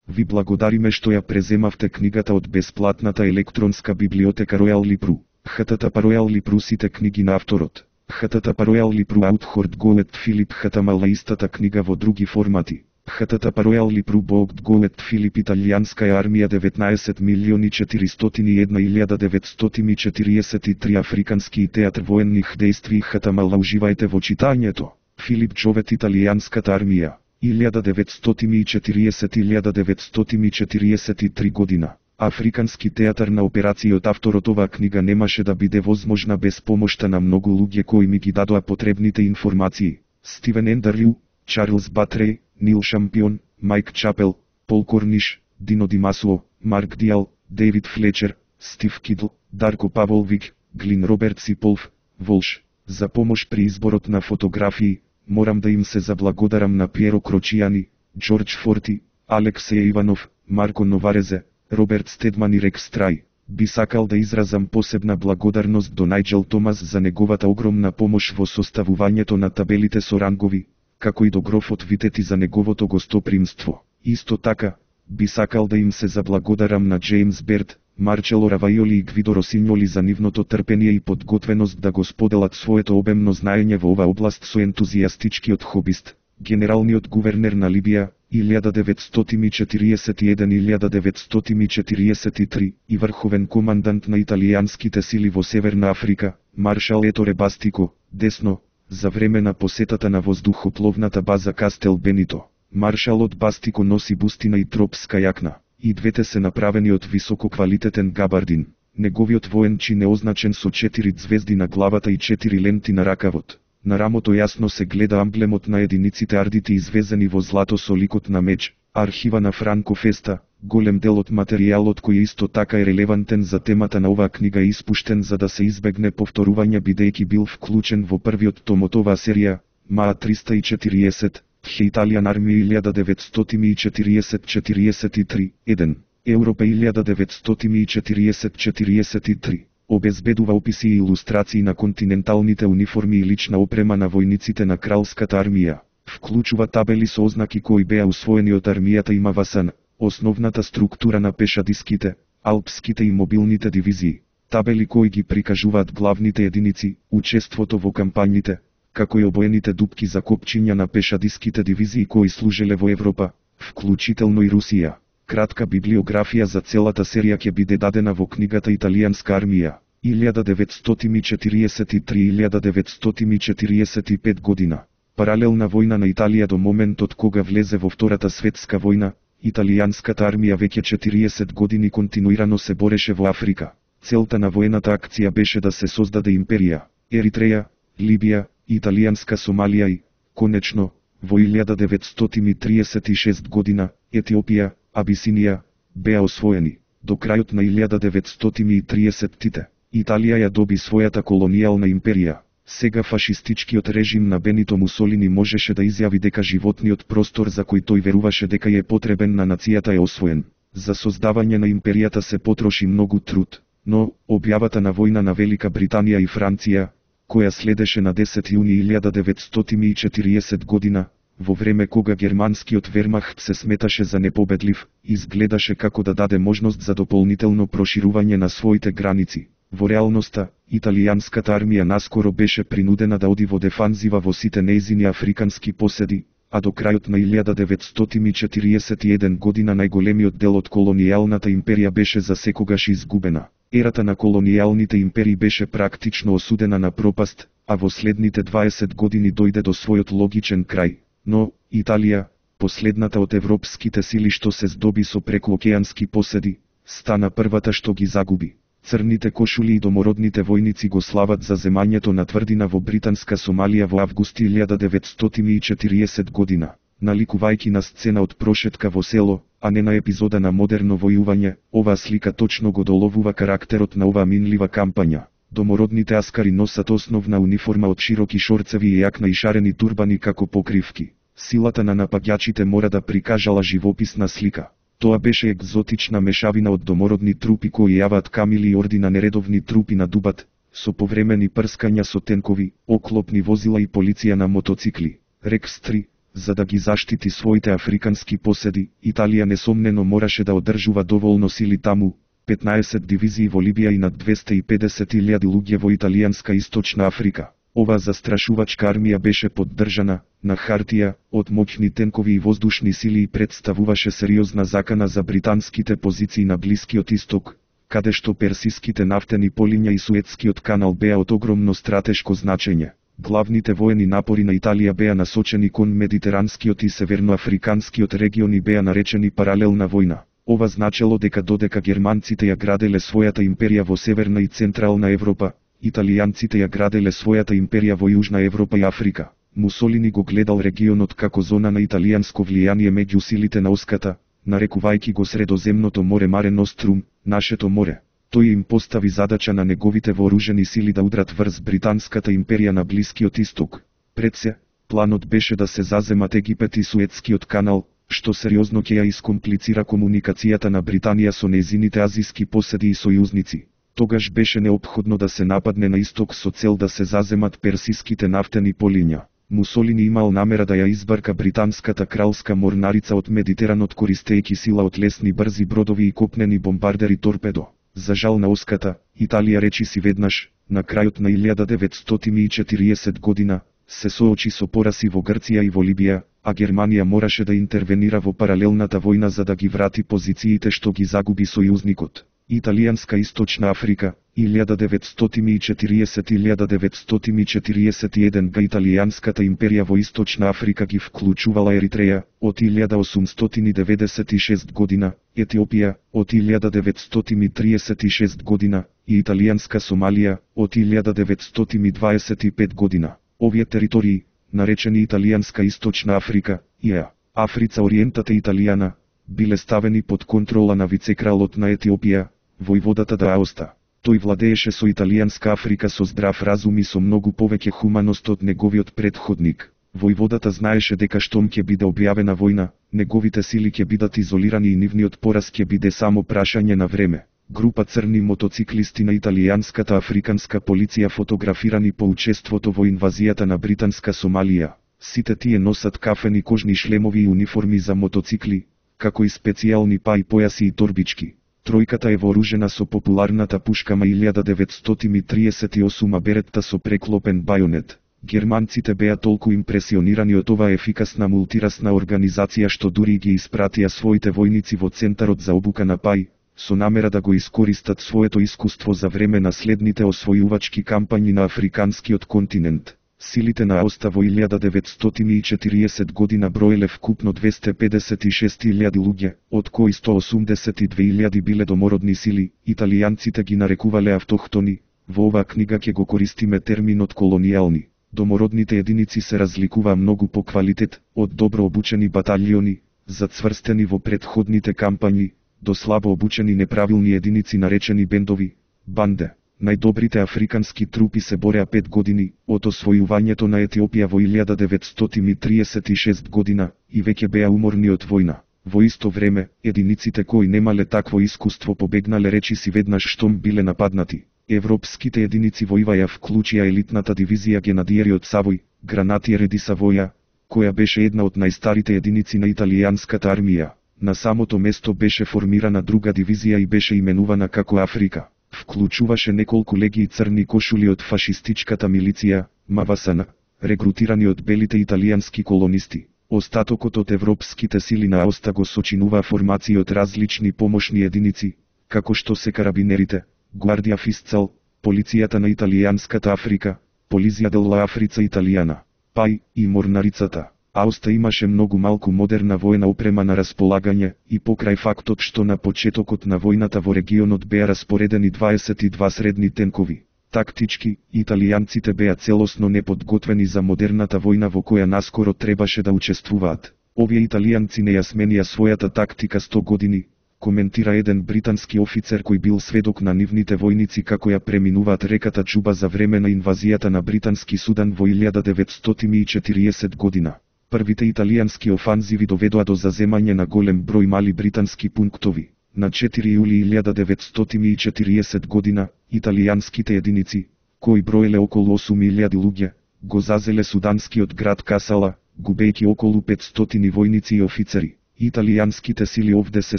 Ви благодариме што ја преземавте книгата од бесплатната електронска библиотека Royal Libru. http Royal Libru сите книги на авторот. http Royal Libru Outward Goet Филип HTML истата книга во други формати. http Royal Libru Bogt Goet Филип Италијанская армија 19.401.943 Африкански театар военних действии HTML уживајте во читањето. Филип Джовет Италијанската армија 1940-1943 година. Африкански театар на операцијот. Авторот оваа книга немаше да биде возможна без помошта на многу луѓе кои ми ги дадоа потребните информации. Стивен Ендерлју, Чарлз Батрей, Нил Шампион, Майк Чапел, Пол Корниш, Дино Димасуо, Марк Диал, Дейвид Флечер, Стив Кидл, Дарко Паволвик, Глин Робертс и Полф Волш. За помош при изборот на фотографии, морам да им се заблагодарам на Пиеро Крочијани, Џорџ Форти, Алексеј Иванов, Марко Новарезе, Роберт Стедман и Рекс Трај. Би сакал да изразам посебна благодарност до Најџел Томас за неговата огромна помош во составувањето на табелите со рангови, како и до грофот Витети за неговото гостопримство. Исто така, би сакал да им се заблагодарам на Джеймс Берт, Марчело Равајоли и Гвидо Росинјоли за нивното трпение и подготвеност да го споделат своето обемно знаење во оваа област со ентузијастичкиот хобист, генералниот гувернер на Либија, 1941-1943 и врховен командант на италијанските сили во Северна Африка, маршал Еторе Бастико, десно, за време на посетата на воздухопловната база Кастел Бенито. Маршалот Бастико носи бустина и тропска јакна, и двете се направени од висококвалитетен габардин. Неговиот воен чин е означен со 4 звезди на главата и 4 ленти на ракавот. На рамото јасно се гледа амблемот на единиците ардити извезени во злато со ликот на меч. Архива на Франко Феста, голем дел од материјалот кој исто така е релевантен за темата на оваа книга е испуштен за да се избегне повторување бидејќи бил вклучен во првиот том од оваа серија, МА 340, Италијан армија 1940-43, 1, Европа 1940-43. Обезбедува описи и илустрации на континенталните униформи и лична опрема на војниците на кралската армија. Вклучува табели со ознаки кои беа усвоени од армијата и МВСН, основната структура на пешадиските, алпските и мобилните дивизии, табели кои ги прикажуваат главните единици, учеството во кампањите, како и обоените дупки за копчиња на пешадиските дивизии кои служеле во Европа, вклучително и Русија. Кратка библиографија за целата серија ќе биде дадена во книгата Италијанска армија, 1943-1945 година. Паралелна војна на Италија до моментот кога влезе во Втората светска војна, италијанската армија веќе 40 години континуирано се бореше во Африка. Целта на воената акција беше да се создаде империја, Еритреја, Либија, италијанска Сомалија и, конечно, во 1936 година, Етиопија, Абисинија, беа освоени. До крајот на 1930-тите, Италија ја доби својата колонијална империја. Сега фашистичкиот режим на Бенито Мусолини можеше да изјави дека животниот простор за кој тој веруваше дека е потребен на нацијата е освоен. За создавање на империјата се потроши многу труд, но објавата на војна на Велика Британија и Франција, која следеше на 10 јуни 1940 година, во време кога германскиот вермахт се сметаше за непобедлив, изгледаше како да даде можност за дополнително проширување на своите граници. Во реалноста, италијанската армија наскоро беше принудена да оди во дефанзива во сите нејзини африкански поседи, а до крајот на 1941 година најголемиот дел од колонијалната империја беше засекогаш изгубена. Ерата на колонијалните империи беше практично осудена на пропаст, а во следните 20 години дојде до својот логичен крај. Но, Италија, последната од европските сили што се здоби со прекоокеански поседи, стана првата што ги загуби. Црните кошули и домородните војници го слават за земањето на тврдина во британска Сомалија во август 1940 година, наликувајќи на сцена од прошетка во село, а не на епизода на модерно војување. Оваа слика точно го доловува карактерот на оваа минлива кампања. Домородните аскари носат основна униформа од широки шорцеви и јакна и шарени турбани како покривки. Силата на напаѓачите мора да прикажала живописна слика. Тоа беше екзотична мешавина од домородни трупи кои јаваат камили и орди на нередовни трупи на дубат, со повремени прскања со тенкови, оклопни возила и полиција на мотоцикли. Рекс 3, За да ги заштити своите африкански поседи, Италија несомнено мораше да одржува доволно сили таму, 15 дивизии во Либија и над 250.000 луѓе во италијанска Источна Африка. Ова застрашувачка армија беше поддржана, на хартија, од моќни тенкови и воздушни сили и представуваше сериозна закана за британските позиции на Блискиот Исток, каде што персиските нафтени полиња и Суетскиот канал беа од огромно стратешко значење. Главните воени напори на Италија беа насочени кон Медитеранскиот и Северноафриканскиот региони беа наречени паралелна војна. Ова значело дека додека германците ја граделе својата империја во Северна и Централна Европа, италијанците ја граделе својата империја во Јужна Европа и Африка. Мусолини го гледал регионот како зона на италијанско влијание меѓу силите на Оската, нарекувајќи го Средоземното море Маре Нострум, нашето море. Тој им постави задача на неговите вооружени сили да удрат врз британската империја на Блискиот Исток. Пред се, планот беше да се заземат Египет и Суетскиот канал, што сериозно ќе ја искомплицира комуникацијата на Британија со нејзините азиски поседи и сојузници. Тогаш беше неопходно да се нападне на исток со цел да се заземат персиските нафтени полиња. Мусолини имал намера да ја избарка британската кралска морнарица од Медитеранот користејќи сила од лесни брзи бродови и копнени бомбардери торпедо. За жал на Оската, Италија речи си веднаш, на крајот на 1940 година, се соочи со пораси во Грција и во Либија, а Германија мораше да интервенира во паралелната војна за да ги врати позициите што ги загуби сојузникот. Италијанска Источна Африка, 1940-1941 га Италијанската империја во Источна Африка ги вклучувала Еритреја, од 1896 година, Етиопија, од 1936 година, и Италијанска Сомалија, од 1925 година. Овие територии, наречени Италијанска Источна Африка, ИА, Африца Ориентата Италијана, биле ставени под контрола на вицекралот на Етиопија, војводата да Аоста. Тој владееше со Италијанска Африка со здрав разум и со многу повеќе хуманост од неговиот претходник. Војводата знаеше дека штом ќе биде објавена војна, неговите сили ќе бидат изолирани и нивниот пораз ќе биде само прашање на време. Група црни мотоциклисти на италијанската африканска полиција фотографирани по учеството во инвазијата на британска Сомалија. Сите тие носат кафени кожни шлемови и униформи за мотоцикли, како и специјални паи појаси и торбички. Тројката е вооружена со популарната пушка ма 1938 Беретта со преклопен бајонет. Германците беа толку импресионирани од оваа ефикасна мултирасна организација што дури ги испратија своите војници во центарот за обука на паи, со намера да го искористат своето искуство за време на следните освојувачки кампањи на африканскиот континент. Силите на Аоста во 1940 година броеле вкупно 256.000 луѓе, од кои 182.000 биле домородни сили, италијанците ги нарекувале автохтони. Во оваа книга ќе го користиме терминот колонијални. Домородните единици се разликуваа многу по квалитет, од добро обучени баталјони, зацврстени во претходните кампањи, до слабо обучени неправилни единици наречени бендови, банде. Најдобрите африкански трупи се бореа 5 години, од освојувањето на Етиопија во 1936 година, и веќе беа уморни од војна. Во исто време, единиците кои немале такво искуство побегнале речиси веднаш штом биле нападнати. Европските единици во ИВА ја вклучија елитната дивизија Генадиери од Савој, Гранатиери ди Савоја, која беше една од најстарите единици на италијанската армија. На самото место беше формирана друга дивизија и беше именувана како Африка. Вклучуваше неколку легии црни кошули од фашистичката милиција, МВСН, регрутирани од белите италијански колонисти. Остатокот од европските сили на Аоста го сочинуваа формации од различни помошни единици, како што се карабинерите, Гвардија Фисцал, полицијата на италијанската Африка, Полизија делла Африца Италијана, ПАИ и морнарицата. Аоста имаше многу малку модерна воена опрема на располагање и покрај фактот што на почетокот на војната во регионот беа распоредени 22 средни тенкови. Тактички, италијанците беа целосно неподготвени за модерната војна во која наскоро требаше да учествуваат. Овие италијанци не ја сменија својата тактика 100 години, коментира еден британски офицер кој бил сведок на нивните војници како ја преминуваат реката Џуба за време на инвазијата на британски Судан во 1940 година. Првите италијански офанзиви доведоа до заземање на голем број мали британски пунктови. На 4 јули 1940 година, италијанските единици, кои броеле околу 8.000 луѓе, го зазеле суданскиот град Касала, губејќи околу 500 војници и офицери. Италијанските сили овде се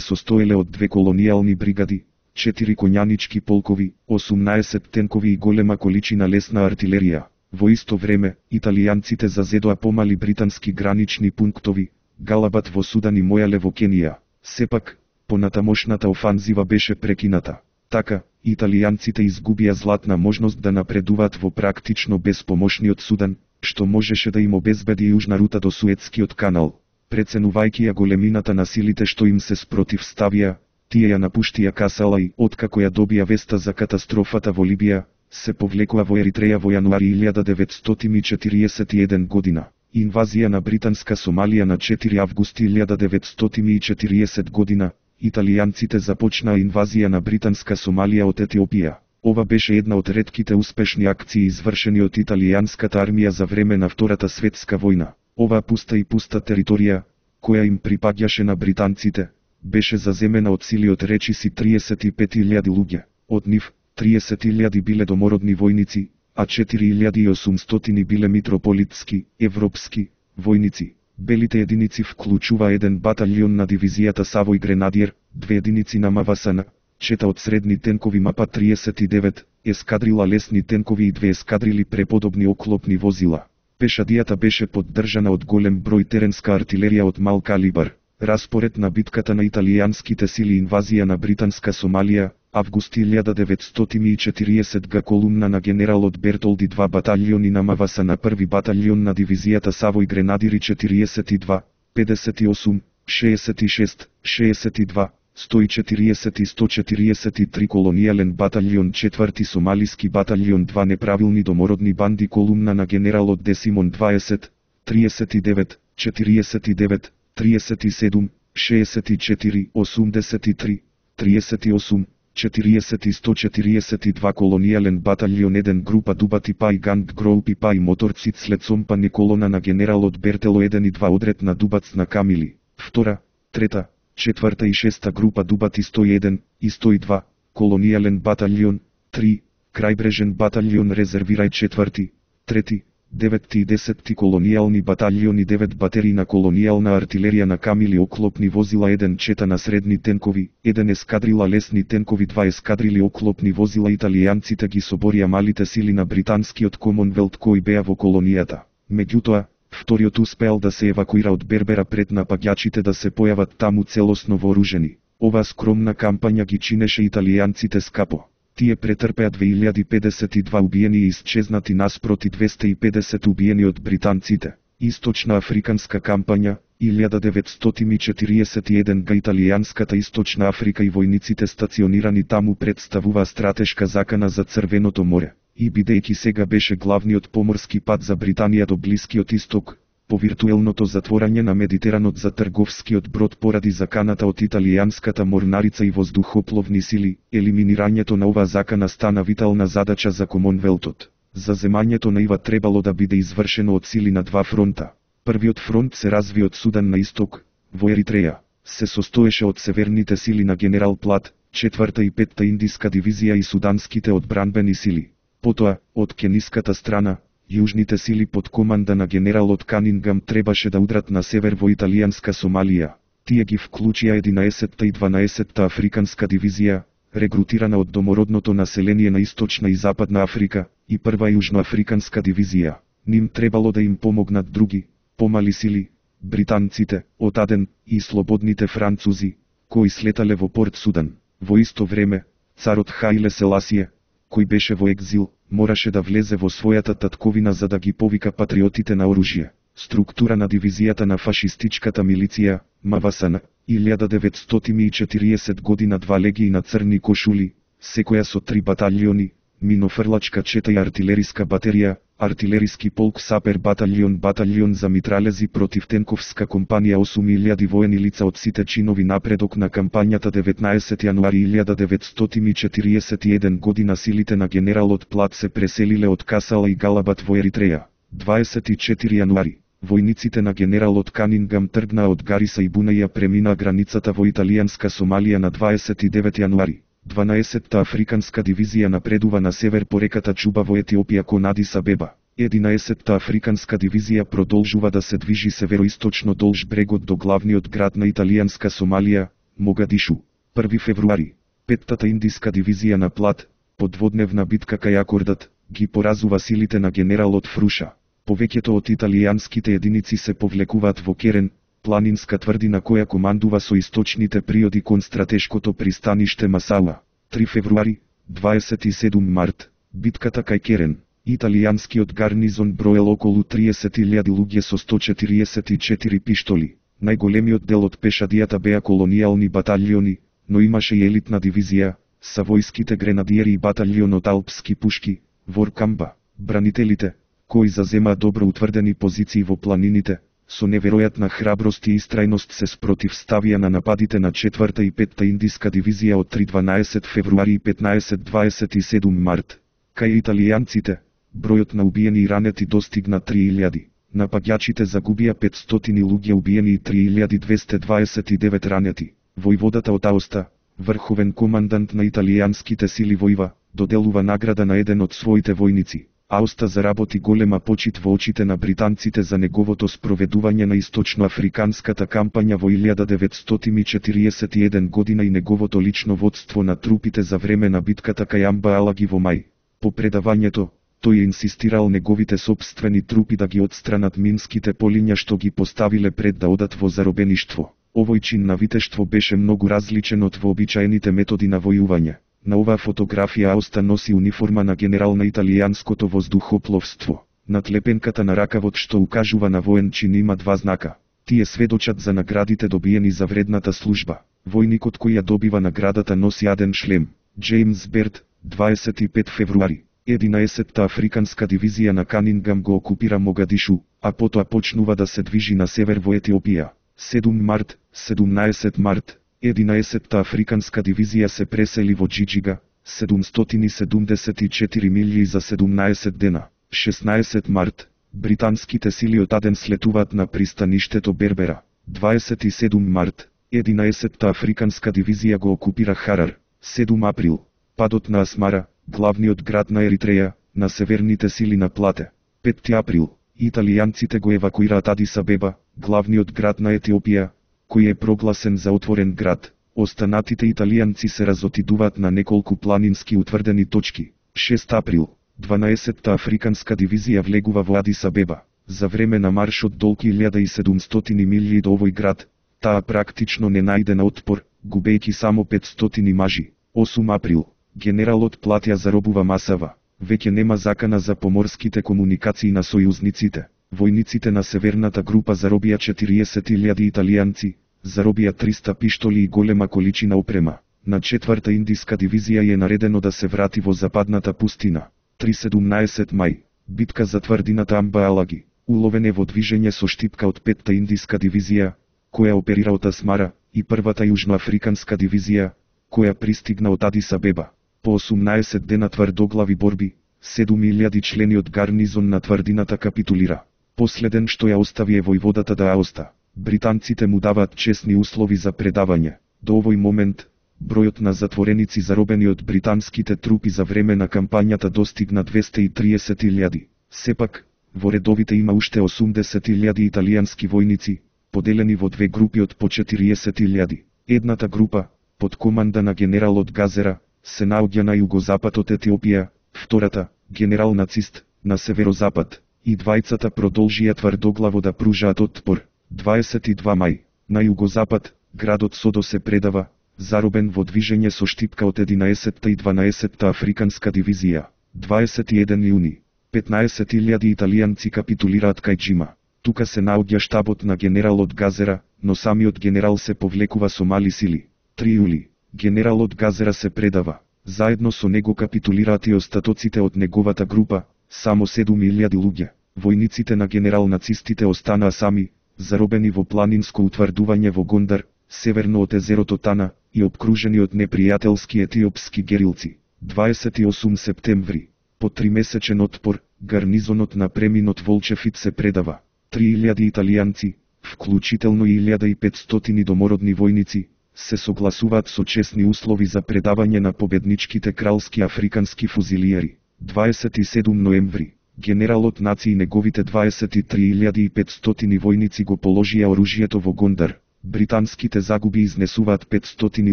состоеле од 2 колонијални бригади, 4 коњанички полкови, 18 тенкови и голема количина лесна артилерија. Во исто време, италијанците зазедоа помали британски гранични пунктови, Галабат во Судан и Мојале во Кенија. Сепак, понатамошната офанзива беше прекината. Така, италијанците изгубија златна можност да напредуваат во практично безпомошниот Судан, што можеше да им обезбеди јужна рута до Суетскиот канал. Преценувајќи ја големината на силите што им се спротивставија, тие ја напуштија Касала и, откако ја добија веста за катастрофата во Либија, се повлекоа во Еритреја во јануари 1941 година. Инвазија на британска Сомалија на 4 августи 1940 година, италијанците започнаа инвазија на британска Сомалија од Етиопија. Ова беше една од ретките успешни акции извршени од италијанската армија за време на Втората светска војна. Оваа пуста територија, која им припаѓаше на британците, беше заземена од сили од речиси 35.000 луѓе. Од нив, 30.000 биле домородни војници, а 4.800 биле митрополитски, европски, војници. Белите единици вклучува 1 баталјон на дивизијата Савој Гренадиер, 2 единици на МВСН, 4 од средни тенкови МАПА 39, ескадрила лесни тенкови и 2 ескадрили преподобни оклопни возила. Пешадијата беше поддржана од голем број теренска артилерија од мал калибар. Распоред на битката на италијанските сили инвазија на британска Сомалија, август 1940 г. колумна на генералот Бертолди 2 баталјони на МВС на 1 баталјон на дивизијата Савој Гренадири 42, 58, 66, 62, 140 и 143 колонијален баталјон 4 сомалиски баталјон 2 неправилни домородни банди колумна на генералот Десимон 20, 39, 49, 37, 64, 83, 38, 40 и 142 колонијален баталјон 1 група Дубати Пај Ганг Гроупи Пај моторци след сомпани колона на генералот Бертело 1 и 2 одред на Дубац на Камили, 2, 3, 4 и 6 група Дубати 101 и 102, колонијален баталјон, 3, крајбрежен баталјон резервирај 4, 3, 9 и 10 колонијални баталјони 9 батерии на колонијална артилерија на Камили оклопни возила 1 чета на средни тенкови, 1 ескадрила лесни тенкови 2 ескадрили оклопни возила италијанците ги соборија малите сили на британскиот Комонвелт кои беа во колонијата. Меѓутоа, вториот успеал да се евакуира од Бербера пред напаѓачите да се појават таму целосно вооружени. Оваа скромна кампања ги чинеше италијанците скапо. Тие претрпеа 2052 убиени и исчезнати наспроти 250 убиени од британците. Источна африканска кампања, 1941 г. Италијанската Источна Африка и војниците стационирани таму представува стратешка закана за Црвеното море. И бидејќи сега беше главниот поморски пат за Британија до Блискиот Исток, по виртуелното затворање на Медитеранот за трговскиот брод поради заканата од италијанската морнарица и воздухопловни сили, елиминирањето на оваа закана стана витална задача за Комонвелтот. Заземањето на ива требало да биде извршено од сили на 2 фронта. Првиот фронт се разви од Судан на исток, во Еритреја. Се состоеше од северните сили на генерал Плат, 4-та и 5-та индиска дивизија и суданските одбранбени сили. Потоа, од кениската страна, јужните сили под команда на генералот Канингам требаше да удрат на север во италијанска Сомалија. Тие ги вклучија 11-та и 12-та африканска дивизија, регрутирана од домородното население на Источна и Западна Африка, и прва јужноафриканска дивизија. Ним требало да им помогнат други, помали сили, британците, од Аден, и слободните французи, кои слетале во Порт Судан. Во исто време, царот Хаиле Селасие, кој беше во екзил, мораше да влезе во својата татковина за да ги повика патриотите на оружје. Структура на дивизијата на фашистичката милиција, МВСН, 1940 година 2 легии на црни кошули, секоја со 3 баталјони, минофрлачка чета и артилериска батерија, артилериски полк Сапер баталјон за митралези против тенковска компанија 8000 воени лица од сите чинови напредок на кампањата 19 јануари 1941 година силите на генералот Плат се преселиле од Касала и Галабат во Еритреја. 24 јануари, војниците на генералот Канингам тргнаа од Гариса и Бунаја преминаа границата во италијанска Сомалија на 29 јануари. 12-та африканска дивизија напредува на север по реката Чуба во Етиопија кон Адис Абеба. 11-та африканска дивизија продолжува да се движи североисточно долж брегот до главниот град на италијанска Сомалија, Могадишу. 1 февруари. 5-та индиска дивизија на Плат, по дводневна битка кај Акордат, ги поразува силите на генералот Фруша. Повеќето од италијанските единици се повлекуваат во Керен, планинска тврдина која командува со источните приоди кон стратешкото пристаниште Масала. 3 февруари, 27 март, битката кај Керен. Италијанскиот гарнизон броел околу 30.000 луѓе со 144 пиштоли. Најголемиот дел од пешадијата беа колонијални баталјони, но имаше и елитна дивизија, савојските гренадиери и баталјонот алпски пушки, Воркамба, бранителите, кои заземаа добро утврдени позиции во планините, со неверојатна храброст и истрајност се спротивставија на нападите на 4-та и 5-та индиска дивизија од 3-12 февруари и 15-27 март. Кај италијанците, бројот на убиени и ранети достигна 3000. Напаѓачите загубија 500 луѓе убиени и 3229 ранети. Војводата од Аоста, врховен командант на италијанските сили војва, доделува награда на еден од своите војници. Аоста заработи голема почит во очите на британците за неговото спроведување на источноафриканската кампања во 1941 година и неговото лично водство на трупите за време на битката кај Амба Алаги во мај. По предавањето, тој инсистирал неговите сопствени трупи да ги отстранат минските полиња што ги поставиле пред да одат во заробеништво. Овој чин на витештво беше многу различен од вообичаените методи на војување. На оваа фотографија Аоста носи униформа на генерал на италијанското воздухопловство. Над лепенката на ракавот што укажува на воен чин има два знака. Тие сведочат за наградите добиени за вредната служба. Војникот кој ја добива наградата носи аден шлем. Джеймс Берт, 25 февруари. 11-та африканска дивизија на Канингам го окупира Могадишу, а потоа почнува да се движи на север во Етиопија. 7 март, 17 март, 11-та африканска дивизија се пресели во Џиџига, 774 милји за 17 дена. 16 март, британските сили од Аден слетуваат на пристаништето Бербера. 27 март, 11-та африканска дивизија го окупира Харар. 7 април, падот на Асмара, главниот град на Еритреја, на северните сили на Плате. 5 април, италијанците го евакуираат Адис Абеба, главниот град на Етиопија, кој е прогласен за отворен град. Останатите италијанци се разотидуваат на неколку планински утврдени точки. 6 април, 12-та африканска дивизија влегува во Адис Абеба. За време на маршот долг 1700 милји до овој град, таа практично не најде на отпор, губејќи само 500 мажи. 8 април, генералот Платја заробува Масава. Веќе нема закана за поморските комуникации на сојузниците. Војниците на северната група заробија 40.000 италијанци, заробија 300 пиштоли и голема количина опрема. На 4-та индиска дивизија е наредено да се врати во западната пустина. 3-17 мај, битка за тврдината Амба Алаги. Уловен е во движење со штипка од 5-та индиска дивизија, која оперира од Асмара, и 1-та јужноафриканска дивизија, која пристигна од Адис Абеба. По 18 дена тврдоглави борби, 7000 члени од гарнизон на тврдината капитулира. Последен што ја остави е војводата да Аоста. Британците му даваат честни услови за предавање. До овој момент, бројот на затвореници заробени од британските трупи за време на кампањата достигна 230.000. Сепак, во редовите има уште 80.000 италијански војници, поделени во две групи од по 40.000. Едната група, под команда на генералот Газера, се наоѓа на југозапад од Етиопија, втората, генерал нацист, на северозапад, и двајцата продолжија тврдоглаво да пружаат отпор. 22 мај, на југозапад, градот Содо се предава, заробен во движење со штипка од 11-та и 12-та африканска дивизија. 21 јуни, 15.000 италијанци капитулираат кај Џима. Тука се наоѓа штабот на генералот Газера, но самиот генерал се повлекува со мали сили. 3 јули, генералот Газера се предава. Заедно со него капитулираат и остатоците од неговата група, само 7.000 луѓе. Војниците на генерал нацистите останаа сами, заробени во планинско утврдување во Гондар, северно од езерото Тана, и обкружени од непријателски етиопски герилци. 28 септември, по 3-месечен отпор, гарнизонот на преминот Волчефит се предава. 3000 италијанци, вклучително и 1500 домородни војници, се согласуваат со честни услови за предавање на победничките кралски африкански фузилиери. 27 ноември, Генералот Наци и неговите 23.500 војници го положија оружјето во Гондар. Британските загуби изнесуваат 500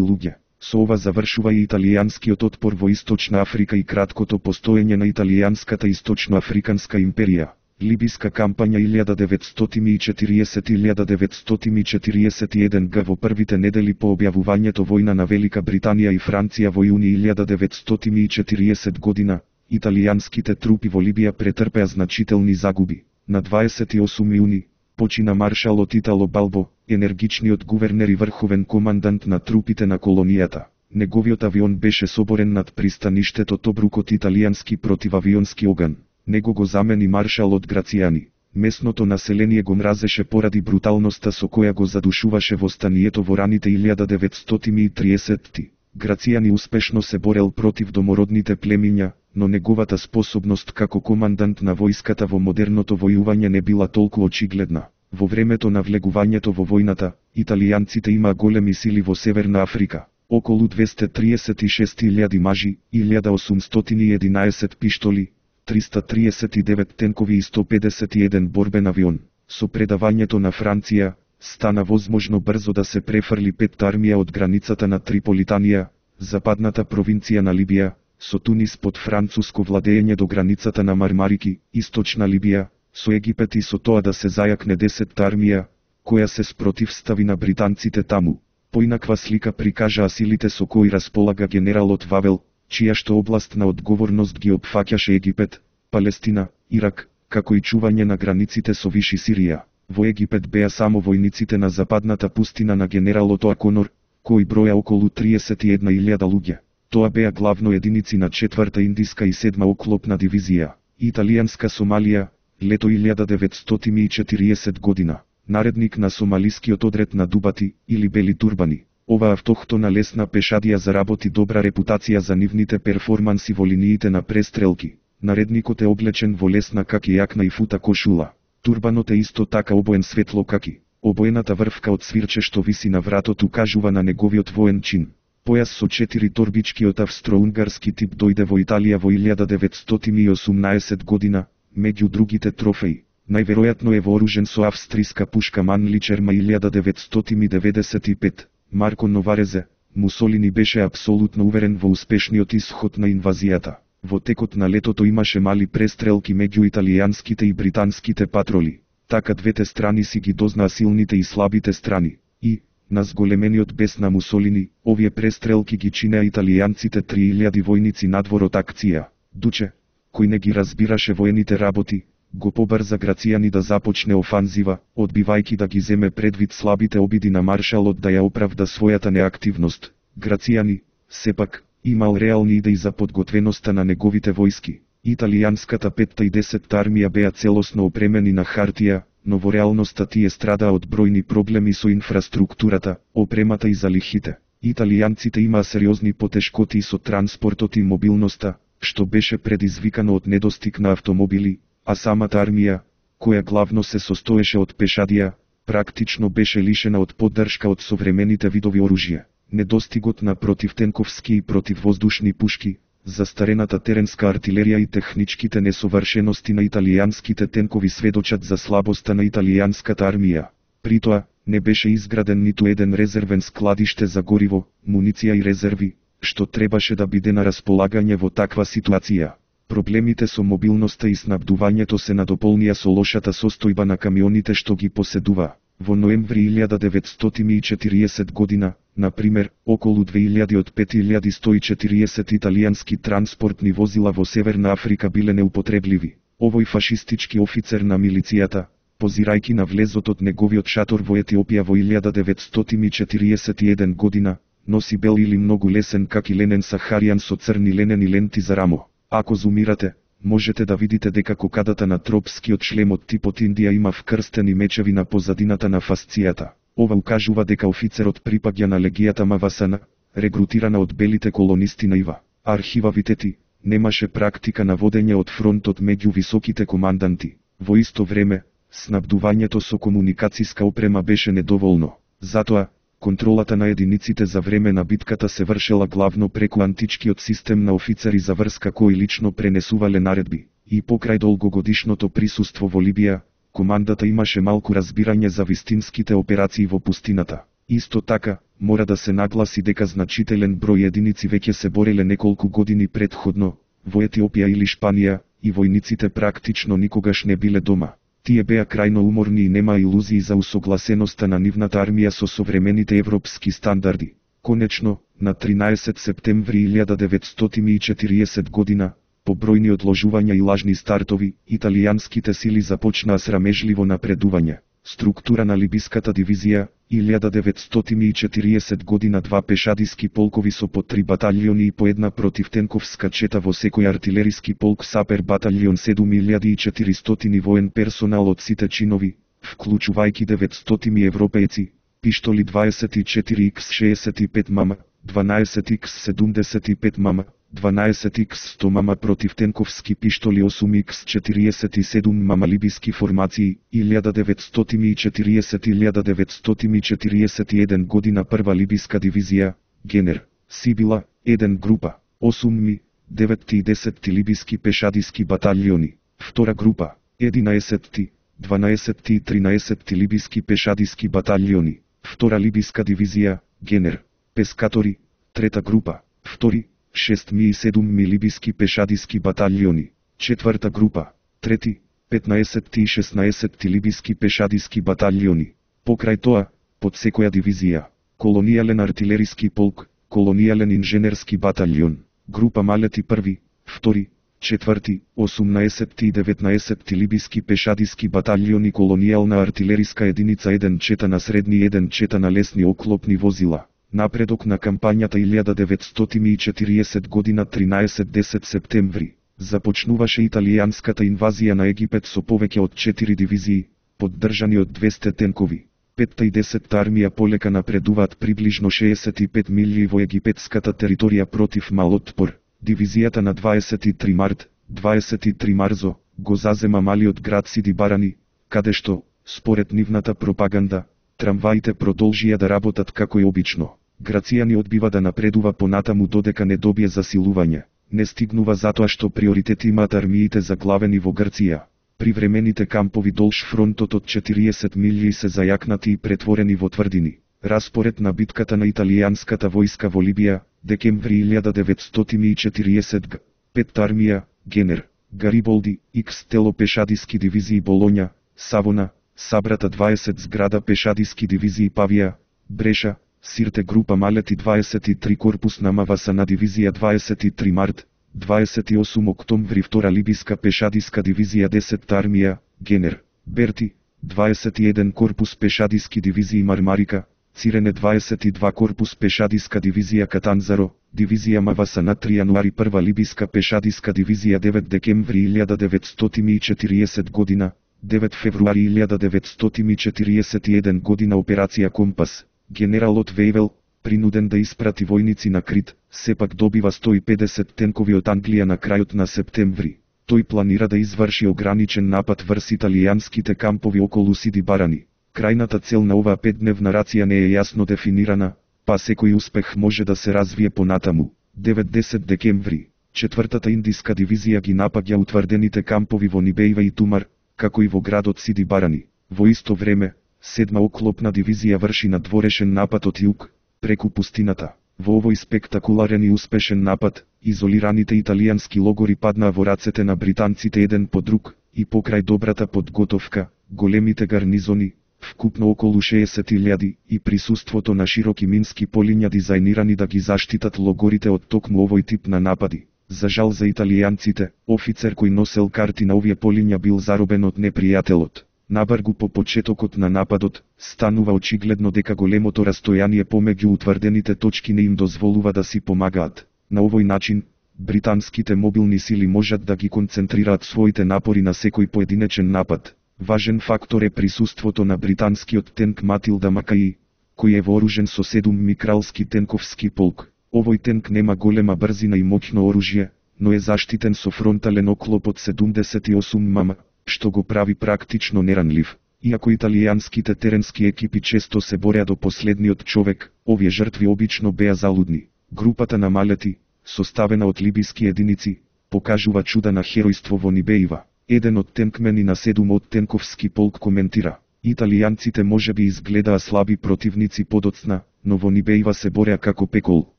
луѓе. Со ова завршува и италијанскиот отпор во Источна Африка и краткото постоење на италијанската Источноафриканска империја. Либиска кампања 1940-1941 г. Во првите недели по објавувањето војна на Велика Британија и Франција во јуни 1940 година, италијанските трупи во Либија претрпеа значителни загуби. На 28 јуни почина маршалот Итало Балбо, енергичниот гувернер и врховен командант на трупите на колонијата. Неговиот авион беше соборен над пристаништето Тобрук од италијански противавионски оган. Него го замени маршалот Грацијани. Местното население го мразеше поради бруталноста со која го задушуваше востанието во раните 1930-ти. Грацијани успешно се борел против домородните племиња, но неговата способност како командант на војската во модерното војување не била толку очигледна. Во времето на влегувањето во војната, италијанците имаа големи сили во Северна Африка. Околу 236.000 мажи, 1811 пиштоли, 339 тенкови и 151 борбен авион. Со предавањето на Франција, стана возможно брзо да се префрли петта армија од границата на Триполитанија, западната провинција на Либија, со Тунис под француско владење до границата на Мармарики, Источна Либија, со Египет и со тоа да се зајакне 10-та армија, која се спротивстави на британците таму. Поинаква слика прикажаа силите со кои располага генералот Вавел, чија што област на одговорност ги опфаќаше Египет, Палестина, Ирак, како и чување на границите со Виши Сирија. Во Египет беа само војниците на западната пустина на генералот Оаконор, кои броја околу 31.000 луѓе. Тоа беа главно единици на 4-та индиска и 7-ма оклопна дивизија. Италијанска Сомалија, лето 1940 година. Наредник на сомалискиот одред на Дубати, или Бели турбани. Ова автохтона лесна пешадија заработи добра репутација за нивните перформанси во линиите на престрелки. Наредникот е облечен во лесна каки јакна и фута кошула. Турбанот е исто така обоен светло каки. Обоената врвка од свирче што виси на вратот укажува на неговиот воен чин. Појас со 4 торбички од австро-унгарски тип дојде во Италија во 1918 година, меѓу другите трофеи. Најверојатно е вооружен со австријска пушка Манличерма 1995. Марко Новарезе, Мусолини беше апсолутно уверен во успешниот исход на инвазијата. Во текот на летото имаше мали престрелки меѓу италијанските и британските патроли. Така двете страни си ги дознаа силните и слабите страни. И, на зголемениот бес на Мусолини, овие престрелки ги чинеа италијанците 3000 војници надвор од акција. Дуче, кој не ги разбираше воените работи, го побрза Грацијани да започне офанзива, одбивајќи да ги земе предвид слабите обиди на маршалот да ја оправда својата неактивност. Грацијани, сепак, имал реални идеи за подготвеноста на неговите војски. Италијанската 5-та и 10-та армија беа целосно опремени на хартија, но во реалноста тие страдаа од бројни проблеми со инфраструктурата, опремата и залихите. Италијанците имаа сериозни потешкоти со транспортот и мобилноста, што беше предизвикано од недостиг на автомобили, а самата армија, која главно се состоеше од пешадија, практично беше лишена од поддршка од современите видови оружје. Недостигот на противтенковски и противвоздушни пушки, застарената теренска артилерија и техничките несовршености на италијанските тенкови сведочат за слабоста на италијанската армија. При тоа, не беше изграден ниту еден резервен складиште за гориво, муниција и резерви, што требаше да биде на располагање во таква ситуација. Проблемите со мобилноста и снабдувањето се надополнија со лошата состојба на камионите што ги поседува. Во ноември 1940 година, например, околу 2000 од 5140 италијански транспортни возила во Северна Африка биле неупотребливи. Овој фашистички офицер на милицијата, позирајќи на влезот од неговиот шатор во Етиопија во 1941 година, носи бел или многу лесен каки ленен сахаријан со црни ленени ленти за рамо. Ако зумирате, можете да видите дека кокадата на тропскиот шлем од типот Индија има вкрстени мечеви на позадината на фасцијата. Ова укажува дека офицерот припаѓа на легијата Мавасана, регрутирана од белите колонисти на Ива. Архива Витети немаше практика на водење од фронтот меѓу високите команданти. Во исто време, снабдувањето со комуникацијска опрема беше недоволно. Затоа, контролата на единиците за време на битката се вршела главно преку античкиот систем на офицери за врска кои лично пренесувале наредби. и покрај долгогодишното присуство во Либија, командата имаше малку разбирање за вистинските операции во пустината. Исто така, мора да се нагласи дека значителен број единици веќе се бореле неколку години претходно, во Етиопија или Шпанија, и војниците практично никогаш не биле дома. Тие беа крајно уморни и нема илузии за усогласеноста на нивната армија со современите европски стандарди. Конечно, на 13 септември 1940 година, по бројни одложувања и лажни стартови, италијанските сили започнаа срамежливо напредување. Структура на либиската дивизија, 1940 година 2 пешадиски полкови со по 3 баталјони и по една противтенковска чета во секој артилериски полк сапер баталјон 7400 воен персонал од сите чинови, вклучувајќи 900 европејци, пиштоли 24X65 мм, 12X75 мм, 12X100 мм противтенковски пиштоли 8X47 мм либиски формации, 1940-1941 година прва либиска дивизија, Генер, Сибила, 1 група, 8 9 и 10 либиски пешадиски баталјони, втора група, 11 12 и 13 либиски пешадиски баталјони, втора либиска дивизија, Генер, Пескатори, трета група, втори, 6 и 7 либиски пешадиски баталјони, четврта група, трети, 15 и 16 либиски пешадиски баталјони. Покрај тоа, под секоја дивизија, колонијален артилериски полк, колонијален инженерски баталјон, група малети први, втори, четврти, 18 и 19 либиски пешадиски баталјони колонијална артилериска единица 1 чета на средни 1 чета на лесни оклопни возила. Напредок на кампањата 1940 година 13-10 септември. Започнуваше италијанската инвазија на Египет со повеќе од 4 дивизии, поддржани од 200 тенкови. 5-та и 10-та армија полека напредуваат приближно 65 милји во египетската територија против мал отпор. Дивизијата на 23 март, 23 марзо, го зазема малиот град Сиди Барани, каде што, според нивната пропаганда, трамваите продолжија да работат како и обично. Грацијани одбива да напредува понатаму додека не добие засилување. Не стигнува затоа што приоритет имаат армиите заглавени во Грција. Привремените кампови долж фронтот од 40 милји се зајакнати и претворени во тврдини. Распоред на битката на италијанската војска во Либија, декември 1940 г. 5-та армија, Генер, Гариболди, X тело пешадиски дивизии Болоња, Савона, Сабрата 20 зграда пешадиски дивизии Павија, Бреша, Сирте група малети 23 корпус на Мавасана дивизија 23 март, 28 октомври втора либиска пешадиска дивизија 10-та армија, Генер, Берти, 21 корпус пешадиски дивизии Мармарика, Цирене 22 корпус пешадиска дивизија Катанзаро, дивизија Мавасана 3 јануари прва либиска пешадиска дивизија 9 декември 1940 година, 9 февруари 1941 година операција Компас. Генералот Вејвел, принуден да испрати војници на Крит, сепак добива 150 тенкови од Англија на крајот на септември. Тој планира да изврши ограничен напад врз италијанските кампови околу Сиди Барани. Крајната цел на оваа 5-дневна рација не е јасно дефинирана, па секој успех може да се развие понатаму. 9-10 декември, 4-та индиска дивизија ги напаѓа утврдените кампови во Нибејва и Тумар, како и во градот Сиди Барани. Во исто време, 7-ма оклопна дивизија врши надворешен напад од југ, преку пустината. Во овој спектакуларен и успешен напад, изолираните италијански логори паднаа во рацете на британците еден по друг, и покрај добрата подготовка, големите гарнизони, вкупно околу 60.000, и присуството на широки мински полиња дизајнирани да ги заштитат логорите од токму овој тип на напади. За жал за италијанците, офицер кој носел карти на овие полиња бил заробен од непријателот. Набргу по почетокот на нападот, станува очигледно дека големото растојание помеѓу утврдените точки не им дозволува да си помагаат. На овој начин, британските мобилни сили можат да ги концентрираат своите напори на секој поединечен напад. Важен фактор е присуството на британскиот тенк Матилда Макаи, кој е вооружен со 7 кралски тенковски полк. Овој тенк нема голема брзина и моќно оружје, но е заштитен со фронтален оклоп од 78 мм, што го прави практично неранлив. Иако италијанските теренски екипи често се бореа до последниот човек, овие жртви обично беа залудни. Групата на малети, составена од либиски единици, покажува чуда на херојство во Нибеива. Еден од тенкмени на 7 од тенковски полк коментира: Италијанците можеби изгледаа слаби противници подоцна, но во Нибеива се бореа како пекол.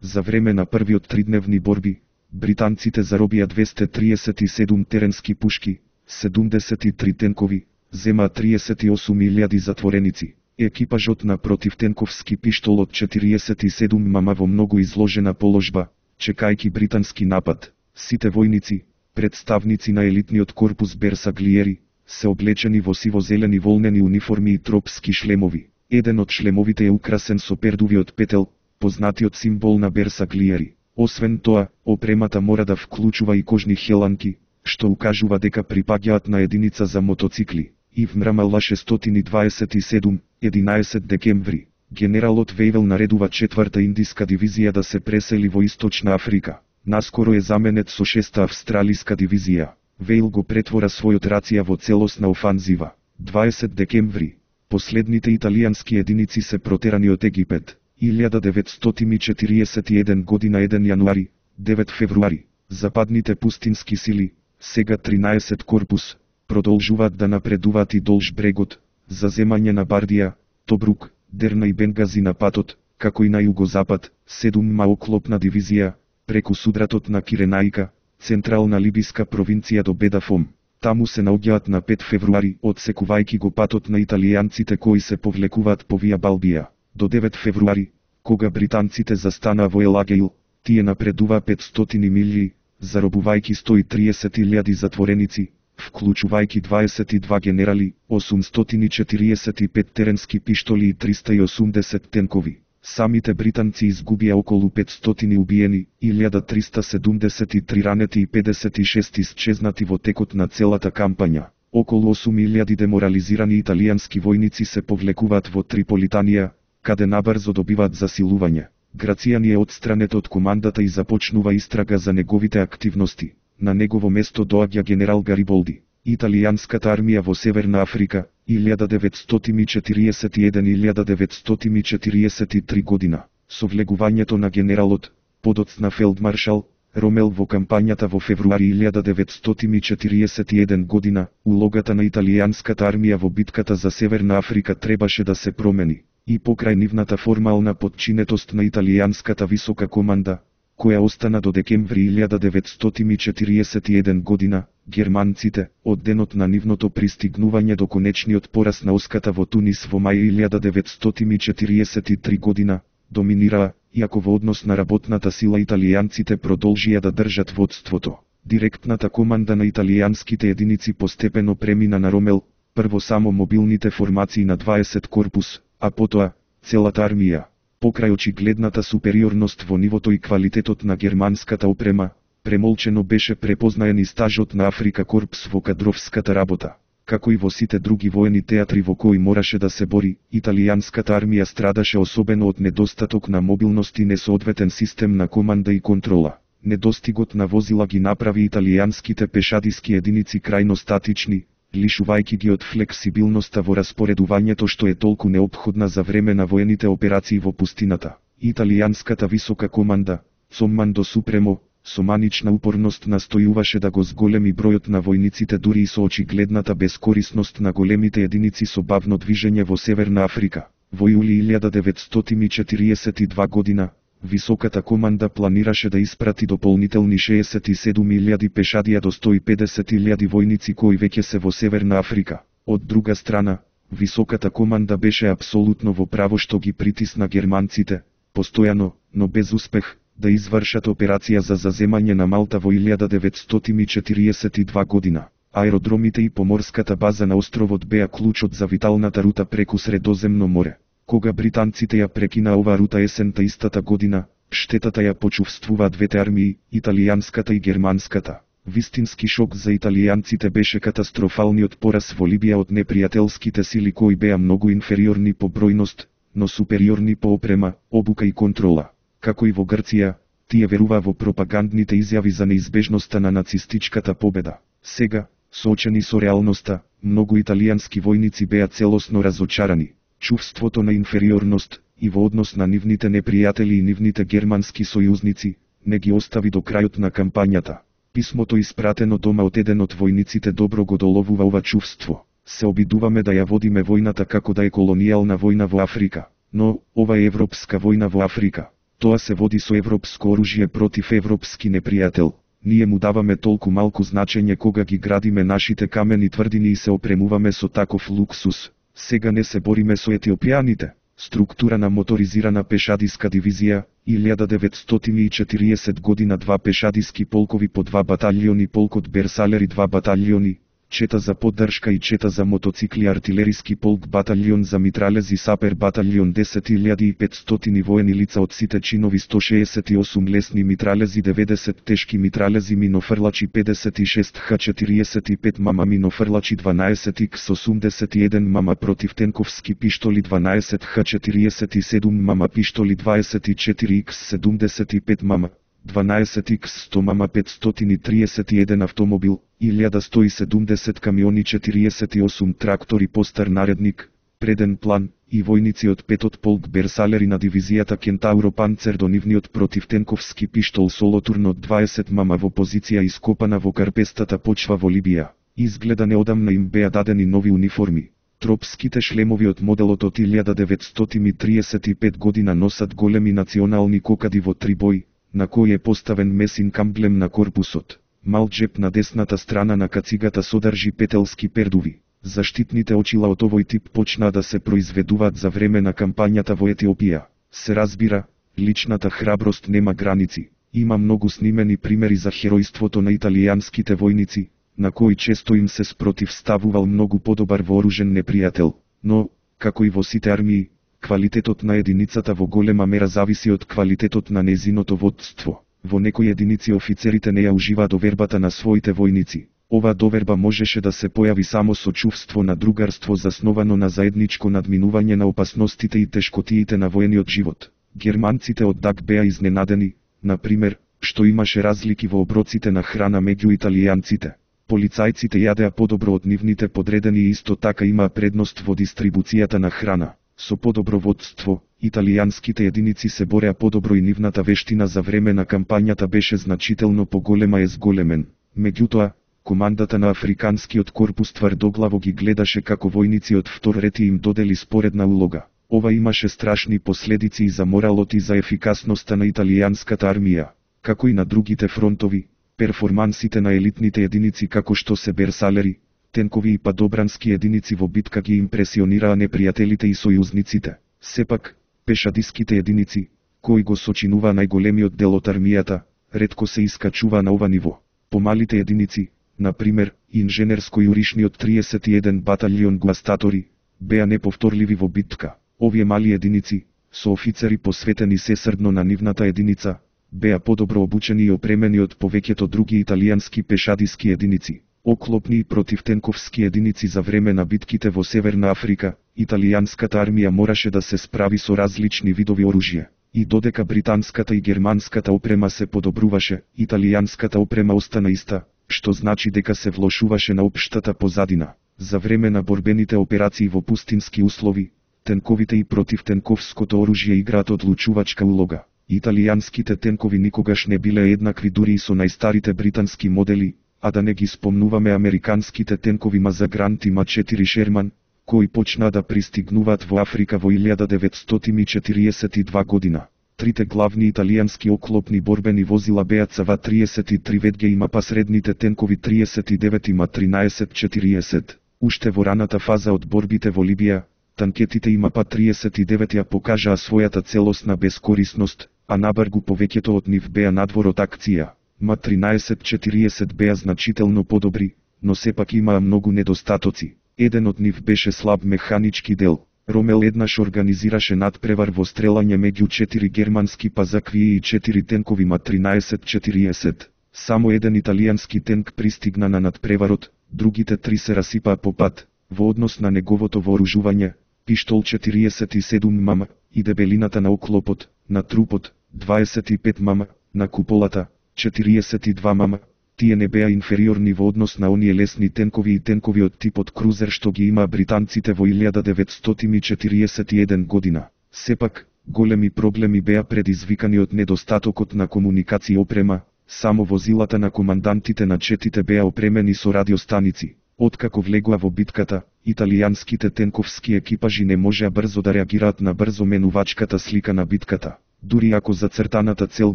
За време на првиот тридневни борби, британците заробија 237 теренски пушки, 73 тенкови, земаа 38.000 затвореници. Екипажот на противтенковски пиштол од 47 мама во многу изложена положба, чекајќи британски напад. Сите војници, представници на елитниот корпус Берсаглиери, се облечени во сиво-зелени волнени униформи и тропски шлемови. Еден од шлемовите е украсен со пердувиот петел, познатиот символ на Берсаглиери. Освен тоа, опремата мора да вклучува и кожни хеланки, што укажува дека припаѓаат на единица за мотоцикли. И вмрамала 627, 11 декември, генералот Вејвел наредува 4-та индиска дивизија да се пресели во Источна Африка. Наскоро е заменет со 6-та австралиска дивизија. Вејл го претвора својот рација во целосна офанзива. 20 декември, последните италијански единици се протерани од Египет. 1941 година 1 јануари, 9 февруари, западните пустински сили, сега 13 корпус, продолжуваат да напредуваат и долж брегот, за земање на Бардија, Тобрук, Дерна и Бенгази на патот, како и на југозапад, 7-ма оклопна дивизија, преку судратот на Киренаика, централна либиска провинција до Бедафом. Таму се наоѓаат на 5 февруари, одсекувајќи го патот на италијанците кои се повлекуваат по Вија Балбија. До 9 февруари, кога британците застанаа во Елагеил, тие напредуваа 500 милји, заробувајќи 130.000 затвореници, вклучувајќи 22 генерали, 845 теренски пиштоли и 380 тенкови. Самите британци изгубија околу 500 убиени, 1373 ранети и 56 исчезнати во текот на целата кампања. Околу 8000 деморализирани италијански војници се повлекуваат во Триполитанија, каде набрзо добиваат засилување. Грацијани е отстранет од командата и започнува истрага за неговите активности. На негово место доаѓа генерал Гариболди. Италијанската армија во Северна Африка, 1941-1943 година. Со влегувањето на генералот, подоцна фелдмаршал, Ромел во кампањата во февруари 1941 година, улогата на италијанската армија во битката за Северна Африка требаше да се промени. И покрај нивната формална подчинетост на италијанската висока команда, која остана до декември 1941 година, германците, од денот на нивното пристигнување до конечниот пораз на оската во Тунис во мај 1943 година, доминираа, иако во однос на работната сила италијанците продолжија да држат водството. Директната команда на италијанските единици постепено премина на Ромел, прво само мобилните формации на 20 корпус, а потоа, целата армија. Покрај очигледната супериорност во нивото и квалитетот на германската опрема, премолчено беше препознаен и стажот на Африка Корпс во кадровската работа. Како и во сите други воени театри во кои мораше да се бори, италијанската армија страдаше особено од недостаток на мобилност и несоодветен систем на команда и контрола. Недостигот на возила ги направи италијанските пешадиски единици крајно статични, лишувајќи ги од флексибилноста во распоредувањето што е толку неопходна за време на воените операции во пустината. Италијанската висока команда, Цоммандо Супремо, со манична упорност настојуваше да го зголеми бројот на војниците дури и со очигледната бескорисност на големите единици со бавно движење во Северна Африка. Во јули 1942 година, високата команда планираше да испрати дополнителни 67.000 пешадија до 150.000 војници кои веќе се во Северна Африка. Од друга страна, високата команда беше апсолутно во право што ги притисна германците, постојано, но без успех, да извршат операција за заземање на Малта во 1942 година. Аеродромите и поморската база на островот беа клучот за виталната рута преку Средоземно море. Кога британците ја прекина оваа рута есента истата година, штетата ја почувствуваа двете армии, италијанската и германската. Вистински шок за италијанците беше катастрофалниот пораз во Либија од непријателските сили кои беа многу инфериорни по бројност, но супериорни по опрема, обука и контрола. Како и во Грција, тие веруваа во пропагандните изјави за неизбежноста на нацистичката победа. Сега, соочени со реалноста, многу италијански војници беа целосно разочарани. Чувството на инфериорност, и во однос на нивните непријатели и нивните германски сојузници, не ги остави до крајот на кампањата. Писмото испратено дома од еден од војниците добро го доловува ова чувство. Се обидуваме да ја водиме војната како да е колонијална војна во Африка, но ова е европска војна во Африка. Тоа се води со европско оружје против европски непријател. Ние му даваме толку малку значење кога ги градиме нашите камени тврдини и се опремуваме со таков луксус. Сега не се бориме со етиопијаните. Структура на моторизирана пешадиска дивизија, 1940 година 2 пешадиски полкови по 2 баталјони, полкот Берсалери 2 баталјони, чета за поддршка и чета за мотоцикли, артилериски полк, баталјон за митралези, сапер баталјон, 10.500 воени лица од сите чинови, 168 лесни митралези, 90 тешки митралези, минофрлачи 56 Х-45 мама минофрлачи, 12 Х-81 мама противтенковски пиштоли, 12 Х-47 мама пиштоли, 24 Х-75 мама, 12 Х-100 мама, 531 автомобил, 1170 камиони, 48 трактори, постар наредник, преден план, и војници од 5-от полк Берсалери на дивизијата Кентауро Панцер до нивниот противтенковски пиштол Солотурн од 20 мама во позиција ископана во карпестата почва во Либија. Изгледа неодамна им беа дадени нови униформи. Тропските шлемови од моделот од 1935 година носат големи национални кокади во 3 бои, на кој е поставен месин камблем на корпусот. Мал джеп на десната страна на кацигата содржи петелски пердуви. Заштитните очила од овој тип почнаа да се произведуваат за време на кампањата во Етиопија. Се разбира, личната храброст нема граници. Има многу снимени примери за херојството на италијанските војници, на кои често им се спротивставувал многу подобар вооружен непријател. Но, како и во сите армии, квалитетот на единицата во голема мера зависи од квалитетот на незиното водство. Во некои единици офицерите не ја уживаа довербата на своите војници. Ова доверба можеше да се појави само со чувство на другарство засновано на заедничко надминување на опасностите и тешкотиите на воениот живот. Германците од ДАК беа изненадени, например, што имаше разлики во оброците на храна меѓу италијанците. Полицајците јадеа подобро од нивните подредени и исто така имаа предност во дистрибуцијата на храна. Со подобро водство, италијанските единици се бореа подобро и нивната вештина за време на кампањата беше значително поголема и зголемен. Меѓутоа, командата на Африканскиот корпус тврдоглаво ги гледаше како војници од втор ред и им додели споредна улога. Ова имаше страшни последици и за моралот и за ефикасноста на италијанската армија. Како и на другите фронтови, перформансите на елитните единици како што се Берсалери, тенкови и падобрански единици во битка ги импресионираа непријателите и сојузниците. Сепак, пешадиските единици, кои го сочинуваа најголемиот дел од армијата, ретко се искачува на ова ниво. Помалите единици, например, инженерско-јуришниот 31 баталјон гуастатори, беа неповторливи во битка. Овие мали единици, со офицери посветени сесрдно на нивната единица, беа подобро обучени и опремени од повеќето други италијански пешадиски единици. Оклопни и противтенковски единици за време на битките во Северна Африка, италијанската армија мораше да се справи со различни видови оружје. И додека британската и германската опрема се подобруваше, италијанската опрема остана иста, што значи дека се влошуваше на општата позадина. За време на борбените операции во пустински услови, тенковите и противтенковското оружје играат одлучувачка улога. Италијанските тенкови никогаш не биле еднакви дури и со најстарите британски модели, а да не ги спомнуваме американските тенкови Мазагрант и Ма-4 Шерман, кои почнаа да пристигнуваат во Африка во 1942 година. Трите главни италијански оклопни борбени возила беа ЦВ-33 ВГ и МАПА, средните тенкови 39 и МА-13-40. Уште во раната фаза од борбите во Либија, танкетите и МАПА-39 ја покажаа својата целосна бескорисност, а набргу повеќето од нив беа надвор од акција. МА-13-40 беа значително подобри, но сепак имаа многу недостатоци. Еден од нив беше слаб механички дел. Ромел еднаш организираше надпревар во стрелање меѓу 4 германски пазаквии и 4 тенкови МА-13-40. Само еден италијански тенк пристигна на надпреварот, другите 3 се расипаа по пат. Во однос на неговото вооружување, пиштол 47 мм, и дебелината на оклопот, на трупот, 25 мм, на куполата, 42 мм, тие не беа инфериорни во однос на оние лесни тенкови и тенкови од типот крузер што ги имаа британците во 1941 година. Сепак, големи проблеми беа предизвикани од недостатокот на комуникација и опрема, Само возилата на командантите на четите беа опремени со радиостаници. Откако влегоа во битката, италијанските тенковски екипажи не можеа брзо да реагираат на брзо менувачката слика на битката. Дури ако зацртаната цел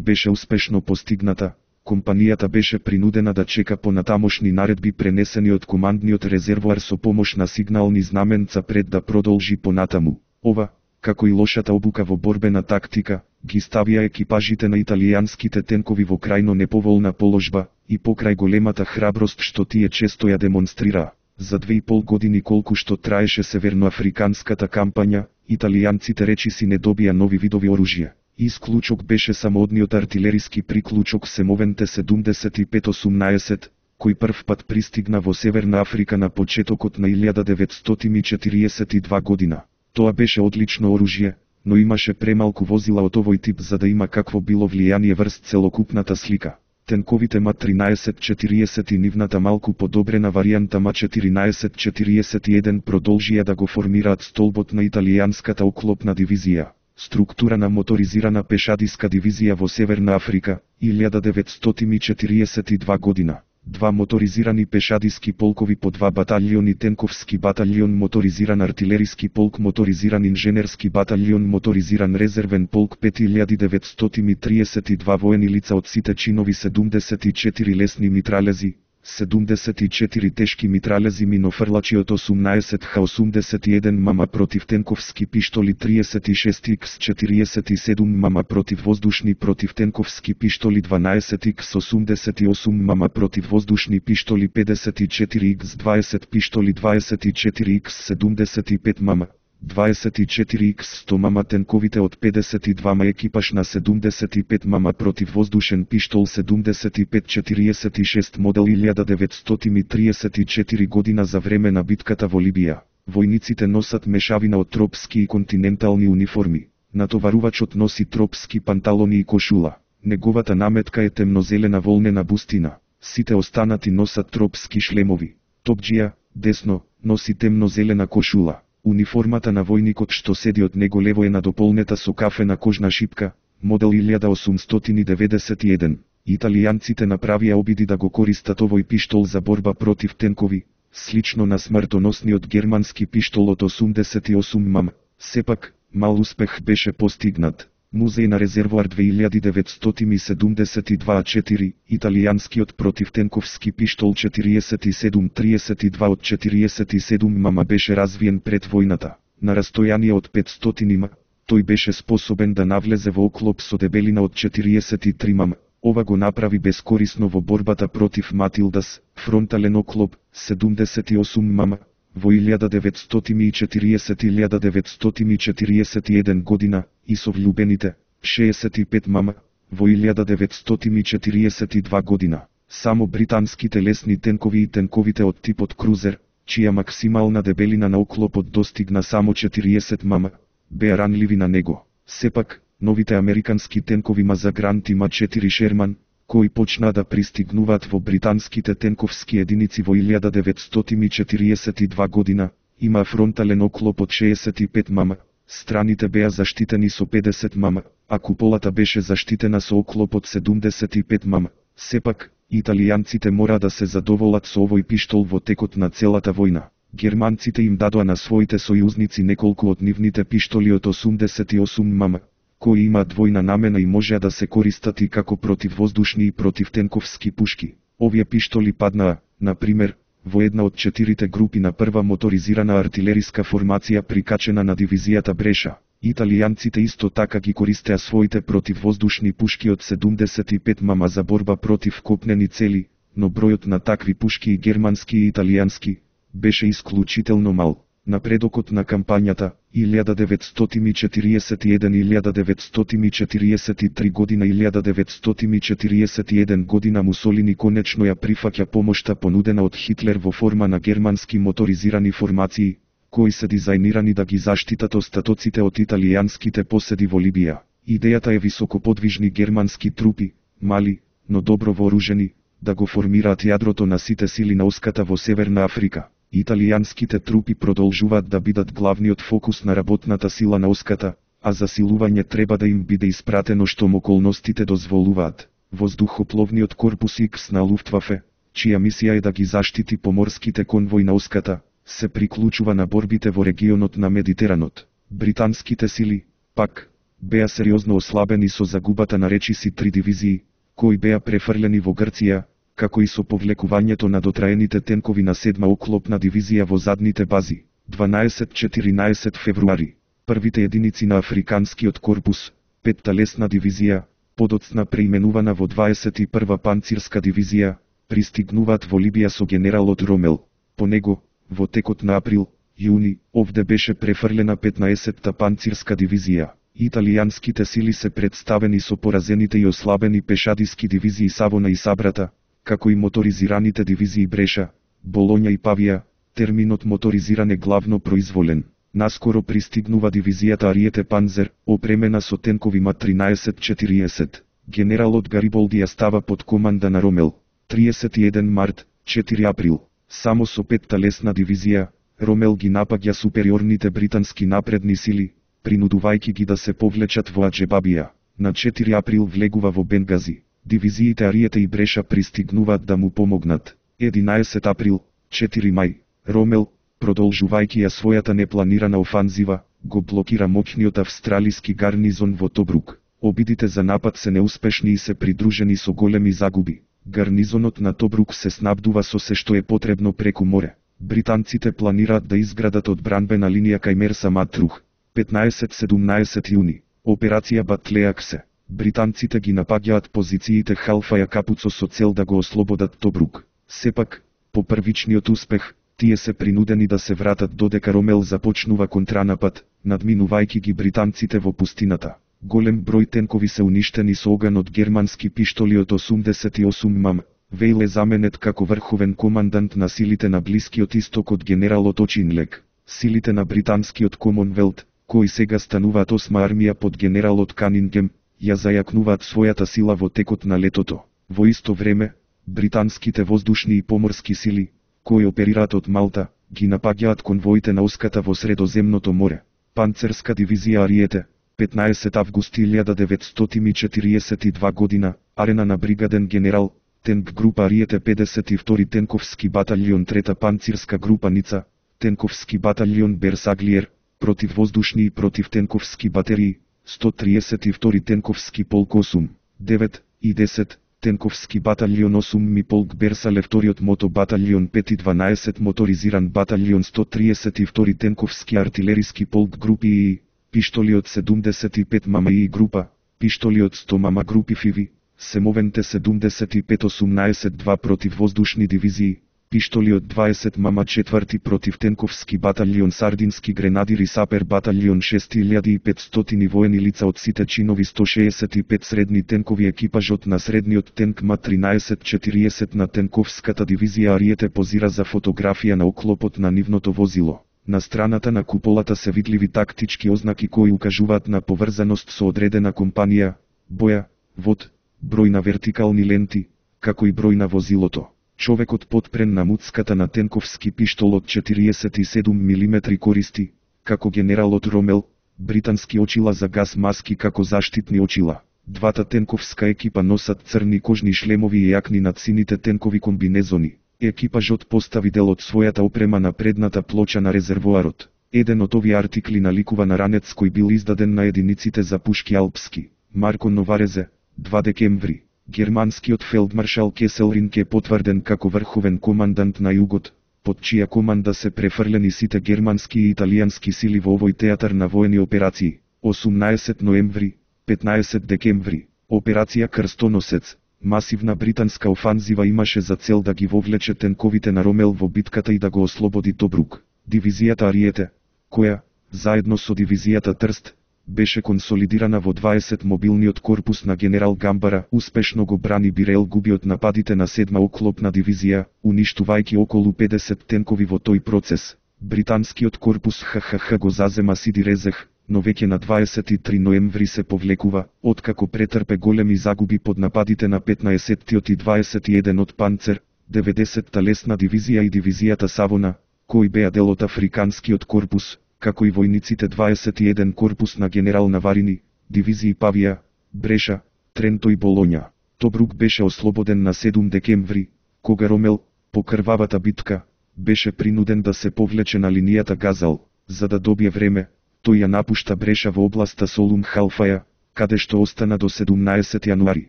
беше успешно постигната, компанијата беше принудена да чека понатамошни наредби пренесени од командниот резервоар со помош на сигнални знаменца пред да продолжи понатаму. Ова, како и лошата обука во борбена тактика, ги ставија екипажите на италијанските тенкови во крајно неповолна положба, и покрај големата храброст што тие често ја демонстрираа. За 2,5 години колку што траеше северноафриканската кампања, италијанците речиси не добија нови видови оружје. Исклучок беше самоодниот артилериски приклучок Семовен Т-75-18, кој прв пат пристигна во Северна Африка на почетокот на 1942 година. Тоа беше одлично оружје, но имаше премалку возила од овој тип за да има какво било влијание врз целокупната слика. Тенковите МА-1340 и нивната малку подобрена варијанта МА-1441 продолжија да го формираат столбот на италијанската оклопна дивизија. Структура на моторизирана пешадиска дивизија во Северна Африка, 1942 година. 2 моторизирани пешадиски полкови по 2 баталјони тенковски баталјон моторизиран артилериски полк моторизиран инженерски баталјон моторизиран резервен полк 5932 воени лица од сите чинови 74 лесни митралези, 74 тешки митралези минофрлачи од 18 Х-81 мм противтенковски пиштоли 36 Х-47 мм противвоздушни противтенковски пиштоли 12 Х-88 мм противвоздушни пиштоли 54 Х-20 пиштоли 24 Х-75 мм 24 Х-100 мм тенковите од 52 екипаж на 75 мм противвоздушен пиштол 75-46 модел 1934 година за време на битката во Либија. Војниците носат мешавина од тропски и континентални униформи. Натоварувачот носи тропски панталони и кошула. Неговата наметка е темнозелена волнена бустина. Сите останати носат тропски шлемови. Топџија, десно, носи темнозелена кошула. Униформата на војникот што седи од него лево е надополнета со кафена кожна шипка, модел 1891. Италијанците направија обиди да го користат овој пиштол за борба против тенкови, слично на смртоносниот германски пиштол од 88 мм. Сепак, мал успех беше постигнат. Музеј на резервоар 2972-4, италијанскиот противтенковски пиштол 47-32 од 47 мм беше развиен пред војната. На растојание од 500 м, тој беше способен да навлезе во оклоп со дебелина од 43 мм. Ова го направи бескорисно во борбата против Матилдас, фронтален оклоп, 78 мм. Во 1940-1941 година, и со влюбените, 65 мм, во 1942 година. Само британските лесни тенкови и тенковите од типот крузер, чија максимална дебелина на оклопот достигна само 40 мм, беа ранливи на него. Сепак, новите американски тенкови Мазагрант и Ма-4 Шерман, кои почнаа да пристигнуваат во британските тенковски единици во 1942 година, има фронтален оклоп од 65 мм, страните беа заштитени со 50 мм, а куполата беше заштитена со оклоп од 75 мм. Сепак, италијанците мора да се задоволат со овој пиштол во текот на целата војна. Германците им дадоа на своите сојузници неколку од нивните пиштоли од 88 мм, кои имаат двојна намена и можеа да се користат и како противвоздушни и противтенковски пушки. Овие пиштоли паднаа, на пример, во една од 4 групи на прва моторизирана артилериска формација прикачена на дивизијата Бреша. Италијанците исто така ги користеа своите противвоздушни пушки од 75 мм за борба против копнени цели, но бројот на такви пушки и германски и италијански беше исклучително мал. Напредокот на кампањата, 1941-1943 година 1941 година Мусолини конечно ја прифаќа помошта понудена од Хитлер во форма на германски моторизирани формации, кои се дизајнирани да ги заштитат остатоците од италијанските поседи во Либија. Идејата е високоподвижни германски трупи, мали, но добро вооружени, да го формираат јадрото на сите сили на оската во Северна Африка. Италијанските трупи продолжуваат да бидат главниот фокус на работната сила на оската, а засилување треба да им биде испратено штом околностите дозволуваат. воздухопловниот корпус X на Луфтвафе, чија мисија е да ги заштити поморските конвои на Оската, се приклучува на борбите во регионот на Медитеранот. Британските сили, пак, беа сериозно ослабени со загубата на речиси 3 дивизии, кои беа префрлени во Грција, како и со повлекувањето на дотраените тенкови на 7-ма оклопна дивизија во задните бази. 12-14 февруари. Првите единици на Африканскиот корпус, 5-та лесна дивизија, подоцна преименувана во 21-ва панцирска дивизија, пристигнуваат во Либија со генералот Ромел. По него, во текот на април, јуни, овде беше префрлена 15-та панцирска дивизија. Италијанските сили се представени со поразените и ослабени пешадиски дивизии Савона и Сабрата, како и моторизираните дивизии Бреша, Болоња и Павија. Терминот моторизиран е главно произволен. Наскоро пристигнува дивизијата Ариете Панзер, опремена со тенкови МА-13-40. Генералот Гариболди ја става под команда на Ромел. 31 март, 4 април. Само со 5-та лесна дивизија, Ромел ги напаѓа супериорните британски напредни сили, принудувајќи ги да се повлечат во Аџебабија. На 4 април влегува во Бенгази. Дивизиите Ариете и Бреша пристигнуваат да му помогнат. 11 април, 4 мај. Ромел, продолжувајќи ја својата непланирана офанзива, го блокира моќниот австралиски гарнизон во Тобрук. Обидите за напад се неуспешни и се придружени со големи загуби. Гарнизонот на Тобрук се снабдува со се што е потребно преку море. Британците планираат да изградат одбранбена линија кај Мерса Матрух. 15-17 јуни. Операција Батлеаксе. Британците ги напаѓаат позициите Халфа и Капуцо со цел да го ослободат Тобрук. Сепак, по првичниот успех, тие се принудени да се вратат додека Ромел започнува контранапад, надминувајќи ги британците во пустината. Голем број тенкови се уништени со оган од германски пиштоли од 88 мм. Вејл е заменет како врховен командант на силите на Блискиот исток од генералот Очинлек. Силите на британскиот Комонвелт, кои сега стануваат 8-ма армија под генералот Канингем, ја зајакнуваат својата сила во текот на летото. Во исто време, британските воздушни и поморски сили, кои оперираат од Малта, ги напаѓаат конвоите на Оската во Средоземното море. Панцерска дивизија Ариете, 15 август 1942 година, арена на бригаден генерал, тенк група Ариете 52 тенковски баталјон 3-та панцирска група Ница, тенковски баталјон Берсаглиер, противвоздушни и противтенковски батерии, 132 тенковски полк 8, 9 и 10, тенковски баталјон 8 ми полк Берсале, вториот мото баталјон 5 и 12 моторизиран баталјон 132 тенковски артилериски полк групи И, пиштолиот 75 мама И група, пиштолиот 100 мама групи Фиви, семовенте 75-18 2 противвоздушни дивизии, пиштолиот 20 мама 4 противтенковски баталјон Сардински гренадири Сапер баталјон 6500 и воени лица од сите чинови 165 средни тенкови екипажот на средниот тенк МА-13-40 на тенковската дивизија Ариете позира за фотографија на оклопот на нивното возило. На страната на куполата се видливи тактички ознаки кои укажуваат на поврзаност со одредена компанија, боја, вод, број на вертикални ленти, како и број на возилото. Човекот подпрен на муцката на тенковски пиштол од 47 мм користи, како генералот Ромел, британски очила за газ маски како заштитни очила. Двата тенковска екипа носат црни кожни шлемови и јакни над сините тенкови комбинезони. Екипажот постави дел од својата опрема на предната плоча на резервоарот. Еден од овие артикли наликува на ранец кој бил издаден на единиците за пушки Алпски. Марко Новарезе, 2 декември. Германскиот фелдмаршал Кеселринг е потврден како врховен командант на југот, под чија команда се префрлени сите германски и италијански сили во овој театар на воени операции. 18 ноември, 15 декември. Операција Крстоносец. Масивна британска офанзива имаше за цел да ги вовлече тенковите на Ромел во битката и да го ослободи Тобрук. Дивизијата Ариете, која, заедно со дивизијата Трст, беше консолидирана во 20 мобилниот корпус на генерал Гамбара, успешно го брани Бирел губи од нападите на 7-ма оклопна дивизија, уништувајќи околу 50 тенкови во тој процес. Британскиот корпус ХХХ го зазема Сиди Резех, но веќе на 23 ноември се повлекува, откако претрпе големи загуби под нападите на 15-тиот и 21 од Панцер, 90-та лесна дивизија и дивизијата Савона, кои беа дел од Африканскиот корпус, како и војниците 21 корпус на генерал Наварини, дивизии Павија, Бреша, Тренто и Болоња. Тобрук беше ослободен на 7 декември, кога Ромел, по крвавата битка, беше принуден да се повлече на линијата Газал. За да добие време, тој ја напушта Бреша во областа Солун Халфаја, каде што остана до 17 јануари.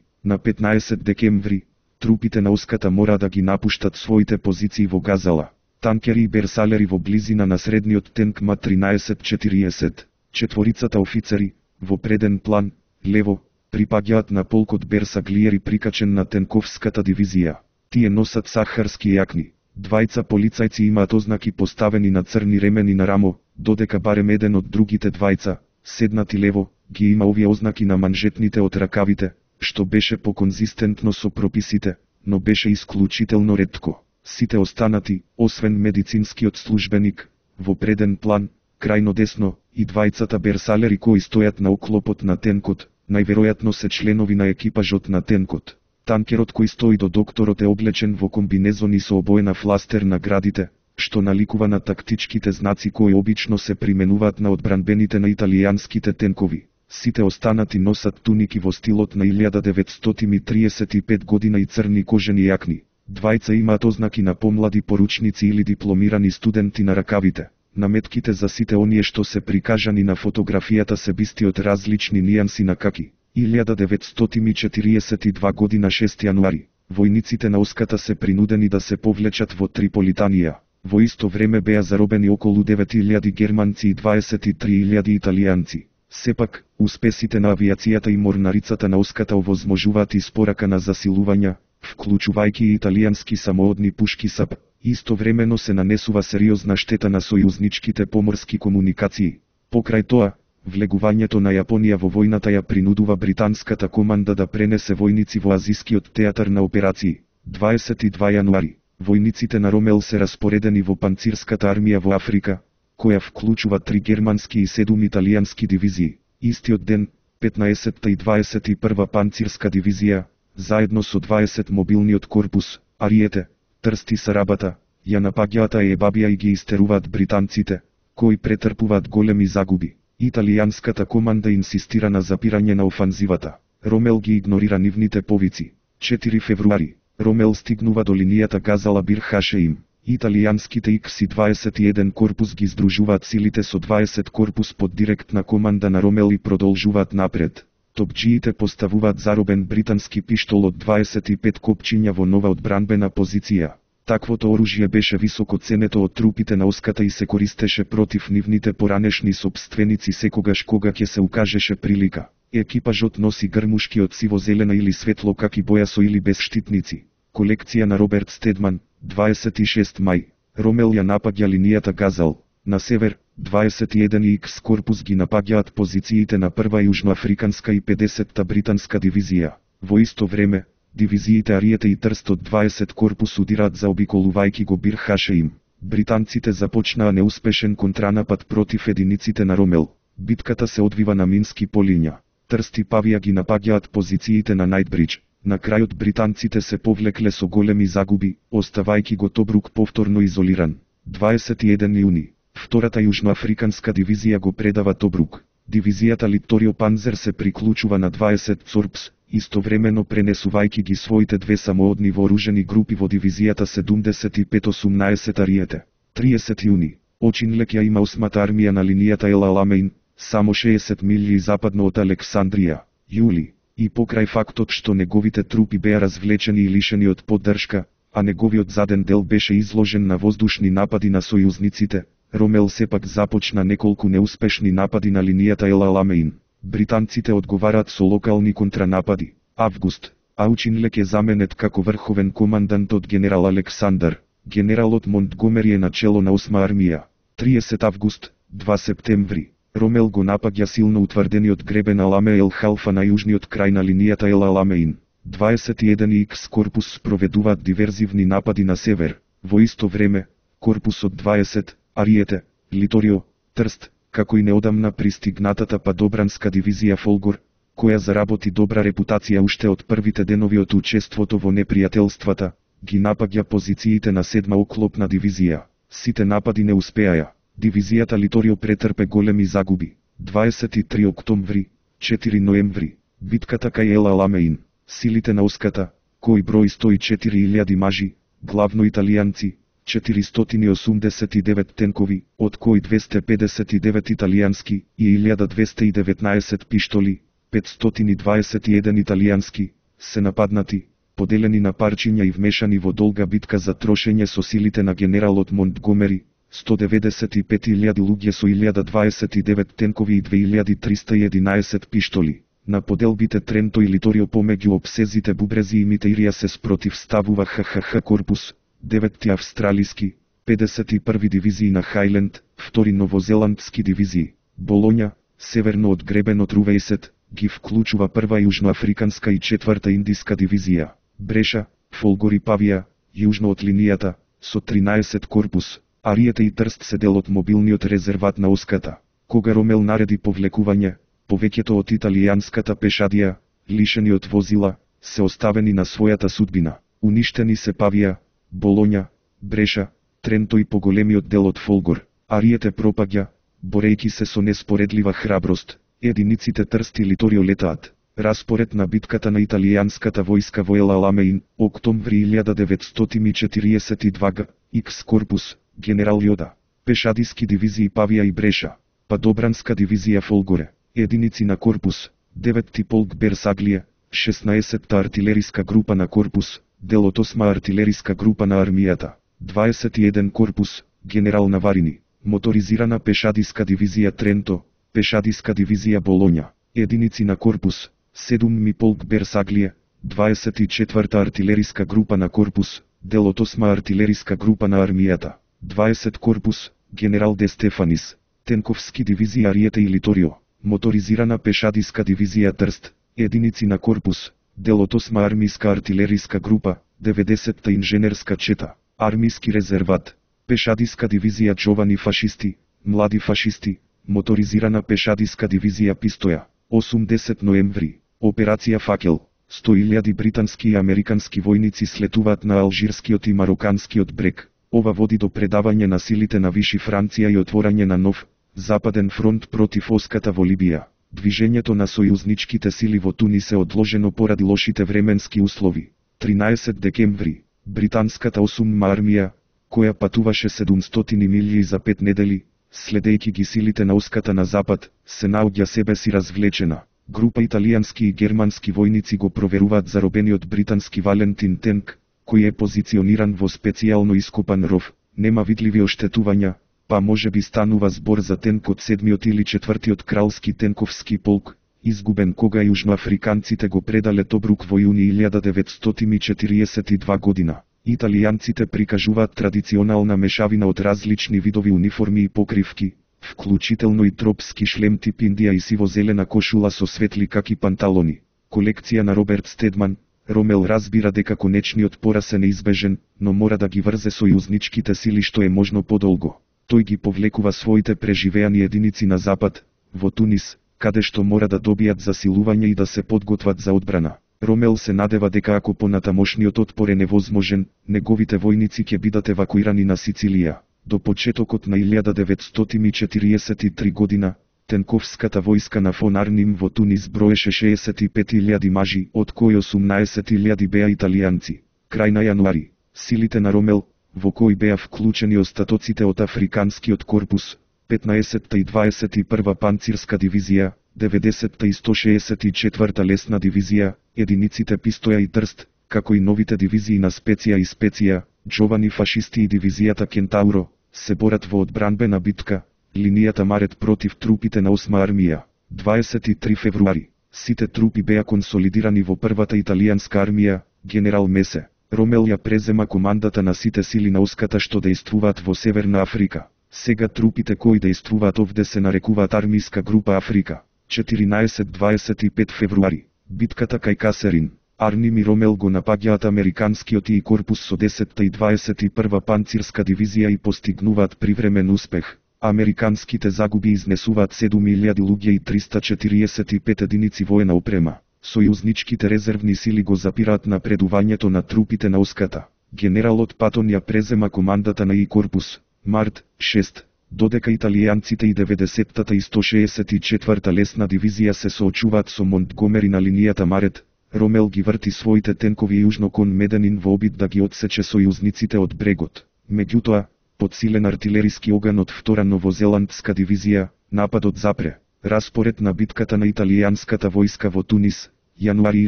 На 15 декември, трупите на Оската мора да ги напуштат своите позиции во Газала. Танкери и берсалери во близина на средниот тенк Ма-1340. Четворицата офицери, во преден план, лево, припаѓаат на полкот Берсаглиери прикачен на тенковската дивизија. Тие носат сахарски јакни. Двајца полицајци имаат ознаки поставени на црни ремени на рамо, додека барем еден од другите двајца, седнати лево, ги има овие ознаки на манжетните од ракавите, што беше поконзистентно со прописите, но беше исклучително ретко. Сите останати, освен медицинскиот службеник, во преден план, крајно десно, и двајцата берсалери кои стојат на оклопот на тенкот, најверојатно се членови на екипажот на тенкот. Танкерот кој стои до докторот е облечен во комбинезони со обоена фластер на градите, што наликува на тактичките знаци кои обично се применуваат на одбранбените на италијанските тенкови. Сите останати носат туники во стилот на 1935 година и црни кожени јакни. Двајца имаат ознаки на помлади поручници или дипломирани студенти на ракавите. Наметките за сите оние што се прикажани на фотографијата се бисти од различни нијанси на каки. 1942 година 6 јануари, војниците на Оската се принудени да се повлечат во Триполитанија. Во исто време беа заробени околу 9000 германци и 23.000 италијанци. Сепак, успесите на авиацијата и морнарицата на Оската овозможуваат испорака на засилувања, вклучувајќи и италијански самоодни пушки САП. Истовремено се нанесува сериозна штета на сојузничките поморски комуникации. Покрај тоа, влегувањето на Јапонија во војната ја принудува британската команда да пренесе војници во Азискиот театар на операции. 22 јануари, војниците на Ромел се распоредени во панцирската армија во Африка, која вклучува 3 германски и 7 италијански дивизии. Истиот ден, 15-та и 21 панцирска дивизија, заедно со 20 мобилниот корпус, Ариете, Трсти Сарабата, ја напаѓаат Ебабија и ги истеруваат британците, кои претрпуваат големи загуби. Италијанската команда инсистира на запирање на офанзивата. Ромел ги игнорира нивните повици. 4 февруари, Ромел стигнува до линијата Газала Бир Хашеим. Италијанските Х-21 корпус ги здружуваат силите со 20 корпус под директна команда на Ромел и продолжуваат напред. Топчиите поставуваат заробен британски пиштол од 25 копчиња во нова одбранбена позиција. Таквото оружје беше високо ценето од трупите на Оската и се користеше против нивните поранешни собственици секогаш кога ќе се укажеше прилика. Екипажот носи грмушки од сиво-зелена или светло каки боја со или без штитници. Колекција на Роберт Стедман, 26 мај. Ромел ја напаѓа линијата Газал. На север, 21 Х корпус ги напаѓаат позициите на прва јужноафриканска и 50-та британска дивизија. Во исто време, дивизиите Ариете и Трст од 20 корпус удираат заобиколувајќи го Бир Хашеим. Британците започнаа неуспешен контранапад против единиците на Ромел. Битката се одвива на мински полиња. Трст и Павија ги напаѓаат позициите на Најтбридж. На крајот британците се повлекле со големи загуби, оставајќи го Тобрук повторно изолиран. 21 јуни. Втората јужноафриканска дивизија го предава Тобрук. Дивизијата Литорио Панзер се приклучува на 20 Цорпс, истовремено пренесувајќи ги своите две самоодни вооружени групи во дивизијата 75-18 Ариете. 30 јуни. Очинлек ја има 8-та армија на линијата Ел Аламеин, само 60 милји западно од Александрија. Јули. И покрај фактот што неговите трупи беа развлечени и лишени од поддршка, а неговиот заден дел беше изложен на воздушни напади на сојузниците, Ромел сепак започна неколку неуспешни напади на линијата Ел Аламеин. Британците одговараат со локални контранапади. Август. Аучинлек е заменет како врховен командант од генерал Александар. Генералот Монтгомери е начело на 8 армија. 30 август, 2 септември. Ромел го напаѓа силно утврдениот гребен Аламе Ел Халфа на јужниот крај на линијата Ел Аламеин. 21 Х корпус спроведуваат диверзивни напади на север. Во исто време, корпусот 20, Ариете, Литорио, Трст, како и неодамна пристигнатата падобранска дивизија Фолгор, која заработи добра репутација уште од првите денови од учеството во непријателствата, ги напаѓа позициите на 7-ма оклопна дивизија. Сите напади не успеаја. Дивизијата Литорио претрпе големи загуби. 23 октомври, 4 ноември, битката кај Ел Аламеин. Силите на Оската, кои брои 104.000 мажи, главно италијанци, 489 тенкови, од кои 259 италијански и 1219 пиштоли, 521 италијански, се нападнати, поделени на парчиња и вмешани во долга битка за трошење со силите на генералот Монтгомери, 195.000 луѓе со 1029 тенкови и 2311 пиштоли. На поделбите Тренто и Литорио помеѓу обсезите Бубрези и Митеирија се спротивставува ХХХ корпус, 9 австралиски, 51 дивизии на Хајленд, 2 новозеландски дивизии, Болоња, северно од гребенот Рувејсет, ги вклучува 1 јужноафриканска и 4 индиска дивизија, Бреша, Фолгор и Павија, јужно од линијата, со 13 корпус, Ариете и Трст се дел од мобилниот резерват на Оската. Кога Ромел нареди повлекување, повеќето од италијанската пешадија, лишени од возила, се оставени на својата судбина. Уништени се Павија, Болоња, Бреша, Тренто и поголемиот дел од Фолгор. Ариете пропаѓа, борејќи се со неспоредлива храброст. Единиците Трст и Литорио летаат. Распоред на битката на италијанската војска во Ел Аламеин, октомври 1942 г. Икс корпус, генерал Јода. Пешадиски дивизии Павија и Бреша. Падобранска дивизија Фолгоре. Единици на корпус, 9-ти полк Берсаглија, 16-та артилериска група на корпус, дел од 8-ма артилериска група на армијата, 21 корпус, генерал Наварини, моторизирана пешадиска дивизија Тренто, пешадиска дивизија Болоња, единици на корпус, 7-ми полк Берсаглија, 24-та артилериска група на корпус, дел од 8-ма артилериска група на армијата, 20 корпус, генерал Де Стефанис, тенковски дивизии Ариете и Литорио, моторизирана пешадиска дивизија Трст, единици на корпус, дел од 8-ма армиска артилериска група, 90-та инженерска чета, армиски резерват, пешадиска дивизија Джовани фашисти, млади фашисти, моторизирана пешадиска дивизија Пистоја, 80 ноември, операција Факел, 100.000 британски и американски војници слетуваат на алжирскиот и мароканскиот брег. Ова води до предавање на силите на Виши Франција и отворање на нов, западен фронт против Оската во Либија. Движењето на сојузничките сили во Тунис е одложено поради лошите временски услови. 13 декември, британската 8-ма армија, која патуваше 700 милји за 5 недели, следејќи ги силите на Оската на запад, се наоѓа себе си развлечена. Група италијански и германски војници го проверуваат заробениот британски Валентин тенк, кој е позициониран во специјално ископан ров. Нема видливи оштетувања, па може би станува збор за тенк од 7-тиот или 4-тиот кралски тенковски полк, изгубен кога јужноафриканците го предале Тобрук во јуни 1942 година. Италијанците прикажуваат традиционална мешавина од различни видови униформи и покривки, вклучително и тропски шлем тип Индија и сиво-зелена кошула со светли каки панталони. Колекција на Роберт Стедман. Ромел разбира дека конечниот пораз е неизбежен, но мора да ги врзе сојузничките сили што е можно подолго. Тој ги повлекува своите преживеани единици на запад, во Тунис, каде што мора да добијат засилување и да се подготват за одбрана. Ромел се надева дека ако понатамошниот отпор е невозможен, неговите војници ќе бидат евакуирани на Сицилија. До почетокот на 1943 година, тенковската војска на фон Арним во Тунис броеше 65.000 мажи, од кои 18.000 беа италијанци. Крај на јануари, силите на Ромел, во кои беа вклучени остатоците од Африканскиот корпус, 15-та и 21-ва панцирска дивизија, 90-та и 164-та лесна дивизија, единиците Пистоја и Трст, како и новите дивизии на Специја и Специја, Джовани фашисти и дивизијата Кентауро, се борат во одбранбена битка, линијата Марет против трупите на 8-ма армија. 23 февруари, сите трупи беа консолидирани во првата италијанска армија, генерал Месе. Ромел ја презема командата на сите сили на Оската што дејствуваат во Северна Африка. Сега трупите кои дејствуваат овде се нарекуваат армиска група Африка. 14-25 февруари, битката кај Касерин. Арним и Ромел го напаѓаат американскиот и корпус со 10-та и 21-ва панцирска дивизија и постигнуваат привремен успех. Американските загуби изнесуваат 7.000 луѓе и 345 единици воена опрема. Сојузничките резервни сили го запираат напредувањето на трупите на Оската. Генералот Патон ја презема командата на и корпус, март, 6, додека италијанците и 90-та и 164-та лесна дивизија се соочуваат со Монтгомери на линијата Марет, Ромел ги врти своите тенкови јужно кон Меденин во обид да ги отсече сојузниците од брегот. Меѓутоа, подсилен артилериски оган од втора новозеландска дивизија, нападот запре. Распоред на битката на италијанската војска во Тунис, јануари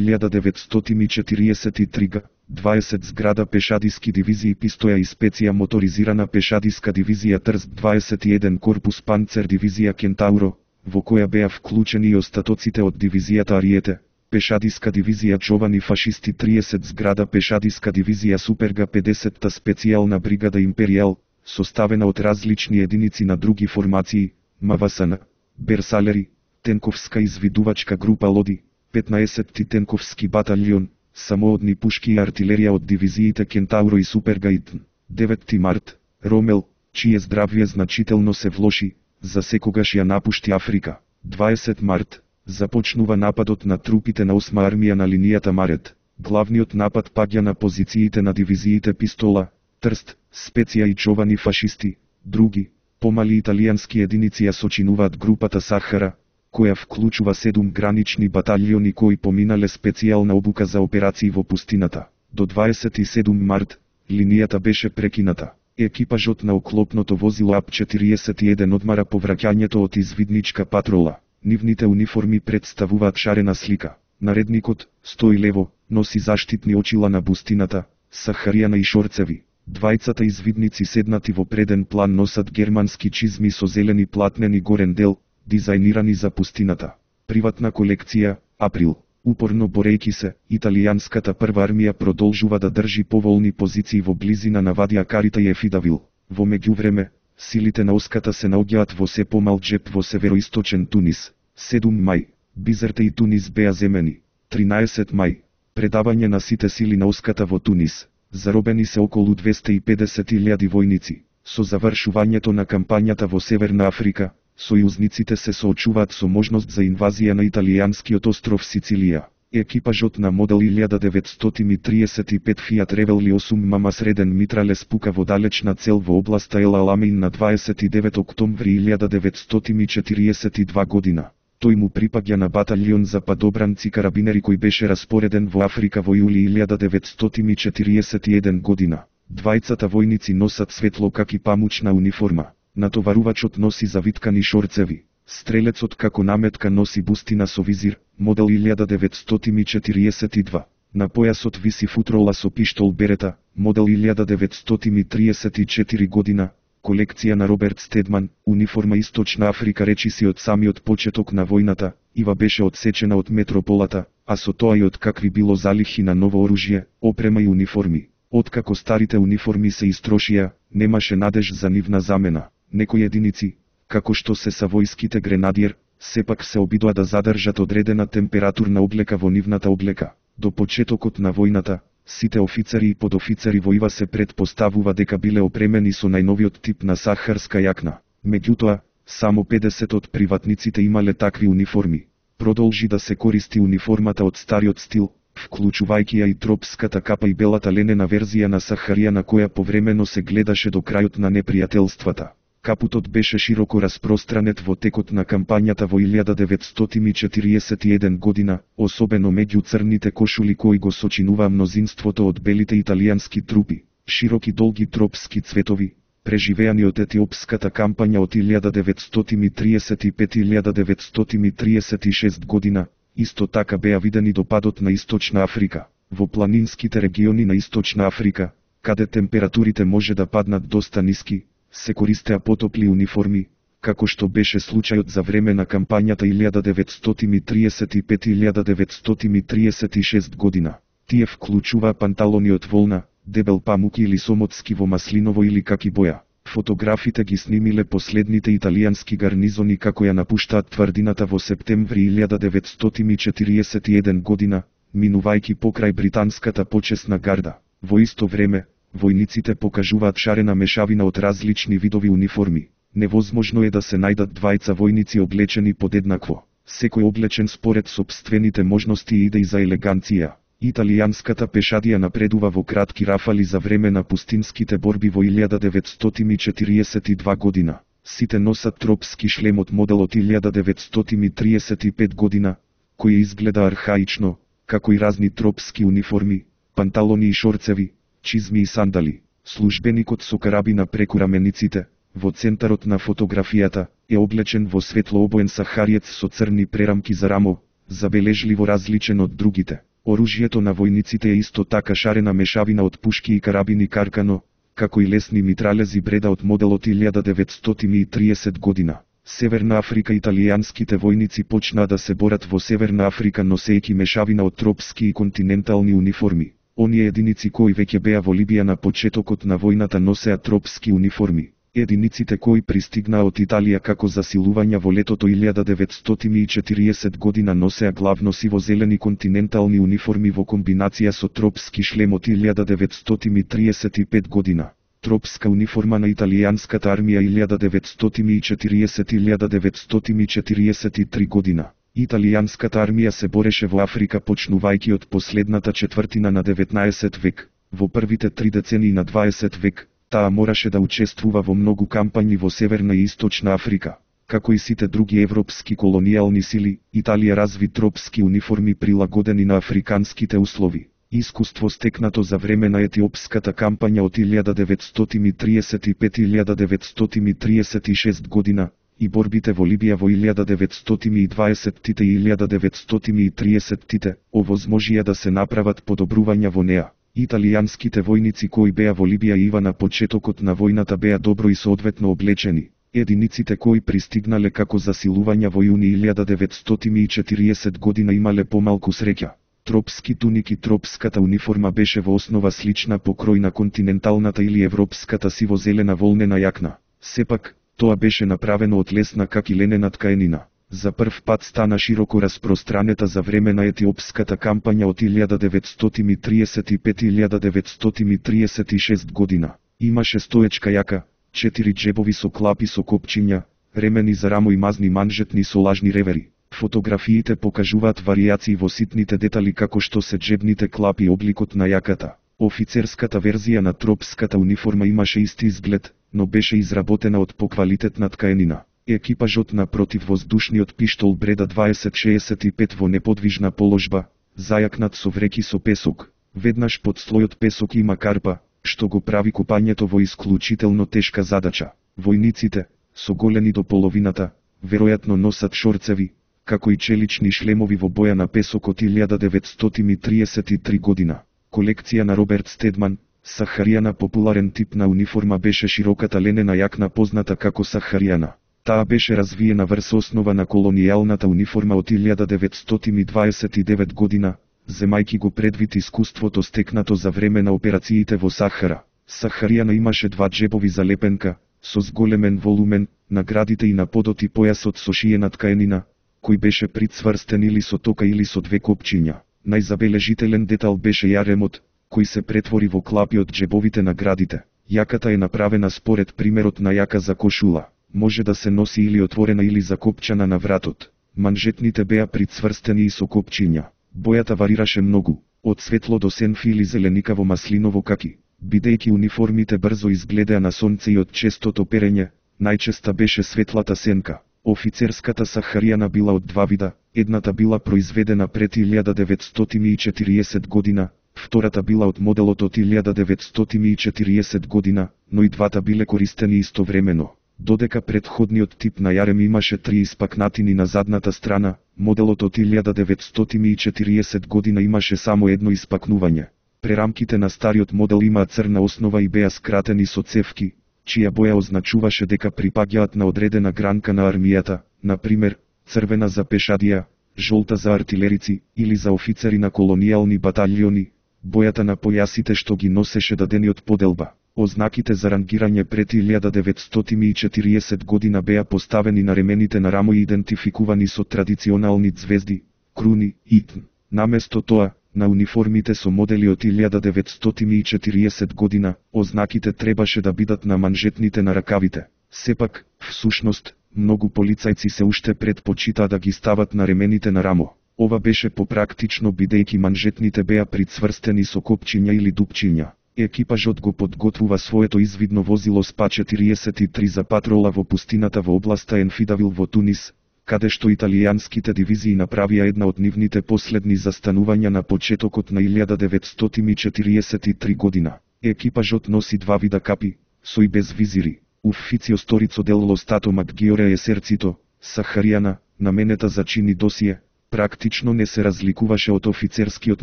1943 г. 20 зграда пешадиски дивизии Пистоја и специја моторизирана пешадиска дивизија Трст 21 корпус Панцер дивизија Кентауро, во која беа вклучени и остатоците од дивизијата Ариете, пешадиска дивизија Джовани фашисти 30 зграда пешадиска дивизија Суперга 50-та специјална бригада Империјал, составена од различни единици на други формации, МВСН, Берсалери, тенковска извидувачка група Лоди, 15-ти тенковски баталјон, самоодни пушки и артилерија од дивизиите Кентауро и Суперга ИТН. 9 март, Ромел, чие здравје значително се влоши, за секогаш ја напушти Африка. 20 март, започнува нападот на трупите на 8 армија на линијата Марет. Главниот напад паѓа на позициите на дивизиите Пистола, Трст, Специја и Човани фашисти. Други, помали италијански единици ја сочинуваат групата Сахара, која вклучува 7 гранични баталјони кои поминале специјална обука за операции во пустината. До 27 март, линијата беше прекината. Екипажот на оклопното возило АП-41 одмара по враќањето од извидничка патрола. Нивните униформи представуваат шарена слика. Наредникот, стои лево, носи заштитни очила на бустината, сахаријана и шорцеви. Двајцата извидници седнати во преден план носат германски чизми со зелени платнени горен дел, дизајнирани за пустината. Приватна колекција, април. Упорно борејки се, италијанската прва армија продолжува да држи поволни позиции во близина на Вадија Карита и Ефидавил. Во меѓувреме, силите на Оската се наоѓаат во се помал џеп во североисточен Тунис. 7 мај. Бизерте и Тунис беа земени. 13 мај. Предавање на сите сили на Оската во Тунис. Заробени се околу 250.000 војници. Со завршувањето на кампањата во Северна Африка, сојузниците се соочуваат со можност за инвазија на италијанскиот остров Сицилија. Екипажот на модел 1935 Fiat Revelli 8 мама среден митрале спука во далечна цел во областа Ел Аламейн на 29 октомври 1942 година. Тој му припаѓа на баталјон за падобранци карабинери кој беше распореден во Африка во јули 1941 година. Двајцата војници носат светло каки памучна униформа. Натоварувачот носи завиткани шорцеви. Стрелецот како наметка носи бустина со визир, модел 1942. На појасот виси футрола со пиштол Берета, модел 1934 година, колекција на Роберт Стедман, униформа Источна Африка речиси од самиот почеток на војната, ива беше одсечена од метрополата, а со тоа и од какви било залихи на ново оружје, опрема и униформи. Откако старите униформи се истрошија, немаше надеж за нивна замена. Некои единици, како што се са војските гренадиер, сепак се обидоа да задржат одредена температурна облека во нивната облека. До почетокот на војната, сите офицери и подофицери во ИВА се предпоставува дека биле опремени со најновиот тип на сахарска јакна. Меѓутоа, само 50 од приватниците имале такви униформи. Продолжи да се користи униформата од стариот стил, вклучувајќи ја и тропската капа и белата ленена верзија на сахарија на која повремено се гледаше до крајот на непријателствата. Капутот беше широко распространет во текот на кампањата во 1941 година, особено меѓу црните кошули кои го сочинуваа мнозинството од белите италијански трупи. Широки долги тропски цветови, преживеани од етиопската кампања од 1935-1936 година, исто така беа видени до падот на Источна Африка. Во планинските региони на Источна Африка, каде температурите може да паднат доста ниски, се користеа потопли униформи, како што беше случајот за време на кампањата 1935-1936 година. Тие вклучуваа панталони од волна, дебел памук или сомотски во маслиново или каки боја. Фотографите ги снимиле последните италијански гарнизони како ја напуштаат тврдината во септември 1941 година, минувајќи покрај британската почесна гарда. Во исто време, војниците покажуваат шарена мешавина од различни видови униформи. Невозможно е да се најдат двајца војници облечени подеднакво. Секој облечен според сопствените можности и идеи за елеганција. Италијанската пешадија напредува во кратки рафали за време на пустинските борби во 1942 година. Сите носат тропски шлем од модел од 1935 година, кој изгледа архаично, како и разни тропски униформи, панталони и шорцеви, чизми и сандали. Службеникот со карабина преку рамениците, во центарот на фотографијата, е облечен во светлообоен сахариец со црни прерамки за рамо, забележливо различен од другите. Оружјето на војниците е исто така шарена мешавина од пушки и карабини Каркано, како и лесни митралези Бреда од моделот 1930 година. Северна Африка. Италијанските војници почнаа да се борат во Северна Африка носејќи мешавина од тропски и континентални униформи. Оние единици кои веќе беа во Либија на почетокот на војната носеа тропски униформи. Единиците кои пристигнаа од Италија како засилувања во летото 1940 година носеа главно сиво-зелени континентални униформи во комбинација со тропски шлем од 1935 година. Тропска униформа на италијанската армија 1940-1943 година. Италијанската армија се бореше во Африка почнувајќи од последната четвртина на 19 век. Во првите 3 децении на 20 век, таа мораше да учествува во многу кампањи во Северна и Источна Африка. Како и сите други европски колонијални сили, Италија разви тропски униформи прилагодени на африканските услови. Искуство стекнато за време на етиопската кампања од 1935-1936 година, и борбите во Либија во 1920-тите и 1930-тите, овозможија да се направат подобрувања во неа. Италијанските војници кои беа во Либија ива на почетокот на војната беа добро и соодветно облечени. Единиците кои пристигнале како засилувања во јуни 1940 година имале помалку среќа. Тропски туник и тропската униформа беше во основа слична по крој на континенталната или европската сиво-зелена волнена јакна. Сепак, тоа беше направено од лесна как и ленена ткаенина. За прв пат стана широко распространета за време на етиопската кампања од 1935-1936 година. Имаше стоечка јака, 4 џебови со клапи со копчиња, ремени за рамо и мазни манжетни со лажни ревери. Фотографиите покажуваат варијации во ситните детали како што се џебните клапи и обликот на јаката. Офицерската верзија на тропската униформа имаше исти изглед, но беше изработена од поквалитетна ткаенина. Екипажот на противвоздушниот пиштол Бреда 2065 во неподвижна положба, зајакнат со вреки со песок. Веднаш под слојот песок има карпа, што го прави копањето во исклучително тешка задача. Војниците, со голени до половината, веројатно носат шорцеви, како и челични шлемови во боја на песок од 1933 година. Колекција на Роберт Стедман, сахаријана популарен тип на униформа беше широката ленена јакна позната како сахаријана. Таа беше развиена врз основа на колонијалната униформа од 1929 година, земајки го предвид искуството стекнато за време на операциите во Сахара. Сахаријана имаше 2 џебови за лепенка, со зголемен волумен, на градите и на подот и појасот со шиена ткаенина, кој беше прицврстен или со тока или со 2 копчиња. Најзабележителен детал беше јаремот, кој се претвори во клапи од џебовите на градите. Јаката е направена според примерот на јака за кошула. Може да се носи или отворена или закопчана на вратот. Манжетните беа прицврстени и со копчиња. Бојата варираше многу, од светло до сенфи или зеленикаво маслиново каки. Бидејќи униформите брзо изгледаа на сонце и од честото перење, најчеста беше светлата сенка. Офицерската сахаријана била од 2 вида, едната била произведена пред 1940 година, втората била од моделот од 1940 година, но и двата биле користени истовремено. Додека претходниот тип на јарем имаше 3 испакнатини на задната страна, моделот од 1940 година имаше само едно испакнување. Прерамките на стариот модел имаа црна основа и беа скратени со цевки, чија боја означуваше дека припаѓаат на одредена гранка на армијата, например, црвена за пешадија, жолта за артилерици или за офицери на колонијални баталјони. Бојата на појасите што ги носеше дадениот поделба. Ознаките за рангирање пред 1940 година беа поставени на ремените на рамо и идентификувани со традиционални ѕвезди, круни и т. Наместо тоа, на униформите со модели од 1940 година, ознаките требаше да бидат на манжетните на ракавите. Сепак, всушност, многу полицајци се уште предпочитаа да ги стават на ремените на рамо. Ова беше попрактично бидејќи манжетните беа прицврстени со копчиња или дупчиња. Екипажот го подготвува своето извидно возило СПА-43 за патрола во пустината во областа Енфидавил во Тунис, каде што италијанските дивизии направија една од нивните последни застанувања на почетокот на 1943 година. Екипажот носи два вида капи, со и без визири. Ufficio storico dello Stato Maggiore Esercito, Сахаријана, наменета за чини досие, практично не се разликуваше од офицерскиот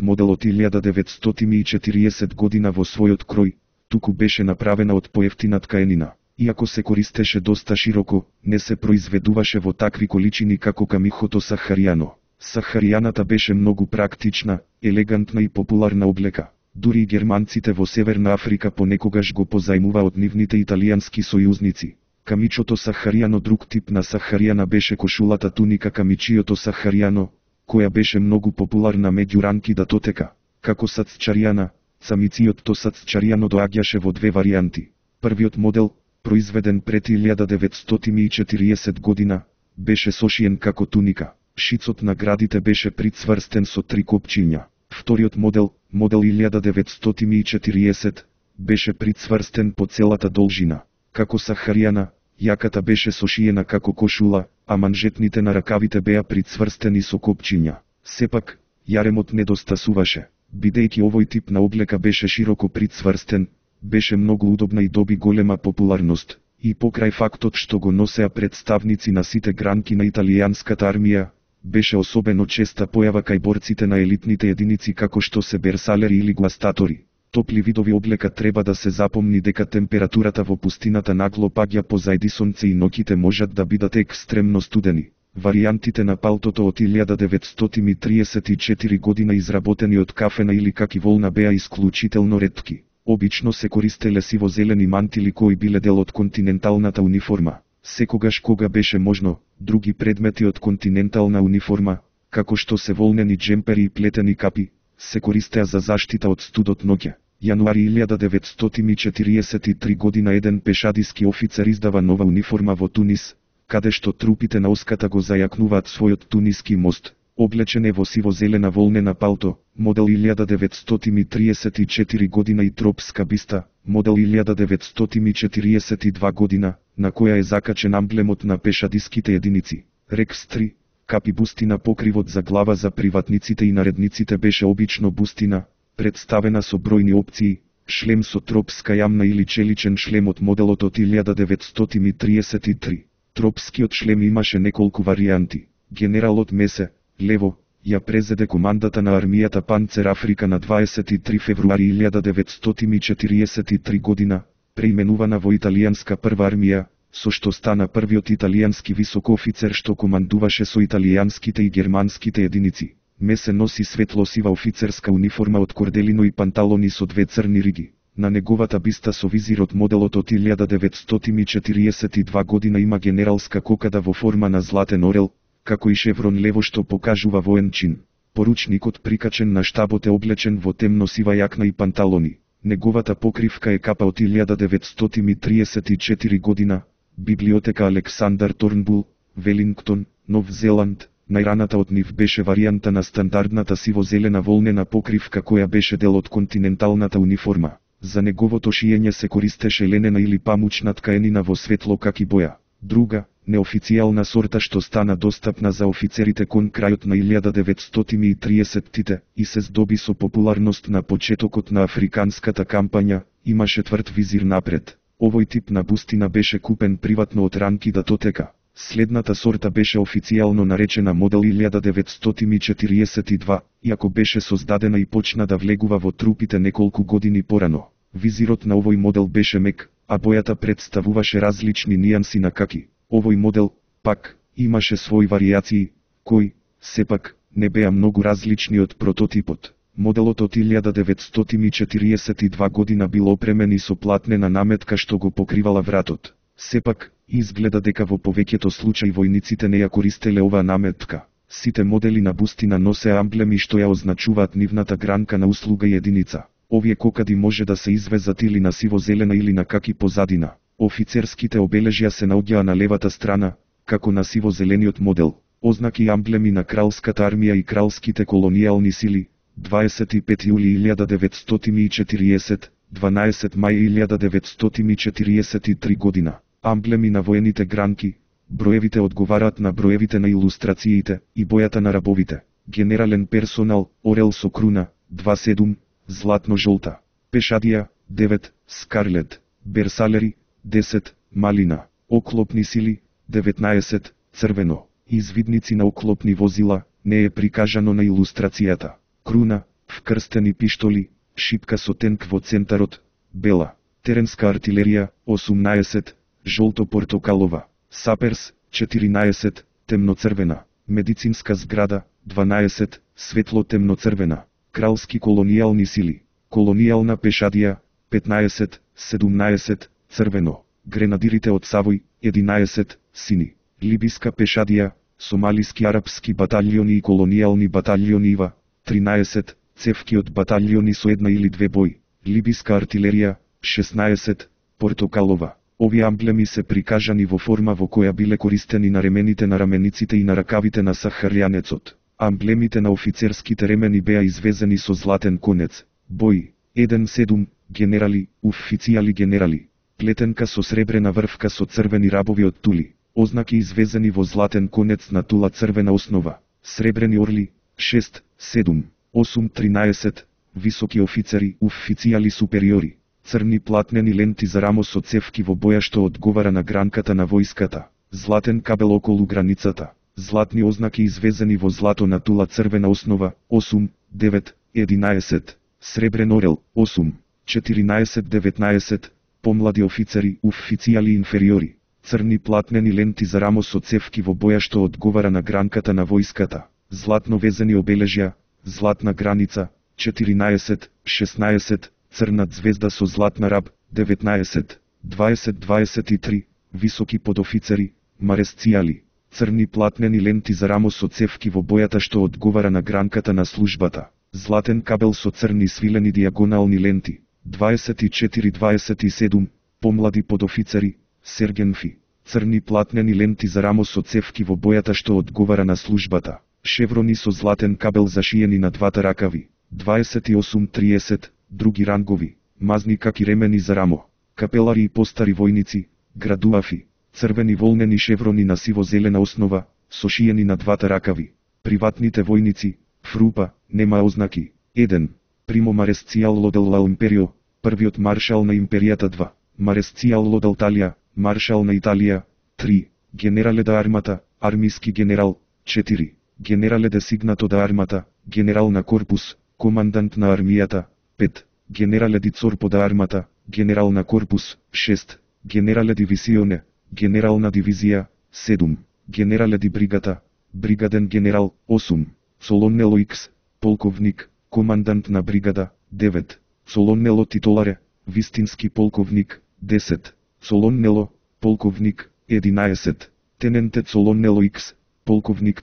модел од 1940 година во својот крој, туку беше направена од поевтина ткаенина. Иако се користеше доста широко, не се произведуваше во такви количини како камихото Сахаријано. Сахаријаната беше многу практична, елегантна и популарна облека. Дури и германците во Северна Африка понекогаш го позајмува од нивните италијански сојузници. Камичото Сахаријано. Друг тип на Сахаријана беше кошулата туника камичиото Сахаријано, која беше многу популарна меѓу ранки да тотека. Како сацчаријана, самициот сацчаријано доаѓаше во две варијанти. Првиот модел, произведен пред 1940 година, беше сошиен како туника. Шицот на градите беше прицврстен со три копчиња. Вториот модел, модел 1940, беше прицврстен по целата должина. Како Сахаријана, јаката беше сошиена како кошула, а манжетните на ракавите беа прицврстени со копчиња. Сепак, јаремот недостасуваше. Бидејќи овој тип на облека беше широко прицврстен, беше многу удобна и доби голема популарност. И покрај фактот што го носеа представници на сите гранки на италијанската армија, беше особено честа појава кај борците на елитните единици како што се берсалери или гуастатори. Топли видови облека треба да се запомни дека температурата во пустината нагло паѓа позајди сонце и ноќите можат да бидат екстремно студени. Варијантите на палтото од 1934 година изработени од кафена или каки волна беа исклучително ретки. Обично се користеле сиво-зелени мантили кои биле дел од континенталната униформа. Секогаш кога беше можно, други предмети од континентална униформа, како што се волнени джемпери и плетени капи, се користеа за заштита од студот ноќе. Јануари 1943 година еден пешадиски офицер издава нова униформа во Тунис, каде што трупите на оската го зајакнуваат својот туниски мост. Облечен е во сиво-зелена волнена палто, модел 1934 година и тропска биста, модел 1942 година, на која е закачен амблемот на пешадиските единици. Рекс 3, капи бустина. Покривот за глава за приватниците и наредниците беше обично бустина, представена со бројни опции, шлем со тропска јамна или челичен шлем од моделот од 1933. Тропскиот шлем имаше неколку варијанти. Генералот Месе, лево, ја презеде командата на армијата Панцер Африка на 23 февруари 1943 година, преименувана во италијанска прва армија, со што стана првиот италијански висок офицер што командуваше со италијанските и германските единици. Месе носи светло-сива офицерска униформа од корделино и панталони со две црни риги. На неговата биста со визирот моделот од 1942 година има генералска кокада во форма на златен орел, како и шеврон лево што покажува воен чин. Поручникот прикачен на штабот е облечен во темно-сива јакна и панталони. Неговата покривка е капа од 1934 година, библиотека Александар Торнбул, Велингтон, Нов Зеланд. Најраната од нив беше варијанта на стандардната сиво-зелена волнена покривка која беше дел од континенталната униформа. За неговото шиење се користеше ленена или памучна ткаенина во светло каки боја. Друга, неофицијална сорта што стана достапна за офицерите кон крајот на 1930-тите и се здоби со популарност на почетокот на африканската кампања, имаше тврд визир напред. Овој тип на бустина беше купен приватно од ранки да тотека. Следната сорта беше официјално наречена модел 1942, иако беше создадена и почна да влегува во трупите неколку години порано. Визирот на овој модел беше мек, а бојата представуваше различни нијанси на каки. Овој модел, пак, имаше своји варијации, кои, сепак, не беа многу различни од прототипот. Моделот од 1942 година бил опремен и со платнена наметка што го покривала вратот. Сепак, изгледа дека во повеќето случаи војниците не ја користеле оваа наметка. Сите модели на бустина носеа амблеми што ја означуваат нивната гранка на услуга и единица. Овие кокади може да се извезат или на сиво-зелена или на каки позадина. Офицерските обележја се наоѓаа на левата страна, како на сиво-зелениот модел. Ознаки и амблеми на кралската армија и кралските колонијални сили. 25 јули 1940, 12 мај 1943 година. Амблеми на воените гранки. Броевите одговараат на броевите на илустрациите и бојата на рабовите. Генерален персонал, орел со круна, 2-7, златно-жолта. Пешадија, 9, скарлет. Берсалери, 10, малина. Оклопни сили, 19, црвено. Извидници на оклопни возила, не е прикажано на илустрацијата. Круна, вкрстени пиштоли, шипка со тенк во центарот, бела. Теренска артилерија, 18, жолто-портокалова. Саперс, 14, темноцрвена. Медицинска зграда, 12, светло-темноцрвена. Кралски колонијални сили. Колонијална пешадија, 15, 17, црвено. Гренадирите од Савој, 11, сини. Либиска пешадија, сомалиски арапски баталјони и колонијални баталјони ИВА, 13, цевки од баталјони со една или две бој. Либиска артилерија, 16, портокалова. Овие амблеми се прикажани во форма во која биле користени на ремените на рамениците и на ракавите на сахарјанецот. Амблемите на офицерските ремени беа извезени со златен конец. Бој, 1-7, генерали, официјали генерали. Плетенка со сребрена врвка со црвени рабови од тули. Ознаки извезени во златен конец на тула црвена основа. Сребрени орли, 6, 7, 8, 13, високи офицери, официјали супериори. Црни платнени ленти за рамо со цевки во боја што одговара на гранката на војската. Златен кабел околу границата. Златни ознаки извезени во злато на тула црвена основа, 8, 9, 11. Сребрен орел, 8, 14, 19. Помлади офицери, официјали инфериори. Црни платнени ленти за рамо со цевки во боја што одговара на гранката на војската. Златно везени обележја, златна граница, 14, 16. Црна звезда со златна раб, 19, 20, 23. Високи подофицери, маресцијали. Црни платнени ленти за рамо со цевки во бојата што одговара на гранката на службата. Златен кабел со црни свилени диагонални ленти, 24-27. Помлади подофицери, сергенфи. Црни платнени ленти за рамо со цевки во бојата што одговара на службата. Шеврони со златен кабел зашиени на двата ракави, 28-30. Други рангови, мазни каки ремени за рамо. Капелари и постари војници, градуафи. Црвени волнени шеврони на сиво-зелена основа, сошиени на двата ракави. Приватните војници, фрупа, нема ознаки. 1. Примо Маресцијало дел ла Империо, првиот маршал на империјата. 2. Маресцијало дел Талија, маршал на Италија. 3. Генерале да армата, армиски генерал. 4. Генерале де сигнато да армата, генерал на корпус, командант на армијата. 5. Генерале ди цорпо да армата, генерал на корпус. 6. Генерале дивисионе, генерал на дивизија. 7. Генерале ди бригата, бригаден генерал. 8. Солоннело Икс, полковник, командант на бригада. 9. Солоннело титуларе, вистински полковник. 10. Солоннело, полковник. 11. Тененте Солоннело Икс, полковник.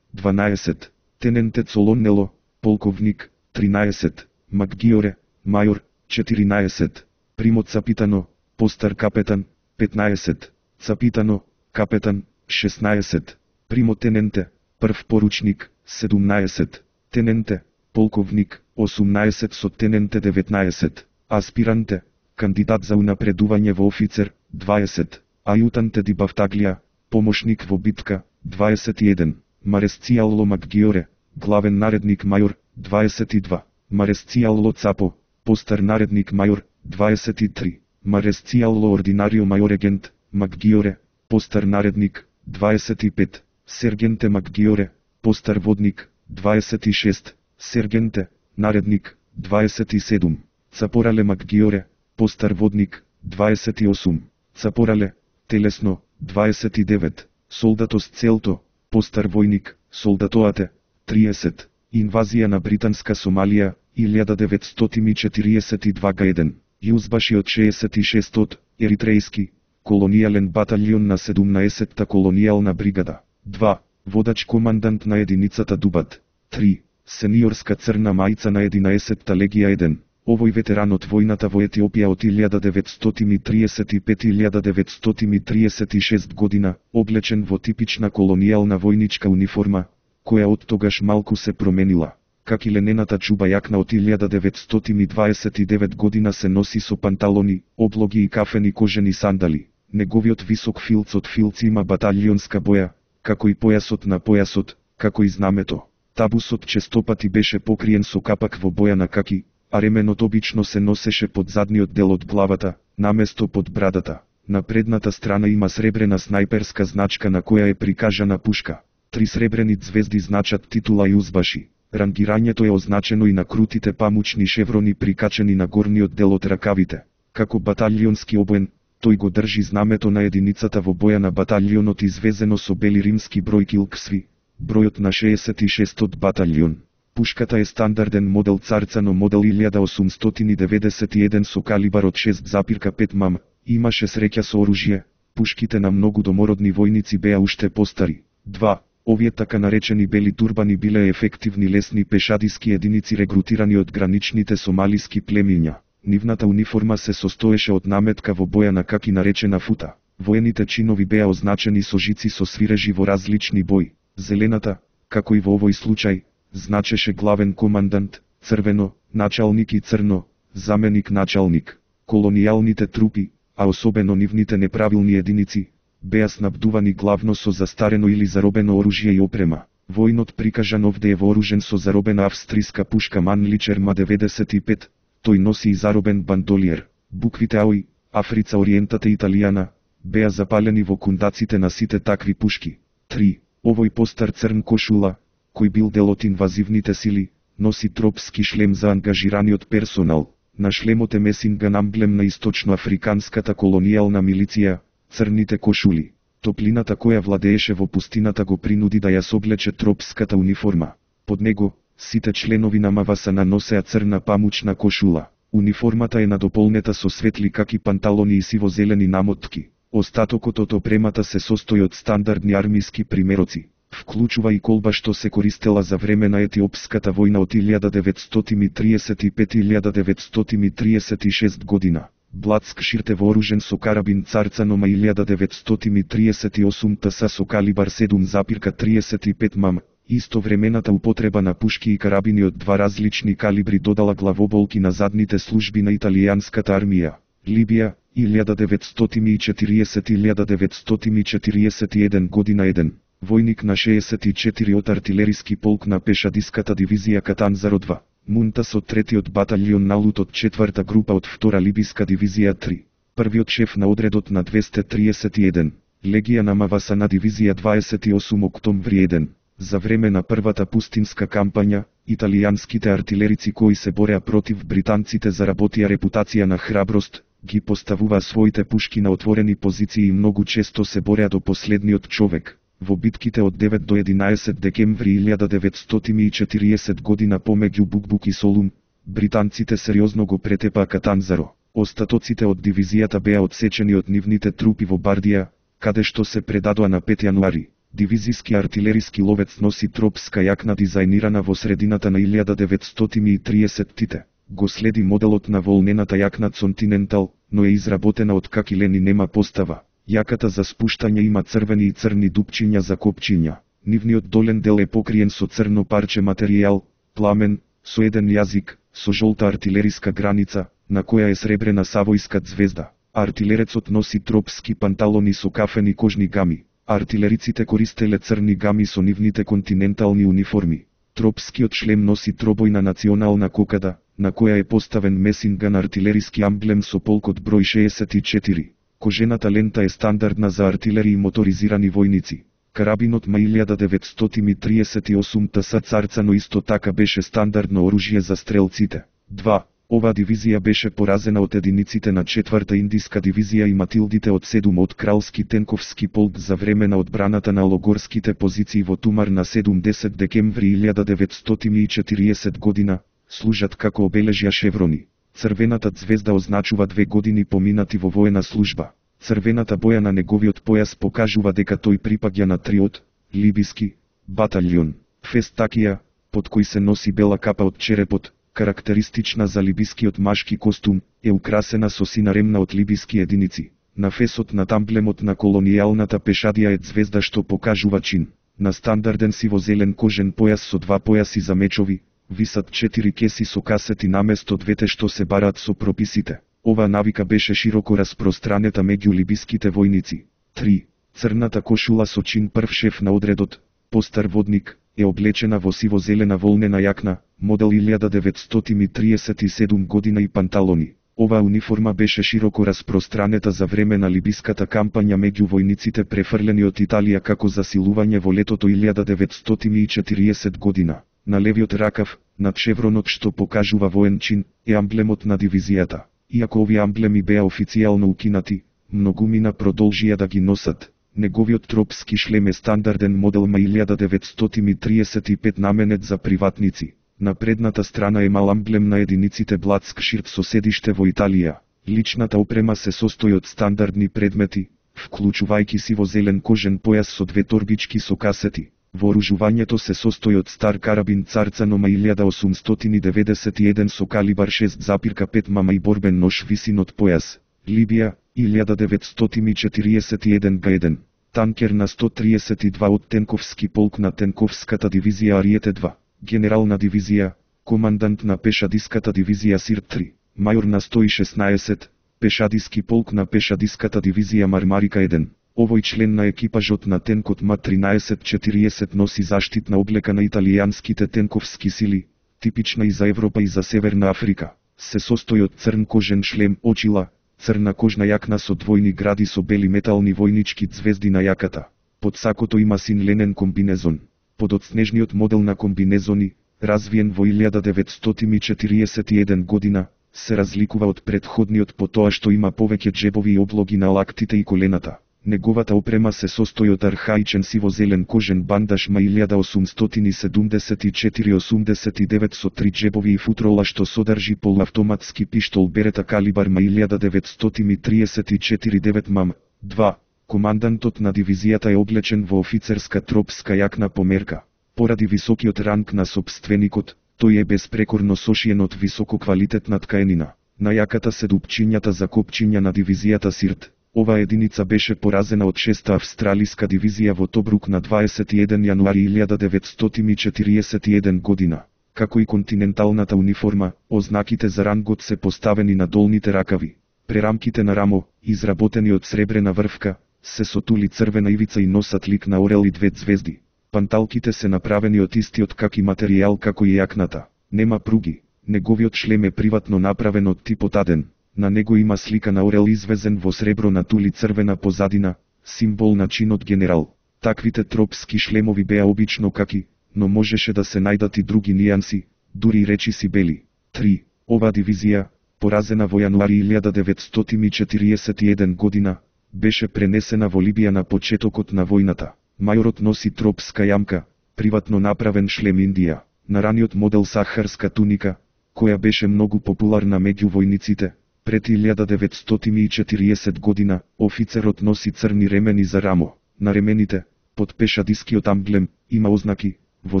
12. Тененте Солоннело, полковник. 13. Макгиоре, мајор. 14. Примо Цапитано, постар капетан. 15. Цапитано, капетан. 16. Примо Тененте, прв поручник. 17. Тененте, полковник. 18. Со Тененте. 19. Аспиранте, кандидат за унапредување во офицер. 20. Ајутанте ди Бавтаглија, помошник во битка. 21. Маресцијало Макгиоре, главен наредник мајор. 22. Маресцијало Цапо, постар наредник мајор. 23. Маресцијало ординарио мајор егент, Макгиоре, постар наредник. 25. Сергенте Макгиоре, постар водник. 26. Сергенте, наредник. 27. Цапорале Макгиоре, постар водник. 28. Цапорале, телесно. 29. Солдатос Целто, постар војник, солдатоате. 30. Инвазија на британска Сомалија, 1942 г. Јузбаши од 66-тот, еритрејски, колонијален баталјон на 17-та колонијална бригада. 2. Водач командант на единицата Дубат. 3. Сениорска црна мајца на 11-та легија 1. Овој ветеран од војната во Етиопија од 1935-1936 година, облечен во типична колонијална војничка униформа, која од тогаш малку се променила. Как и ленената чуба јакна од 1929 година се носи со панталони, облоги и кафени кожени сандали. Неговиот висок филц од филци има баталионска боја, како и појасот на појасот, како и знамето. Табусот честопати беше покриен со капак во боја на каки, а ременот обично се носеше под задниот дел од главата, наместо под брадата. На предната страна има сребрена снајперска значка на која е прикажана пушка. 3 сребрени звезди значат титула и узбаши. Рангирањето е означено и на крутите памучни шеврони прикачени на горниот дел од ракавите. Како баталионски обоен, тој го држи знамето на единицата во боја на баталионот извезено со бели римски број килксви, бројот на 66-тот баталион. Пушката е стандарден модел Царцано модел 1891 со калибар од 6,5 мм. Имаше среќа со оружје, пушките на многу домородни војници беа уште постари. 2. Овие така наречени бели турбани биле ефективни лесни пешадиски единици регрутирани од граничните сомалиски племиња. Нивната униформа се состоеше од наметка во боја на каки наречена фута. Воените чинови беа означени со жици со свирежи во различни бои. Зелената, како и во овој случај, значеше главен командант, црвено, началник и црно, заменик началник. Колонијалните трупи, а особено нивните неправилни единици, беа снабдувани главно со застарено или заробено оружје и опрема. Војнот прикажан овде е вооружен со заробена австријска пушка Манличер Ма-95, тој носи и заробен бандолиер. Буквите АОИ, Африца Ориентата Италијана, беа запалени во кундаците на сите такви пушки. 3. Овој постар црн кошула, кој бил дел од инвазивните сили, носи тропски шлем за ангажираниот персонал. На шлемот е месинган амблем на источноафриканската колонијална милиција, црните кошули. Топлината која владееше во пустината го принуди да ја соблече тропската униформа. Под него, сите членови на МВСН носеа црна памучна кошула. Униформата е надополнета со светли каки панталони и сиво-зелени намотки. Остатокот од опремата се состои од стандардни армиски примероци. Вклучува и колба што се користела за време на Етиопската војна од 1935-1936 година. Блацкширт е вооружен со карабин Царцано Ма 1938 ТС со калибар 7,35 мм. Истовремената употреба на пушки и карабини од два различни калибри додала главоболки на задните служби на италијанската армија. Либија, 1940-1941 година 1. Војник на 64 од артилериски полк на пешадиската дивизија Катанзаро 2. Мунтас од 3-тиот баталион Налут од 4-та група од 2-ра либиска дивизија 3. Првиот шеф на одредот на 231. Легија на МВСН дивизија 28 октомври 1. За време на првата пустинска кампања, италијанските артилерици кои се бореа против британците заработија репутација на храброст, ги поставуваа своите пушки на отворени позиции и многу често се бореа до последниот човек. Во битките од 9 до 11 декември 1940 година помеѓу Букбук и Солун, британците сериозно го претепаа Катанзаро. Остатоците од дивизијата беа одсечени од нивните трупи во Бардија, каде што се предадоа на 5 јануари. Дивизиски артилериски ловец носи тропска јакна дизајнирана во средината на 1930-тите. Го следи моделот на волнената јакна Continental, но е изработена од какилен и нема постава. Јаката за спуштање има црвени и црни дупчиња за копчиња. Нивниот долен дел е покриен со црно парче материјал, пламен, со еден јазик, со жолта артилериска граница, на која е сребрена савојска звезда. Артилерецот носи тропски панталони со кафени кожни гами. Артилериците користеле црни гами со нивните континентални униформи. Тропскиот шлем носи тробојна национална кокада, на која е поставен месинган артилериски амблем со полкот број 64. Кожената лента е стандардна за артилери и моторизирани војници. Карабинот Ма 1938 ТС Царцано исто така беше стандардно оружје за стрелците. 2. Оваа дивизија беше поразена од единиците на 4-та индиска дивизија и Матилдите од 7 од кралски тенковски полк за време на одбраната на логорските позиции во Тумар на 7-10 декември 1940 година, служат како обележја шеврони. Црвената звезда означува 2 години поминати во воена служба. Црвената боја на неговиот појас покажува дека тој припаѓа на 3-от либиски баталион. Фестакија, под кој се носи бела капа од черепот, карактеристична за либискиот машки костум, е украсена со сина ремна од либиски единици. На фесот на амблемот на колонијалната пешадија е звезда што покажува чин. На стандарден сиво-зелен кожен појас со 2 појаси за мечови, висат 4 кеси со касети наместо 2 што се бараат со прописите. Оваа навика беше широко распространета меѓу либиските војници. 3. Црната кошула со чин прв шеф на одредот, постар водник, е облечена во сиво-зелена волнена јакна, модел 1937 година и панталони. Оваа униформа беше широко распространета за време на либиската кампања меѓу војниците префрлени од Италија како засилување во летото 1940 година. На левиот ракав, над шевронот што покажува воен чин, е амблемот на дивизијата. Иако овие амблеми беа официјално укинати, многумина продолжија да ги носат. Неговиот тропски шлем е стандарден модел ма 1935 наменет за приватници. На предната страна е мал амблем на единиците Бладскширт со седиште во Италија. Личната опрема се состои од стандардни предмети, вклучувајќи сиво-зелен кожен појас со две торбички со касети. Вооружувањето се состои од стар карабин Царцанома 1891 со калибар 6,5 мм и борбен нож висин од појас. Либија, 1941 Г1. Танкер на 132 од Тенковски полк на Тенковската дивизија Ариете 2. Генерална дивизија, командант на пешадиската дивизија Сирт 3. Мајор на 116, пешадиски полк на пешадиската дивизија Мармарика 1. Овој член на екипажот на тенкот МА-1340 носи заштитна облека на италијанските тенковски сили, типична и за Европа и за Северна Африка. Се состои од црн кожен шлем, очила, црна кожна јакна со двојни гради со бели метални војнички ѕвезди на јаката. Под сакото има син ленен комбинезон. Подоцнежниот модел на комбинезони, развиен во 1941 година, се разликува од претходниот по тоа што има повеќе џебови и облоги на лактите и колената. Неговата опрема се состои од архаичен сиво-зелен кожен бандаж ма 1874-89 со 3 џебови и футрола што содржи полуавтоматски пиштол Берета калибар ма 1934-9 мм. 2. Командантот на дивизијата е облечен во офицерска тропска јакна по мерка. Поради високиот ранг на сопственикот, тој е безпрекорно сошиен од висококвалитетна ткаенина. На јаката се дупчињата за копчиња на дивизијата Сирт. Ова единица беше поразена од 6-та австралиска дивизија во Тобрук на 21 јануари 1941 година. Како и континенталната униформа, ознаките за рангот се поставени на долните ракави. Прерамките на рамо, изработени од сребрена врвка, се сотули црвена ивица и носат лик на орел и две ѕвезди. Панталките се направени од истиот каки материјал како и јакната. Нема пруги. Неговиот шлем е приватно направен од типот Аден. На него има слика на орел извезен во сребро на тули црвена позадина, символ на чинот генерал. Таквите тропски шлемови беа обично каки, но можеше да се најдат и други нијанси, дури и речиси бели. 3. Оваа дивизија, поразена во јануари 1941 година, беше пренесена во Либија на почетокот на војната. Мајорот носи тропска јамка, приватно направен шлем Индија, на раниот модел сахарска туника, која беше многу популарна меѓу војниците. Пред 1940 година, офицерот носи црни ремени за рамо. На ремените, под пешадискиот амблем, има ознаки, во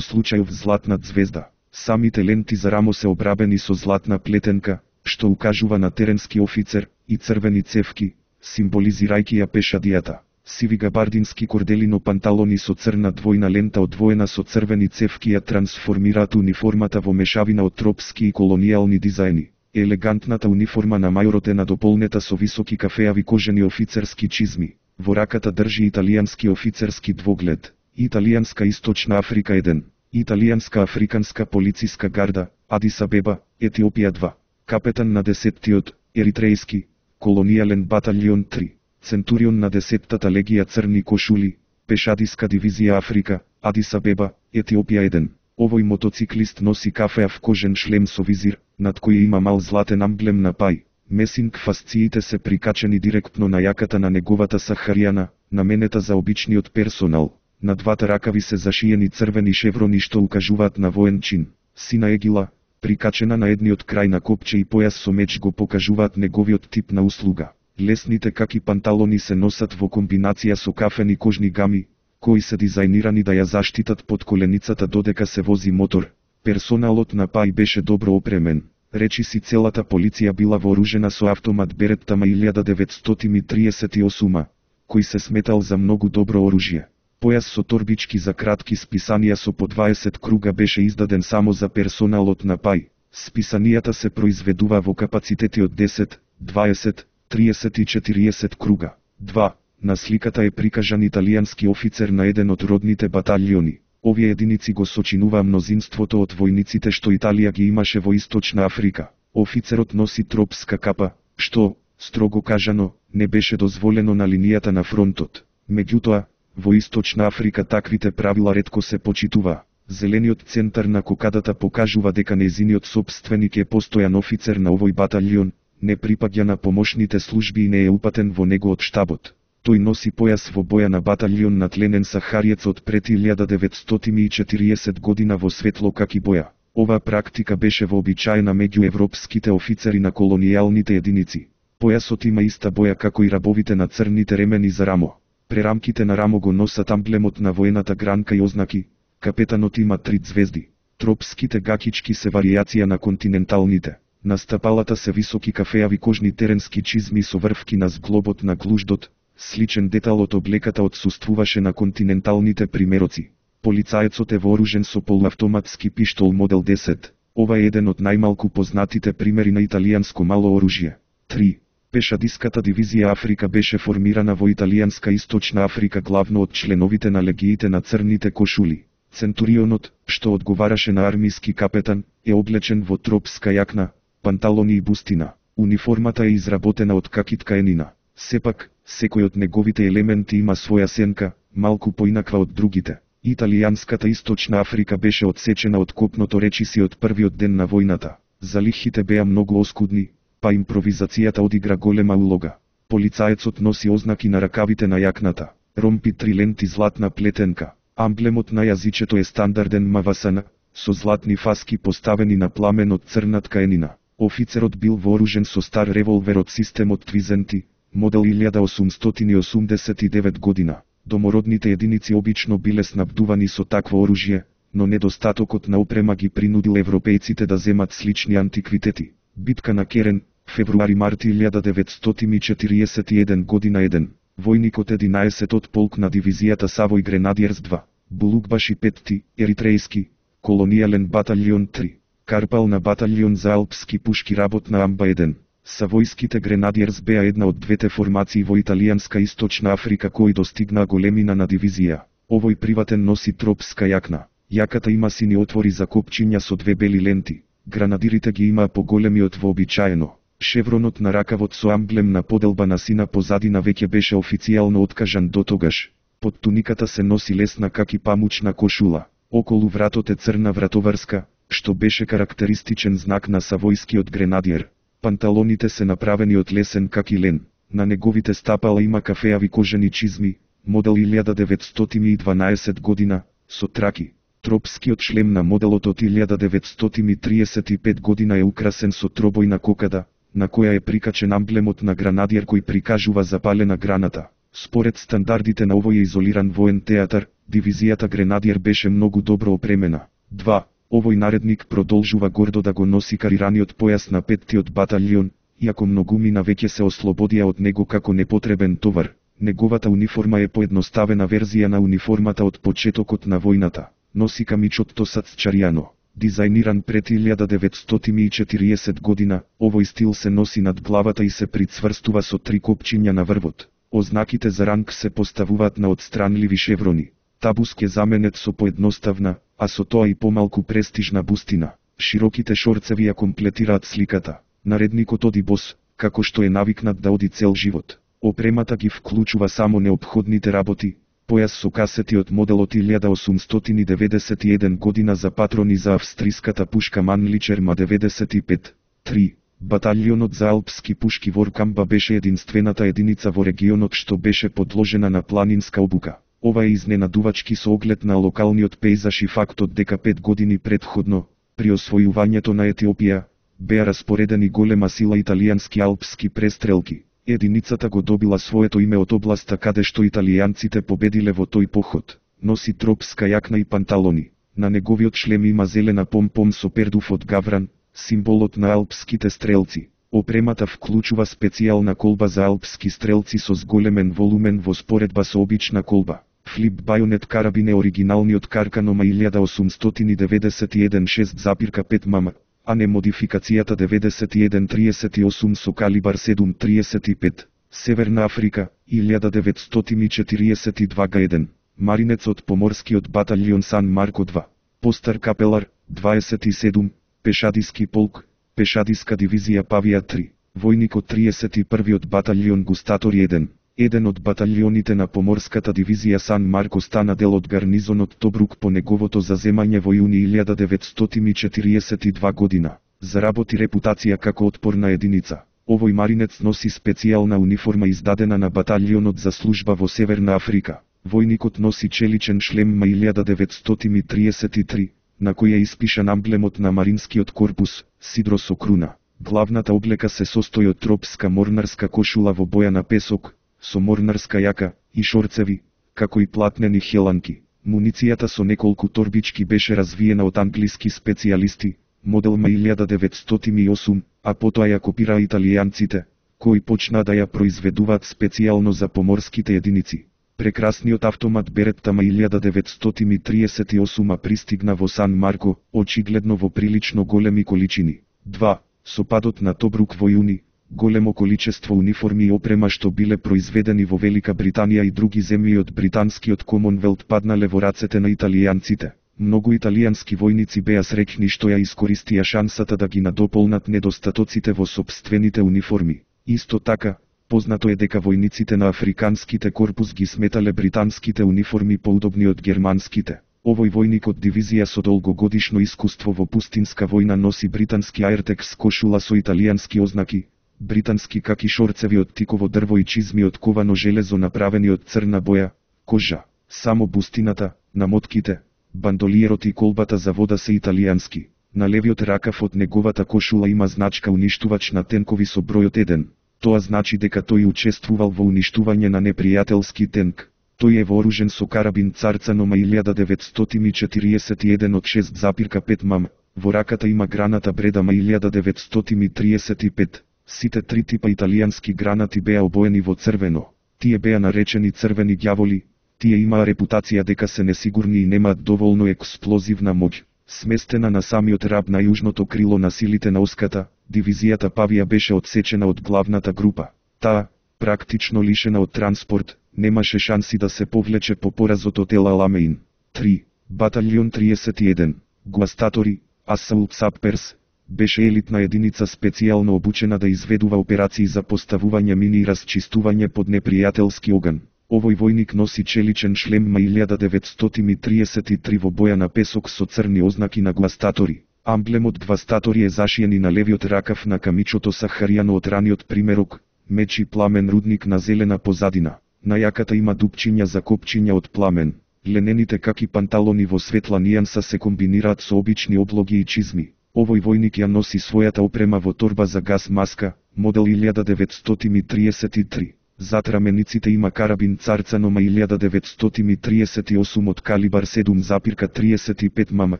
случајов златна ѕвезда. Самите ленти за рамо се обрабени со златна плетенка, што укажува на теренски офицер, и црвени цевки, символизирајќи ја пешадијата. Сиви габардински корделино панталони со црна двојна лента одвоена со црвени цевки ја трансформираат униформата во мешавина од тропски и колонијални дизајни. Елегантната униформа на мајорот е надополнета со високи кафеави кожени офицерски чизми. Во раката држи италијански офицерски двоглед. Италијанска Источна Африка 1. Италијанска Африканска полициска гарда, Адис Абеба, Етиопија 2. Капетан на 10-тиот, Еритрејски, колонијален баталјон 3. Центурион на 10-тата легија црни кошули, пешадиска дивизија Африка, Адис Абеба, Етиопија 1. Овој мотоциклист носи кафеав кожен шлем со визир, над кој има мал златен амблем на пај. Месинг фасциите се прикачени директно на јаката на неговата сахаријана, наменета за обичниот персонал. На двата ракави се зашиени црвени шеврони што укажуваат на воен чин. Сина егила, прикачена на едниот крај на копче и појас со меч го покажуваат неговиот тип на услуга. Лесните каки панталони се носат во комбинација со кафени кожни гами, кои се дизајнирани да ја заштитат под коленицата додека се вози мотор. Персоналот на пај беше добро опремен. Речиси целата полиција била вооружена со автомат Беретта ма 1938, кој се сметал за многу добро оружје. Појас со торбички за кратки списанија со по 20 круга беше издаден само за персоналот на пај. Списанијата се произведува во капацитети од 10, 20, 30 и 40 круга. 2. На сликата е прикажан италијански офицер на еден од родните баталиони. Овие единици го сочинуваа мнозинството од војниците што Италија ги имаше во Источна Африка. Офицерот носи тропска капа, што, строго кажано, не беше дозволено на линијата на фронтот. Меѓутоа, во Источна Африка таквите правила ретко се почитуваа. Зелениот центар на кокадата покажува дека нејзиниот сопственик е постојан офицер на овој баталион, не припаѓа на помошните служби и не е упатен во него од штабот. Тој носи појас во боја на баталион на тленен сахариец од пред 1940 година во светло каки боја. Оваа практика беше вообичаена меѓу европските офицери на колонијалните единици. Појасот има иста боја како и рабовите на црните ремени за рамо. Прерамките на рамо го носат амблемот на воената гранка и ознаки. Капетанот има 3 звезди. Тропските гакички се варијација на континенталните. На стапалата се високи кафеави кожни теренски чизми со врвки на зглобот на глуждот. Сличен детал од облеката отсуствуваше на континенталните примероци. Полицаецот е вооружен со полуавтоматски пиштол модел 10. Ова е еден од најмалку познатите примери на италијанско мало оружје. 3. Пешадиската дивизија Африка беше формирана во италијанска Источна Африка главно од членовите на легиите на црните кошули. Центурионот, што одговараше на армиски капетан, е облечен во тропска јакна, панталони и бустина. Униформата е изработена од какитка енина. Сепак, секој од неговите елементи има своја сенка, малку поинаква од другите. Италијанската Источна Африка беше одсечена од копното речиси од првиот ден на војната. Залихите беа многу оскудни, па импровизацијата одигра голема улога. Полицаецот носи ознаки на ракавите на јакната, ромпи 3 ленти златна плетенка. Амблемот на јазичето е стандарден мавасана, со златни фаски поставени на пламен од црна ткаенина. Офицерот бил вооружен со стар револвер од системот Твизенти, модел 1889 година. Домородните единици обично биле снабдувани со такво оружје, но недостатокот на опрема ги принудил европејците да земат слични антиквитети. Битка на Керен, февруари-март 1941 година 1. Војникот 11 полк на дивизијата Савој Гренадиерс 2. Булукбаши 5, еритрејски, колонијален баталион 3. Карпал на баталион за алпски пушки работна амба 1. Савојските Гренадиерс беа една од двете формации во италијанска Источна Африка кои достигнаа големина на дивизија. Овој приватен носи тропска јакна. Јаката има сини отвори за копчиња со 2 бели ленти. Гранадирите ги имаа поголеми од вообичаено. Шевронот на ракавот со амблем на поделба на сина позадина веќе беше официјално откажан дотогаш. Под туниката се носи лесна каки памучна кошула. Околу вратот е црна вратоврска, што беше карактеристичен знак на савојскиот гренадиер. Панталоните се направени од лесен каки лен. На неговите стапала има кафеави кожени чизми, модел 1912 година, со траки. Тропскиот шлем на моделот од 1935 година е украсен со тробојна кокада, на која е прикачен амблемот на гранадиер кој прикажува запалена граната. Според стандардите на овој изолиран воен театар, дивизијата Гренадиер беше многу добро опремена. 2. Овој наредник продолжува гордо да го носи карираниот појас на 5-тиот баталион, иако многумина веќе се ослободија од него како непотребен товар. Неговата униформа е поедноставена верзија на униформата од почетокот на војната. Носи камичот тосац чаријано. Дизајниран пред 1940 година, овој стил се носи над главата и се прицврстува со 3 копчиња на врвот. Ознаките за ранг се поставуваат на отстранливи шеврони. Табуск е заменет со поедноставна, а со тоа и помалку престижна бустина. Широките шорцеви ја комплетираат сликата. Наредникот оди бос, како што е навикнат да оди цел живот. Опремата ги вклучува само неопходните работи. Појас со касети од моделот 1891 година за патрони за австриската пушка Манличер ма 95. 3. Баталионот за алпски пушки Воркамба беше единствената единица во регионот што беше подложена на планинска обука. Ова е изненадувачки со оглед на локалниот пејзаж и фактот дека 5 години предходно, при освојувањето на Етиопија, беа распоредени голема сила италијански алпски престрелки. Единицата го добила своето име од областа каде што италијанците победиле во тој поход. Носи тропска јакна и панталони. На неговиот шлем има зелена помпом со пердув од гавран, символот на алпските стрелци. Опремата вклучува специјална колба за алпски стрелци со зголемен волумен во споредба со обична колба. Флип бајонет карабин е оригиналниот Карканома 1891 6,5 мм, а не модификацијата 9138 со калибар 7.35. Северна Африка, 1942 га1. Маринец од поморскиот батальон Сан Марко 2. Постар капелар, 27, пешадиски полк, пешадиска дивизија Павија 3. Војник од 31-от батальон Густатори 1. Еден од батальоните на поморската дивизија Сан Марко стана дел од гарнизонот Тобрук по неговото заземање во јуни 1942 година. Заработи репутација како отпорна единица. Овој маринец носи специјална униформа издадена на батальонот за служба во Северна Африка. Војникот носи челичен шлем ма 1933, на кој е испишан амблемот на Маринскиот корпус, сидро со круна. Главната облека се состои од тропска морнарска кошула во боја на песок, со морнарска јака и шорцеви, како и платнени хеланки. Муницијата со неколку торбички беше развиена од англиски специјалисти, модел ма 1908, а потоа ја копираа италијанците, кои почнаа да ја произведуваат специјално за поморските единици. Прекрасниот автомат Беретта ма 1938 пристигна во Сан Марко, очигледно во прилично големи количини. 2. Со падот на Тобрук во јуни, големо количество униформи и опрема што биле произведени во Велика Британија и други земји од британскиот Комонвелт паднале во рацете на италијанците. Многу италијански војници беа среќни што ја искористија шансата да ги надополнат недостатоците во сопствените униформи. Исто така, познато е дека војниците на африканските корпус ги сметале британските униформи поудобни од германските. Овој војник од дивизија со долгогодишно искуство во пустинска војна носи британски аертекс кошула со италијански ознаки, британски каки шорцеви од тиково дрво и чизми од ковано железо направени од црна боја, кожа. Само бустината, намотките, бандолиерот и колбата за вода се италијански. На левиот ракав од неговата кошула има значка уништувач на тенкови со бројот 1. Тоа значи дека тој учествувал во уништување на непријателски тенк. Тој е вооружен со карабин Царцано ма 1941 од 6,5 мм. Во раката има граната Бреда ма 1935. Сите три типа италијански гранати беа обоени во црвено. Тие беа наречени црвени ѓаволи. Тие имаа репутација дека се несигурни и немаат доволно експлозивна моќ. Сместена на самиот раб на јужното крило на силите на Оската, дивизијата Павија беше одсечена од главната група. Таа, практично лишена од транспорт, немаше шанси да се повлече по поразот од Ел Аламеин. 3. Батальон 31. Гуастатори, Асаулт Сапперс, беше елитна единица специјално обучена да изведува операции за поставување мини и расчистување под непријателски оган. Овој војник носи челичен шлем ма 1933 во боја на песок со црни ознаки на Гуастатори. Амблемот Гвастатори е зашиен и на левиот ракав на камичото Сахаријано од раниот примерок, меч и пламен рудник на зелена позадина. На јаката има дупчиња за копчиња од пламен. Ленените каки панталони во светла нијанса се комбинираат со обични облоги и чизми. Овој војник ја носи својата опрема во торба за газ маска, модел 1933. Зад рамениците има карабин Царцано ма 1938 од калибар 7,35 мм,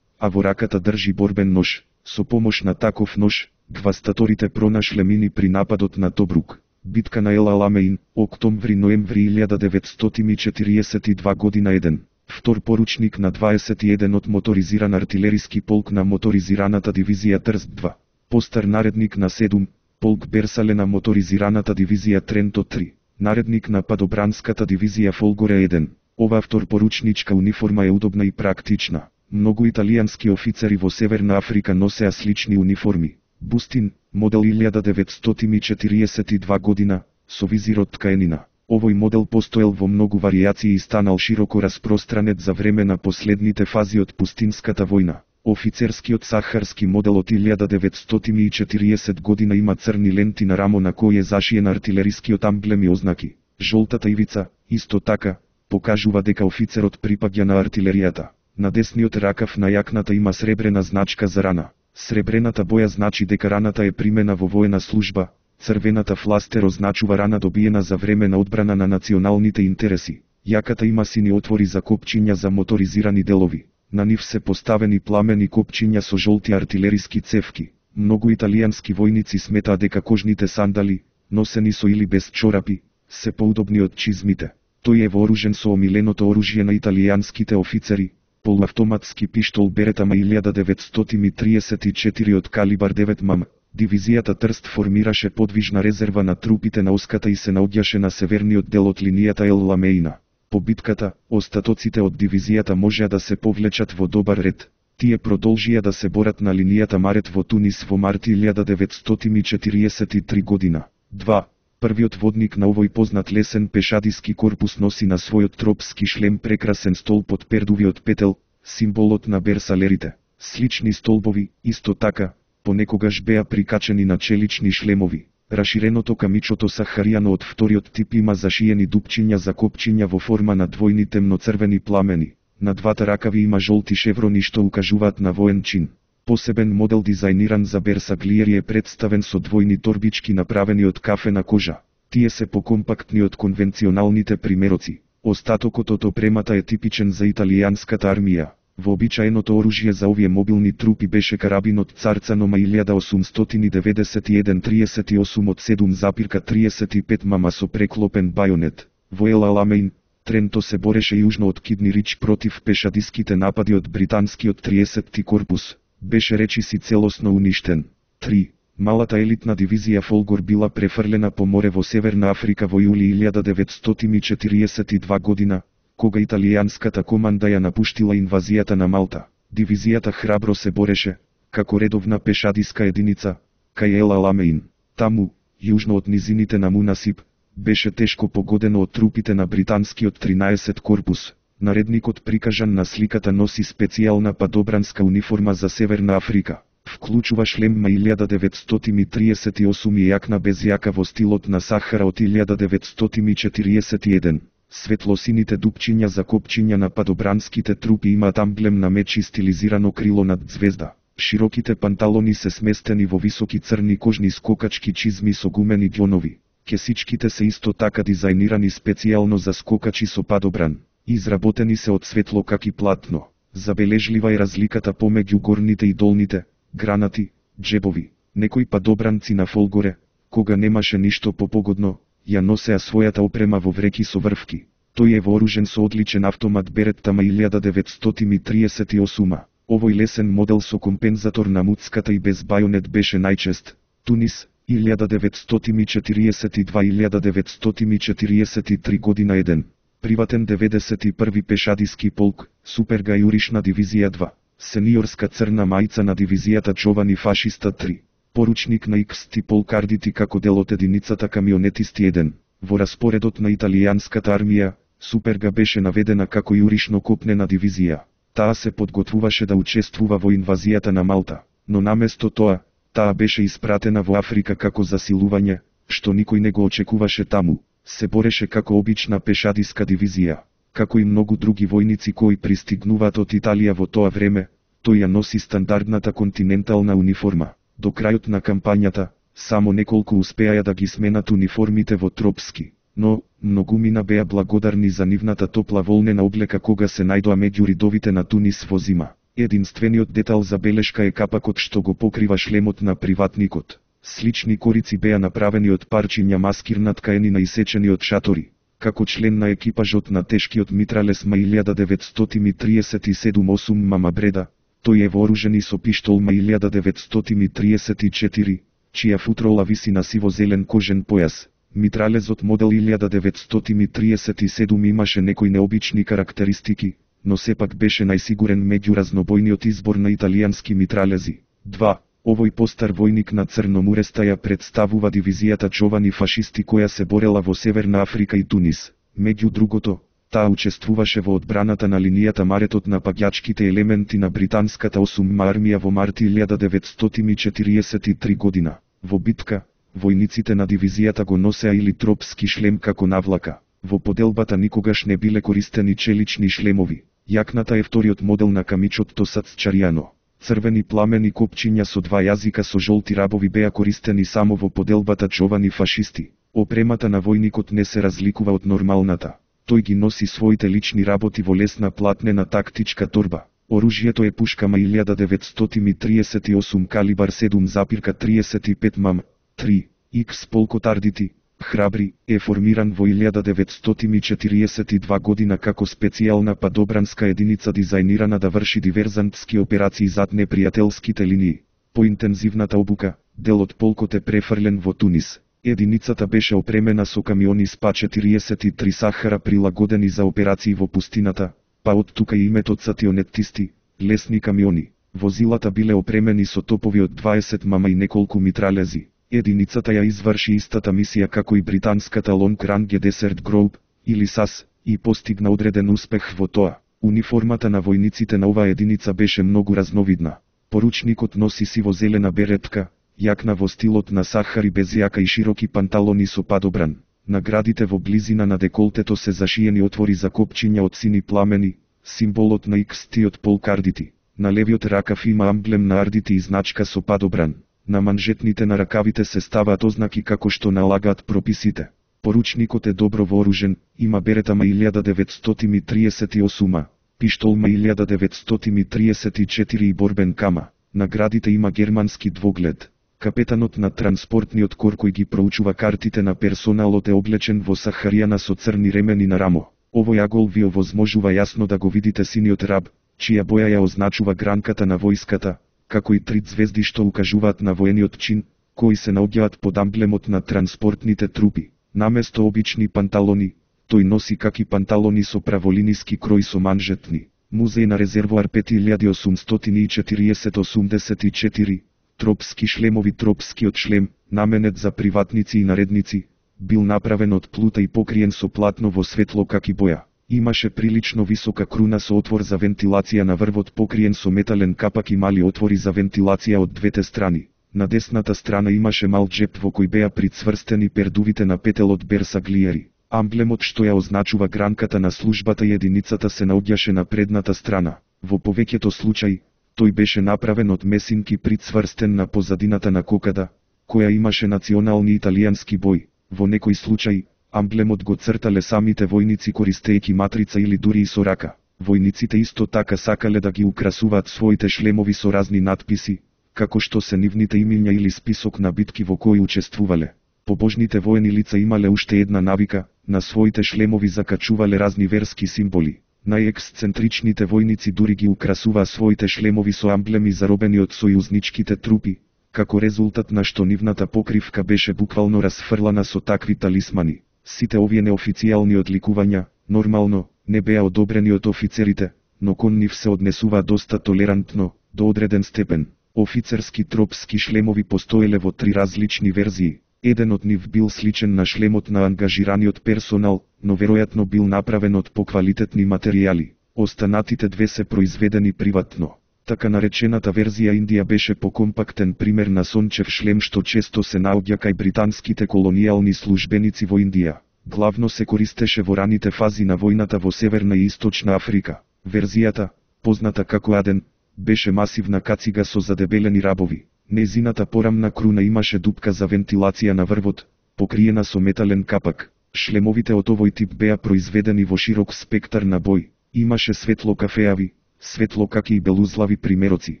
а во раката држи борбен нож. Со помош на таков нож, гвастаторите пронашле мини при нападот на Тобрук. Битка на Ел Аламеин, октомври-ноември 1942 година 1. Втор поручник на 21-от моторизиран артилериски полк на моторизираната дивизија Трст 2. Постар наредник на 7, полк Берсале на моторизираната дивизија Тренто 3. Наредник на падобранската дивизија Фолгоре 1. Ова вторпоручничка униформа е удобна и практична. Многу италијански офицери во Северна Африка носеа слични униформи. Бустин, модел 1942 година, со визир од ткаенина. Овој модел постоел во многу варијации и станал широко распространет за време на последните фази од пустинската војна. Офицерскиот сахарски модел од 1940 година има црни ленти на рамо на кој е зашиен артилерискиот амблем и ознаки. Жолтата ивица, исто така, покажува дека офицерот припаѓа на артилеријата. На десниот ракав на јакната има сребрена значка за рана. Сребрената боја значи дека раната е примена во воена служба, црвената фластер означува рана добиена за време на одбрана на националните интереси. Јаката има сини отвори за копчиња за моторизирани делови. На нив се поставени пламени копчиња со жолти артилериски цевки. Многу италијански војници сметаа дека кожните сандали, носени со или без чорапи, се поудобни од чизмите. Тој е вооружен со омиленото оружје на италијанските офицери, полуавтоматски пиштол Берета ма 1934 од калибар 9 мм. Дивизијата Трст формираше подвижна резерва на трупите на Оската и се наоѓаше на северниот дел од линијата Ел Ламеина. По битката, остатоците од дивизијата можеа да се повлечат во добар ред. Тие продолжија да се борат на линијата Марет во Тунис во март 1943 година. 2. Првиот водник на овој познат лесен пешадиски корпус носи на својот тропски шлем прекрасен столб од пердувиот петел, символот на берсалерите. Слични столбови, исто така, понекогаш беа прикачени на челични шлемови. Раширеното камичото Сахаријано од вториот тип има зашиени дупчиња за копчиња во форма на двојни темноцрвени пламени. На двата ракави има жолти шеврони што укажуваат на воен чин. Посебен модел дизајниран за берсаглиери е представен со двојни торбички направени од кафена кожа. Тие се покомпактни од конвенционалните примероци. Остатокот од опремата е типичен за италијанската армија. Вообичаеното оружје за овие мобилни трупи беше карабинот Царцанома 1891 38 од 7,35 мм со преклопен бајонет. Во Ел Аламеин, Тренто се бореше јужно од Кидни Рич против пешадиските напади од британскиот 30-ти корпус. Беше речиси целосно уништен. 3. Малата елитна дивизија Фолгор била префрлена по море во Северна Африка во јули 1942 година, кога италијанската команда ја напуштила инвазијата на Малта. Дивизијата храбро се бореше, како редовна пешадиска единица, кај Ел Аламеин. Таму, јужно од низините на Мунасип, беше тешко погодено од трупите на британскиот 13 корпус. Наредникот прикажан на сликата носи специјална падобранска униформа за Северна Африка. Вклучува шлем ма 1938 и јакна без јака во стилот на Сахара од 1941. Светлосините дупчиња за копчиња на падобранските трупи имаат амблем на меч и стилизирано крило над звезда. Широките панталони се сместени во високи црни кожни скокачки чизми со гумени ѓонови. Кесичките се исто така дизајнирани специјално за скокачи со падобран. Изработени се од светло каки платно. Забележлива е разликата помеѓу горните и долните, гранати, џебови. Некои падобранци на Фолгоре, кога немаше ништо попогодно, ја носеа својата опрема во вреки со врвки. Тој е вооружен со одличен автомат Беретта ма 1938. Овој лесен модел со компензатор на муцката и без бајонет беше најчест. Тунис, 1942-1943 година 1. Приватен 91 пешадиски полк, Суперга јуришна дивизија 2. Сениорска црна мајца на дивизијата Џовани фашиста 3. Поручник на XT полкардити како дел од единицата камионетисти 1. Во распоредот на италијанската армија, Суперга беше наведена како јуришно копнена дивизија. Таа се подготвуваше да учествува во инвазијата на Малта, но наместо тоа, таа беше испратена во Африка како засилување, што никој не го очекуваше таму. Се бореше како обична пешадиска дивизија. Како и многу други војници кои пристигнуваат од Италија во тоа време, тој ја носи стандардната континентална униформа. До крајот на кампањата, само неколку успеаја да ги сменат униформите во тропски, но многумина беа благодарни за нивната топла волнена облека кога се најдоа меѓу ридовите на Тунис во зима. Единствениот детал за белешка е капакот што го покрива шлемот на приватникот. Слични корици беа направени од парчиња маскирна ткаенина исечени од шатори. Како член на екипажот на тешкиот митралес ма 1937 8 мама Бреда, тој е вооружен и со пиштол ма 1934, чија футрола виси на сиво-зелен кожен појас. Митралезот модел 1937 имаше некои необични карактеристики, но сепак беше најсигурен меѓу разнобојниот избор на италијански митралези. 2. Овој постар војник на Црномуреста ја представува дивизијата Џовани фашисти која се борела во Северна Африка и Тунис. Меѓу другото, таа учествуваше во одбраната на линијата Маретот на паѓачките елементи на британската 8-ма армија во март 1943 година. Во битка, војниците на дивизијата го носеа или тропски шлем како навлака. Во поделбата никогаш не биле користени челични шлемови. Јакната е вториот модел на камичот Тосацчаријано. Црвени пламени копчиња со два јазика со жолти рабови беа користени само во поделбата Џовани фашисти. Опремата на војникот не се разликува од нормалната. Тој ги носи своите лични работи во лесна платнена тактичка торба. Оружјето е пушка ма 1938 калибар 7,35 мм. 3. X полкот ардити, Храбри е формиран во 1942 година како специјална падобранска единица дизајнирана да врши диверзантски операции зад непријателските линии. По интензивната обука, дел од полкот е префрлен во Тунис. Единицата беше опремена со камиони СПА-43 Сахара прилагодени за операции во пустината, па од тука и името цатионеттисти, лесни камиони. Возилата биле опремени со топови од 20 мм и неколку митралези. Единицата ја изврши истата мисија како и британската Long Range Desert Group, или САС, и постигна одреден успех во тоа. Униформата на војниците на оваа единица беше многу разновидна. Поручникот носи сиво-зелена беретка, јакна во стилот на Сахари без јака и широки панталони со падобран. На градите во близина на деколтето се зашиени отвори за копчиња од сини пламени, символот на XT-от полк Ардити. На левиот ракав има амблем на Ардити и значка со падобран. На манжетните на ракавите се ставаат ознаки како што налагаат прописите. Поручникот е добро вооружен, има беретама 1938, пиштолма 1934 и борбен кама. На градите има германски двоглед. Капетанот на транспортниот кор кој ги проучува картите на персоналот е облечен во сахаријана со црни ремени на рамо. Овој агол ви овозможува јасно да го видите синиот раб, чија боја ја означува гранката на војската, како и 3 звезди што укажуваат на воениот чин, кои се наоѓаат под амблемот на транспортните трупи. Наместо обични панталони, тој носи каки панталони со праволиниски крој со манжетни. Музеј на резервоар 5840-84, тропски шлемови. Тропскиот шлем, наменет за приватници и наредници, бил направен од плута и покриен со платно во светло каки боја. Имаше прилично висока круна со отвор за вентилација на врвот покриен со метален капак и мали отвори за вентилација од двете страни. На десната страна имаше мал джеп во кој беа прицврстени пердувите на петелот берсаглиери. Амблемот што ја означува гранката на службата и единицата се наоѓаше на предната страна. Во повеќето случаи, тој беше направен од месинки прицврстен на позадината на кокада, која имаше национални италијански бој. Во некој случај, амблемот го цртале самите војници користејќи матрица или дури и со рака. Војниците исто така сакале да ги украсуваат своите шлемови со разни надписи, како што се нивните имиња или список на битки во кои учествувале. Побожните воени лица имале уште една навика, на своите шлемови закачувале разни верски символи. Најексцентричните војници дури ги украсуваа своите шлемови со амблеми заробени од сојузничките трупи, како резултат на што нивната покривка беше буквално расфрлана со такви талисмани. Сите овие неофицијални одликувања, нормално, не беа одобрени од офицерите, но кон нив се однесува доста толерантно, до одреден степен. Офицерски тропски шлемови постоеле во 3 различни верзии. Еден од нив бил сличен на шлемот на ангажираниот персонал, но веројатно бил направен од поквалитетни материјали. Останатите 2 се произведени приватно. Така наречената верзија Индија беше покомпактен пример на сончев шлем што често се наоѓа кај британските колонијални службеници во Индија. Главно се користеше во раните фази на војната во Северна и Источна Африка. Верзијата, позната како Аден, беше масивна кацига со задебелени рабови. Незината порамна круна имаше дупка за вентилација на врвот, покриена со метален капак. Шлемовите од овој тип беа произведени во широк спектар на бој. Имаше светло кафеави, светло каки и белузлави примероци.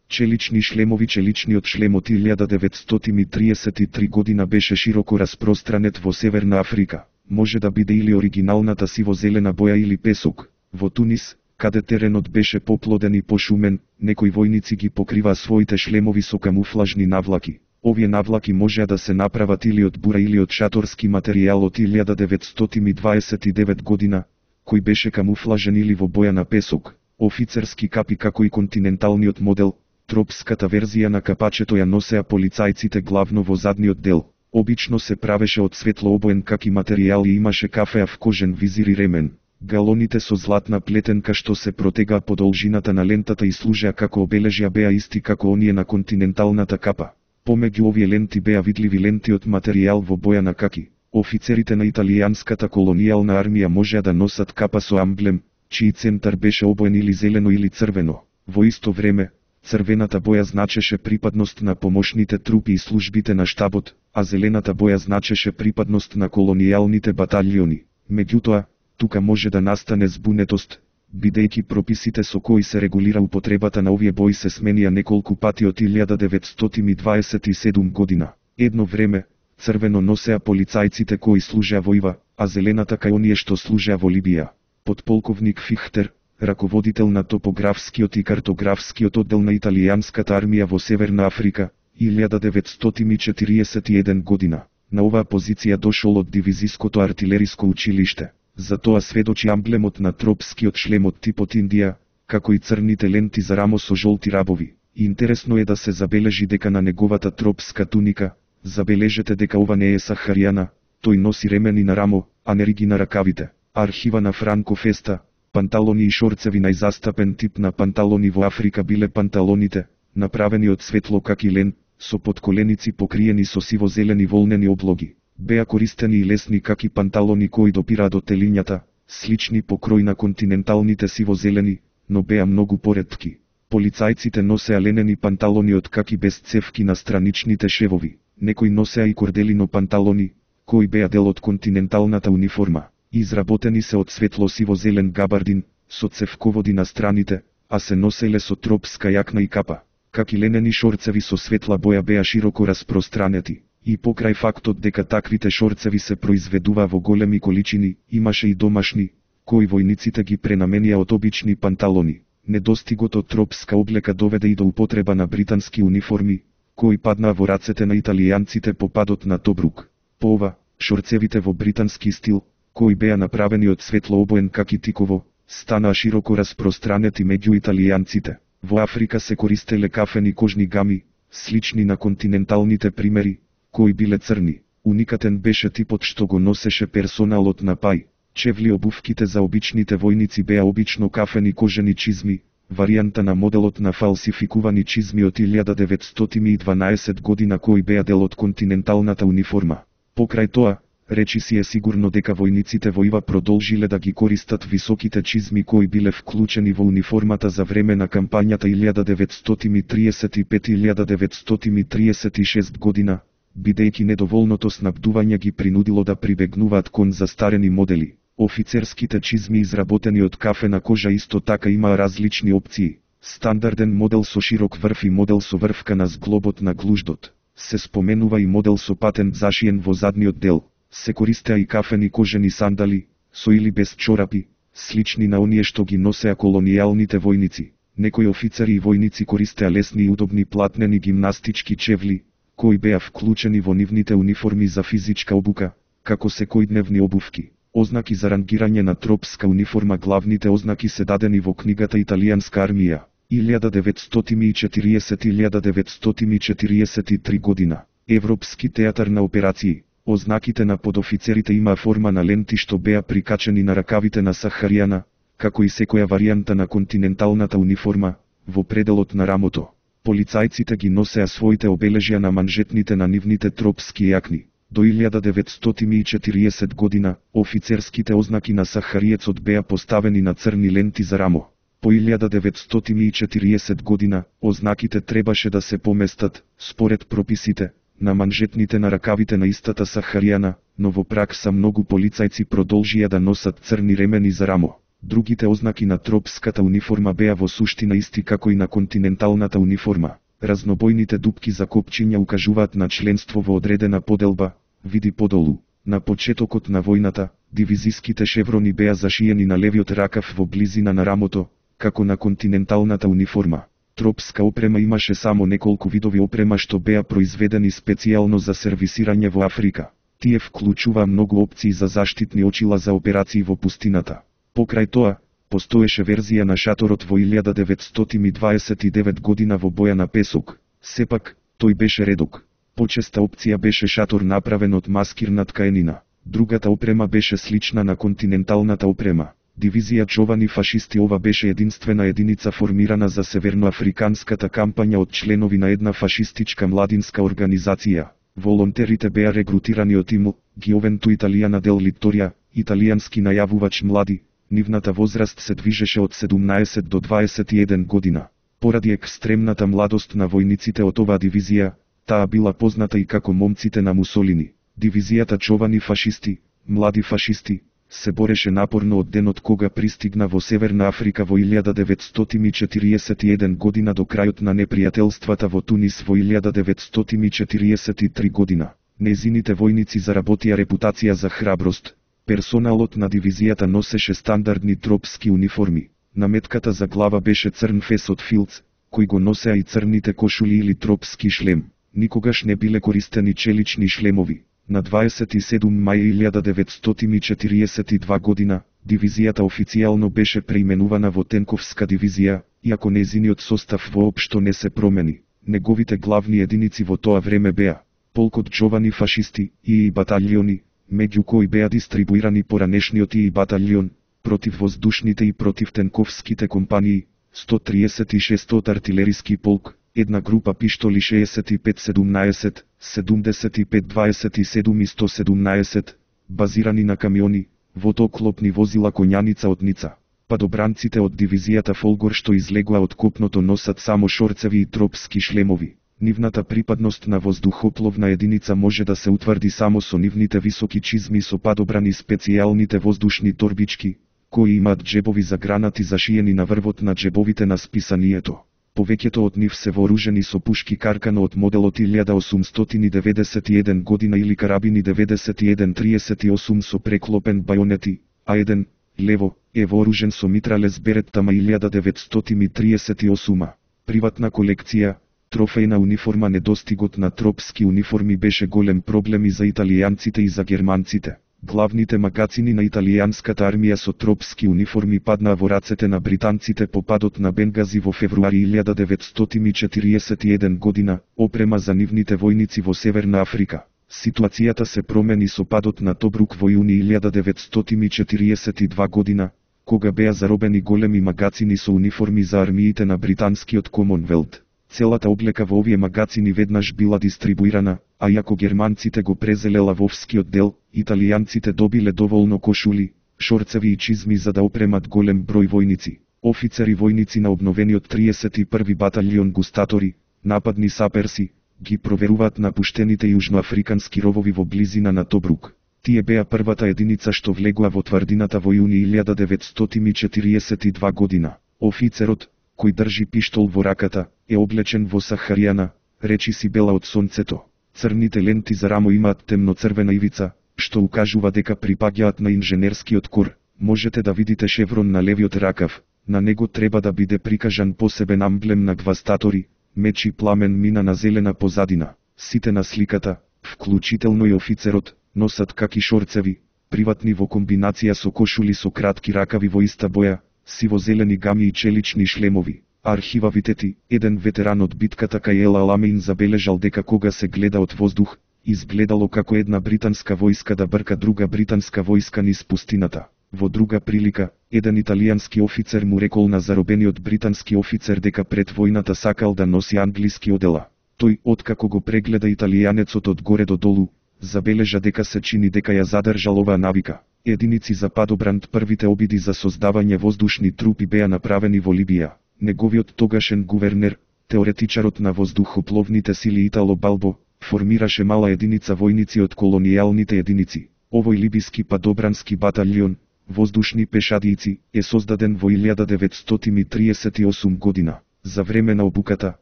Челични шлемови. Челичниот шлем од 1933 година беше широко распространет во Северна Африка. Може да биде или оригиналната сиво-зелена боја или песок. Во Тунис, каде теренот беше поплоден и пошумен, некои војници ги покрива своите шлемови со камуфлажни навлаки. Овие навлаки можеа да се направат или од бура или од шаторски материјал од 1929 година, кој беше камуфлажен или во боја на песок. Офицерски капи како и континенталниот модел, тропската верзија на капачето ја носеа полицајците главно во задниот дел. Обично се правеше од светлообоен каки материјал и имаше кафеав кожен визир и ремен. Галоните со златна плетенка што се протегаа по должината на лентата и служеа како обележја беа исти како оние на континенталната капа. Помеѓу овие ленти беа видливи ленти од материјал во боја на каки. Офицерите на италијанската колонијална армија можеа да носат капа со амблем, чиј центар беше обоен или зелено или црвено. Во исто време, црвената боја значеше припадност на помошните трупи и службите на штабот, а зелената боја значеше припадност на колонијалните баталјони. Меѓутоа, тука може да настане збунетост, бидејќи прописите со кои се регулира употребата на овие бои се сменија неколку пати од 1927 година. Едно време, Црвено носеа полицајците кои служеа во ИВА, а зелената кај оние што служеа во Либија. Подполковник Фихтер, раководител на топографскиот и картографскиот оддел на италијанската армија во Северна Африка, 1941 година. На оваа позиција дошол од дивизиското артилериско училиште. За тоа сведочи амблемот на тропскиот шлем од типот Индија, како и црните ленти за рамо со жолти рабови. Интересно е да се забележи дека на неговата тропска туника, забележете дека ова не е сахаријана, тој носи ремени на рамо, а не риги на ракавите. Архива на Франко Феста, панталони и шорцеви најзастапен тип на панталони во Африка биле панталоните, направени од светло каки лен, со подколеници покриени со сиво-зелени волнени облоги. Беа користени и лесни каки панталони кои допираат до телињата, слични по крој на континенталните сиво-зелени, но беа многу поретки. Полицајците носеа ленени панталони од каки без цевки на страничните шевови. Некои носеа и корделино панталони, кои беа дел од континенталната униформа. Изработени се од светло-сиво-зелен габардин, со цевководи на страните, а се носеле со тропска јакна и капа. Каки ленени шорцеви со светла боја беа широко распространети. И покрај фактот дека таквите шорцеви се произведува во големи количини, имаше и домашни, кои војниците ги пренаменија од обични панталони. Недостигот од тропска облека доведе и до употреба на британски униформи, кои паднаа во рацете на италијанците по падот на Тобрук. По ова, шорцевите во британски стил, кои беа направени од светло обоен каки тиково, станаа широко распространети меѓу италијанците. Во Африка се користеле кафени кожни гами, слични на континенталните примери, кои биле црни. Уникатен беше типот што го носеше персоналот на Пај. Чевли обувките за обичните војници беа обично кафени кожени чизми, варијанта на моделот на фалсификувани чизми од 1912 година кои беа дел од континенталната униформа. Покрај тоа, речи си е сигурно дека војниците во ИВА продолжиле да ги користат високите чизми кои биле вклучени во униформата за време на кампањата 1935-1936 година, бидејќи недоволното снабдување ги принудило да прибегнуваат кон застарени модели. Офицерските чизми изработени од кафена кожа исто така имаа различни опции. Стандарден модел со широк врв и модел со врвка на зглобот на глуждот. Се споменува и модел со патент зашиен во задниот дел. Се користеа и кафени кожени сандали, со или без чорапи, слични на оние што ги носеа колонијалните војници. Некои офицери и војници користеа лесни и удобни платнени гимнастички чевли, кои беа вклучени во нивните униформи за физичка обука, како секојдневни обувки. Ознаки за рангирање на тропска униформа. Главните ознаки се дадени во книгата Италијанска армија, 1940-1943 година. Европски театар на операции. Ознаките на подофицерите имаа форма на ленти што беа прикачени на ракавите на сахаријана, како и секоја варијанта на континенталната униформа, во пределот на рамото. Полицајците ги носеа своите обележја на манжетните на нивните тропски јакни. До 1940 година, офицерските ознаки на сахариецот беа поставени на црни ленти за рамо. По 1940 година, ознаките требаше да се поместат, според прописите, на манжетните на ракавите на истата сахаријана, но во пракса многу полицајци продолжија да носат црни ремени за рамо. Другите ознаки на тропската униформа беа во суштина исти како и на континенталната униформа. Разнобојните дупки за копчиња укажуваат на членство во одредена поделба, види подолу. На почетокот на војната, дивизиските шеврони беа зашиени на левиот ракав во близина на рамото, како на континенталната униформа. Тропска опрема имаше само неколку видови опрема што беа произведени специјално за сервисирање во Африка. Тие вклучува многу опции за заштитни очила за операции во пустината. Покрај тоа, постоеше верзија на шаторот во 1929 година во боја на песок. Сепак, тој беше редок. Почеста опција беше шатор направен од маскирна ткаенина. Другата опрема беше слична на континенталната опрема. Дивизија Джовани фашисти. Ова беше единствена единица формирана за северноафриканската кампања од членови на една фашистичка младинска организација. Волонтерите беа регрутирани од ИМЛ, Гиовенту Италијана дел Литорија, италијански најавувач млади. Нивната возраст се движеше од 17 до 21 година. Поради екстремната младост на војниците од оваа дивизија, таа била позната и како момците на Мусолини. Дивизијата Джовани фашисти, млади фашисти, се бореше напорно од денот кога пристигна во Северна Африка во 1941 година до крајот на непријателствата во Тунис во 1943 година. Незините војници заработија репутација за храброст. Персоналот на дивизијата носеше стандардни тропски униформи. Наметката за глава беше црн фес од филц, кој го носеа и црните кошули или тропски шлем. Никогаш не биле користени челични шлемови. На 27 мај 1942 година, дивизијата официјално беше преименувана во Тенковска дивизија, иако незиниот состав воопшто не се промени. Неговите главни единици во тоа време беа полкот Джовани фашисти и баталиони, меѓу кои беа дистрибуирани поранешниот и баталион, противвоздушните и противтенковските компании, 136 артилериски полк, една група пиштоли 65-17, 75-27 и 117, базирани на камиони, водоклопни возила конјаница од Ница. Падобранците од дивизијата Фолгор што излегоа од копното носат само шорцеви и тропски шлемови. Нивната припадност на воздухопловна единица може да се утврди само со нивните високи чизми со падобрани специјалните воздушни торбички, кои имаат джебови за гранати зашиени на врвот на джебовите на списанието. Повеќето од нив се вооружени со пушки Каркано од моделот 1891 година или карабини 91-38 со преклопен бајонети, а еден, лево, е вооружен со митралес Береттама 1938. Приватна колекција, трофејна униформа. Недостигот на тропски униформи беше голем проблем и за италијанците и за германците. Главните магацини на италијанската армија со тропски униформи паднаа во рацете на британците по падот на Бенгази во февруари 1941 година, опрема за нивните војници во Северна Африка. Ситуацијата се промени со падот на Тобрук во јуни 1942 година, кога беа заробени големи магацини со униформи за армиите на британскиот Комонвелт. Целата облека во овие магацини веднаш била дистрибуирана, а иако германците го презеле лавовскиот дел, италијанците добиле доволно кошули, шорцеви и чизми за да опремат голем број војници. Офицери војници на обновениот 31 баталион густатори, нападни саперси, ги проверуваат напуштените јужноафрикански ровови во близина на Тобрук. Тие беа првата единица што влегоа во тврдината во јуни 1942 година. Офицерот, кој држи пиштол во раката, е облечен во сахаријана, речи си бела од сонцето. Црните ленти за рамо имаат темноцрвена ивица, што укажува дека припаѓаат на инженерскиот кор. Можете да видите шеврон на левиот ракав, на него треба да биде прикажан посебен амблем на гвастатори, меч и пламен мина на зелена позадина. Сите на сликата, вклучително и офицерот, носат каки шорцеви, приватни во комбинација со кошули со кратки ракави во иста боја, сиво-зелени гами и челични шлемови. Архива Витети, еден ветеран од битката кај Ел Аламеин, забележал дека кога се гледа од воздух, изгледало како една британска војска да брка друга британска војска низ пустината. Во друга прилика, еден италијански офицер му рекол на заробениот британски офицер дека пред војната сакал да носи англиски одела. Тој, откако го прегледа италијанецот од горе до долу, забележа дека се чини дека ја задржал оваа навика. Единици за падобранд. Првите обиди за создавање воздушни трупи беа направени во Либија. Неговиот тогашен гувернер, теоретичарот на воздухопловните сили Итало Балбо, формираше мала единица војници од колонијалните единици. Овој либиски падобрански баталион, воздушни пешадијци, е создаден во 1938 година. За време на обуката,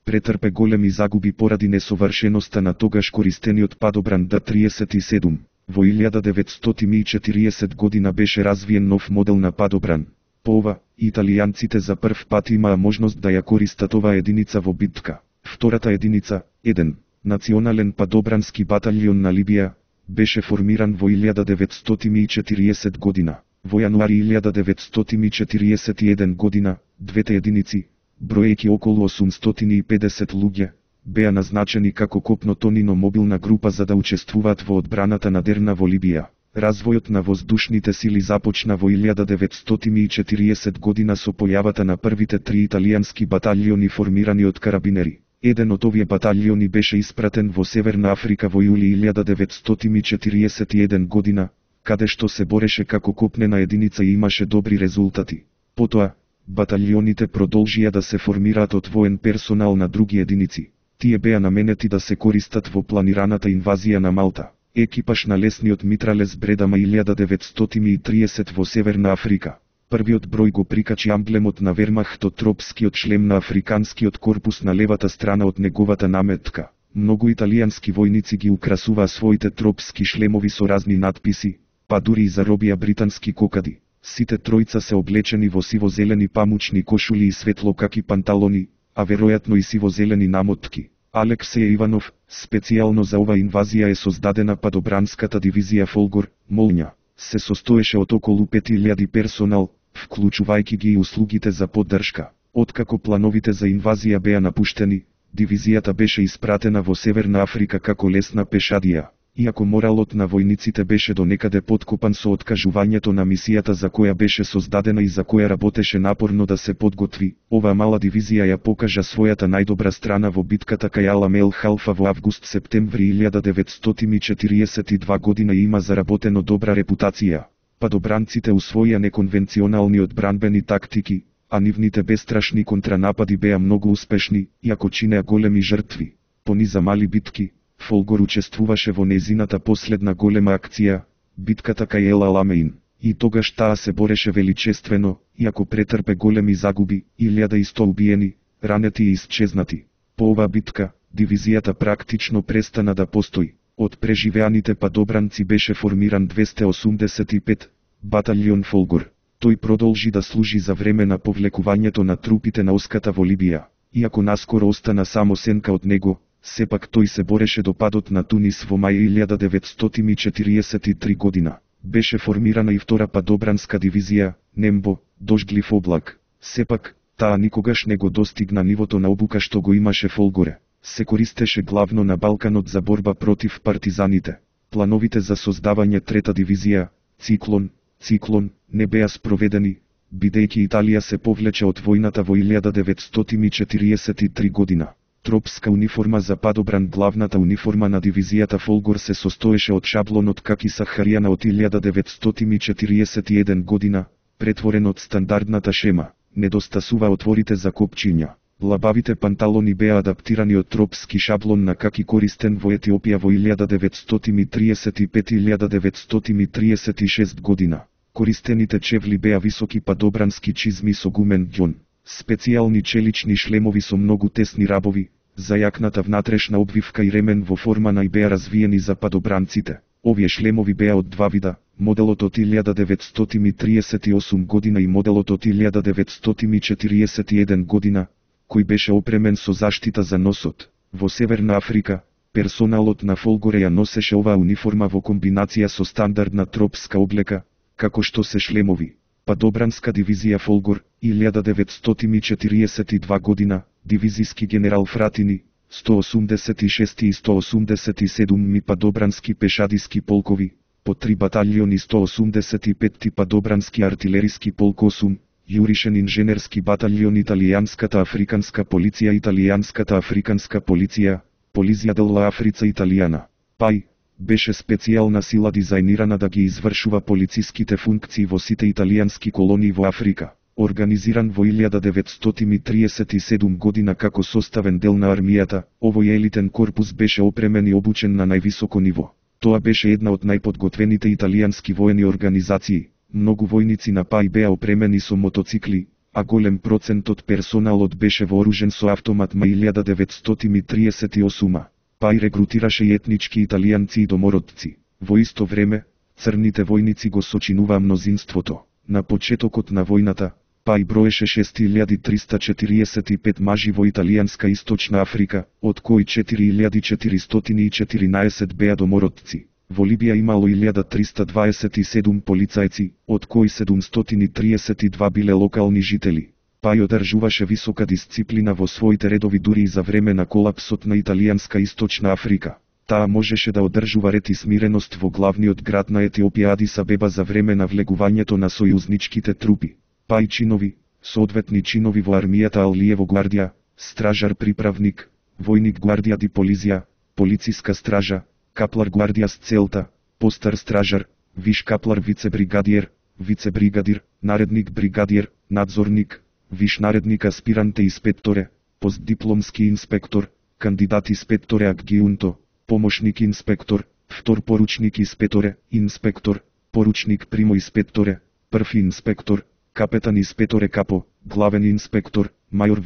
претрпе големи загуби поради несовршеноста на тогаш користениот падобран Д-37. Во 1940 година беше развиен нов модел на падобран. По ова, италијанците за прв пат имаа можност да ја користат оваа единица во битка. Втората единица, еден, национален падобрански баталион на Либија, беше формиран во 1940 година. Во јануари 1941 година, двете единици, броејќи околу 850 луѓе, беа назначени како копно-тонино мобилна група за да учествуваат во одбраната на Дерна во Либија. Развојот на воздушните сили започна во 1940 година со појавата на првите три италијански баталиони формирани од карабинери. Еден од овие баталиони беше испратен во Северна Африка во јули 1941 година, каде што се бореше како копнена единица и имаше добри резултати. Потоа, баталионите продолжија да се формираат од воен персонал на други единици. Тие беа наменети да се користат во планираната инвазија на Малта. Екипаж на лесниот митралес Бредама 1930 во Северна Африка. Првиот број го прикачи амблемот на Вермахтот, тропскиот шлем на африканскиот корпус на левата страна од неговата наметка. Многу италијански војници ги украсуваа своите тропски шлемови со разни надписи, па дури и заробија британски кокади. Сите тројца се облечени во сиво-зелени памучни кошули и светлокаки панталони, а веројатно и сиво-зелени намотки. Алексеј Иванов, специјално за ова инвазија е создадена падобранската дивизија Фолгор, Молња. Се состоеше од околу 5000 персонал, вклучувајќи ги и услугите за поддршка. Откако плановите за инвазија беа напуштени, дивизијата беше испратена во Северна Африка како лесна пешадија. Иако моралот на војниците беше до некаде поткопан со откажувањето на мисијата за која беше создадена и за која работеше напорно да се подготви, оваа мала дивизија ја покажа својата најдобра страна во битката кај Аламел Халфа во август-септември 1942 година и има заработено добра репутација. Падобранците усвоија неконвенционални одбранбени тактики, а нивните бестрашни контранапади беа многу успешни, иако чинеа големи жртви. Пониза мали битки, Фолгор учествуваше во незината последна голема акција, битката кај Ел Аламеин, и тогаш таа се бореше величествено, иако претрпе големи загуби, 1100 убиени, ранети и исчезнати. По оваа битка, дивизијата практично престана да постои. Од преживеаните падобранци беше формиран 285 баталион Фолгор. Тој продолжи да служи за време на повлекувањето на трупите на Оската во Либија. Иако наскоро остана само сенка од него, сепак тој се бореше до падот на Тунис во мај 1943 година. Беше формирана и втора падобранска дивизија, Нембо, дождлив облак. Сепак, таа никогаш не го достигна нивото на обука што го имаше Фолгоре. Се користеше главно на Балканот за борба против партизаните. Плановите за создавање трета дивизија, Циклон, не беа спроведени, бидејќи Италија се повлече од војната во 1943 година. Тропска униформа за падобран. Главната униформа на дивизијата Фолгор се состоеше од шаблонот каки Сахаријана од 1941 година, претворен од стандардната шема. Недостасува отворите за копчиња. Лабавите панталони беа адаптирани од тропски шаблон на каки користен во Етиопија во 1935-1936 година. Користените чевли беа високи падобрански чизми со гумен ѓон. Специјални челични шлемови со многу тесни рабови, зајакната внатрешна обвивка и ремен во форма на и беа развиени за падобранците. Овие шлемови беа од два вида, моделот од 1938 година и моделот од 1941 година, кој беше опремен со заштита за носот. Во Северна Африка, персоналот на Фолгоре ја носеше оваа униформа во комбинација со стандардна тропска облека, како што се шлемови. Падобранска дивизија Фолгор, 1942 година, дивизиски генерал Фратини, 186 и 187 ми падобрански пешадиски полкови, по 3 баталиони 185 падобрански артилериски полк 8, јуришен инженерски баталион Италијанската африканска полиција, Полизија делла Африца Италијана. ПАЙ, беше специјална сила дизајнирана да ги извршува полициските функции во сите италијански колонии во Африка. Организиран во 1937 година како составен дел на армијата, овој елитен корпус беше опремен и обучен на највисоко ниво. Тоа беше една од најподготвените италијански воени организации. Многу војници на ПАЙ беа опремени со мотоцикли, а голем процент од персоналот беше вооружен со автомат ма 1938. ПАЙ регрутираше и етнички италијанци и домородци. Во исто време, црните војници го сочинуваа мнозинството. На почетокот на војната, ПАЙ броеше 6345 мажи во италијанска Источна Африка, од кои 4414 беа домородци. Во Либија имало 1327 полицајци, од кои 732 биле локални жители. ПАЙ одржуваше висока дисциплина во своите редови дури и за време на колапсот на италијанска Источна Африка. Таа можеше да одржува ред и смиреност во главниот град на Етиопија Адис Абеба за време на влегувањето на сојузничките трупи. ПАЙ чинови, соодветни чинови во армијата Алиево гвардија, стражар приправник, војник гвардија ди полизија, полициска стража, каплар гвардија с целта, постар стражар, виш каплар вицебригадиер, вицебригадир, наредник бригадиер, надзорник, виш наредник аспиранте инспекторе, постдипломски инспектор, кандидат инспекторе адгиунто, помошник инспектор, втор поручник инспектор, поручник примо инспекторе, први инспектор, капетан инспекторе капо, главен инспектор, мајор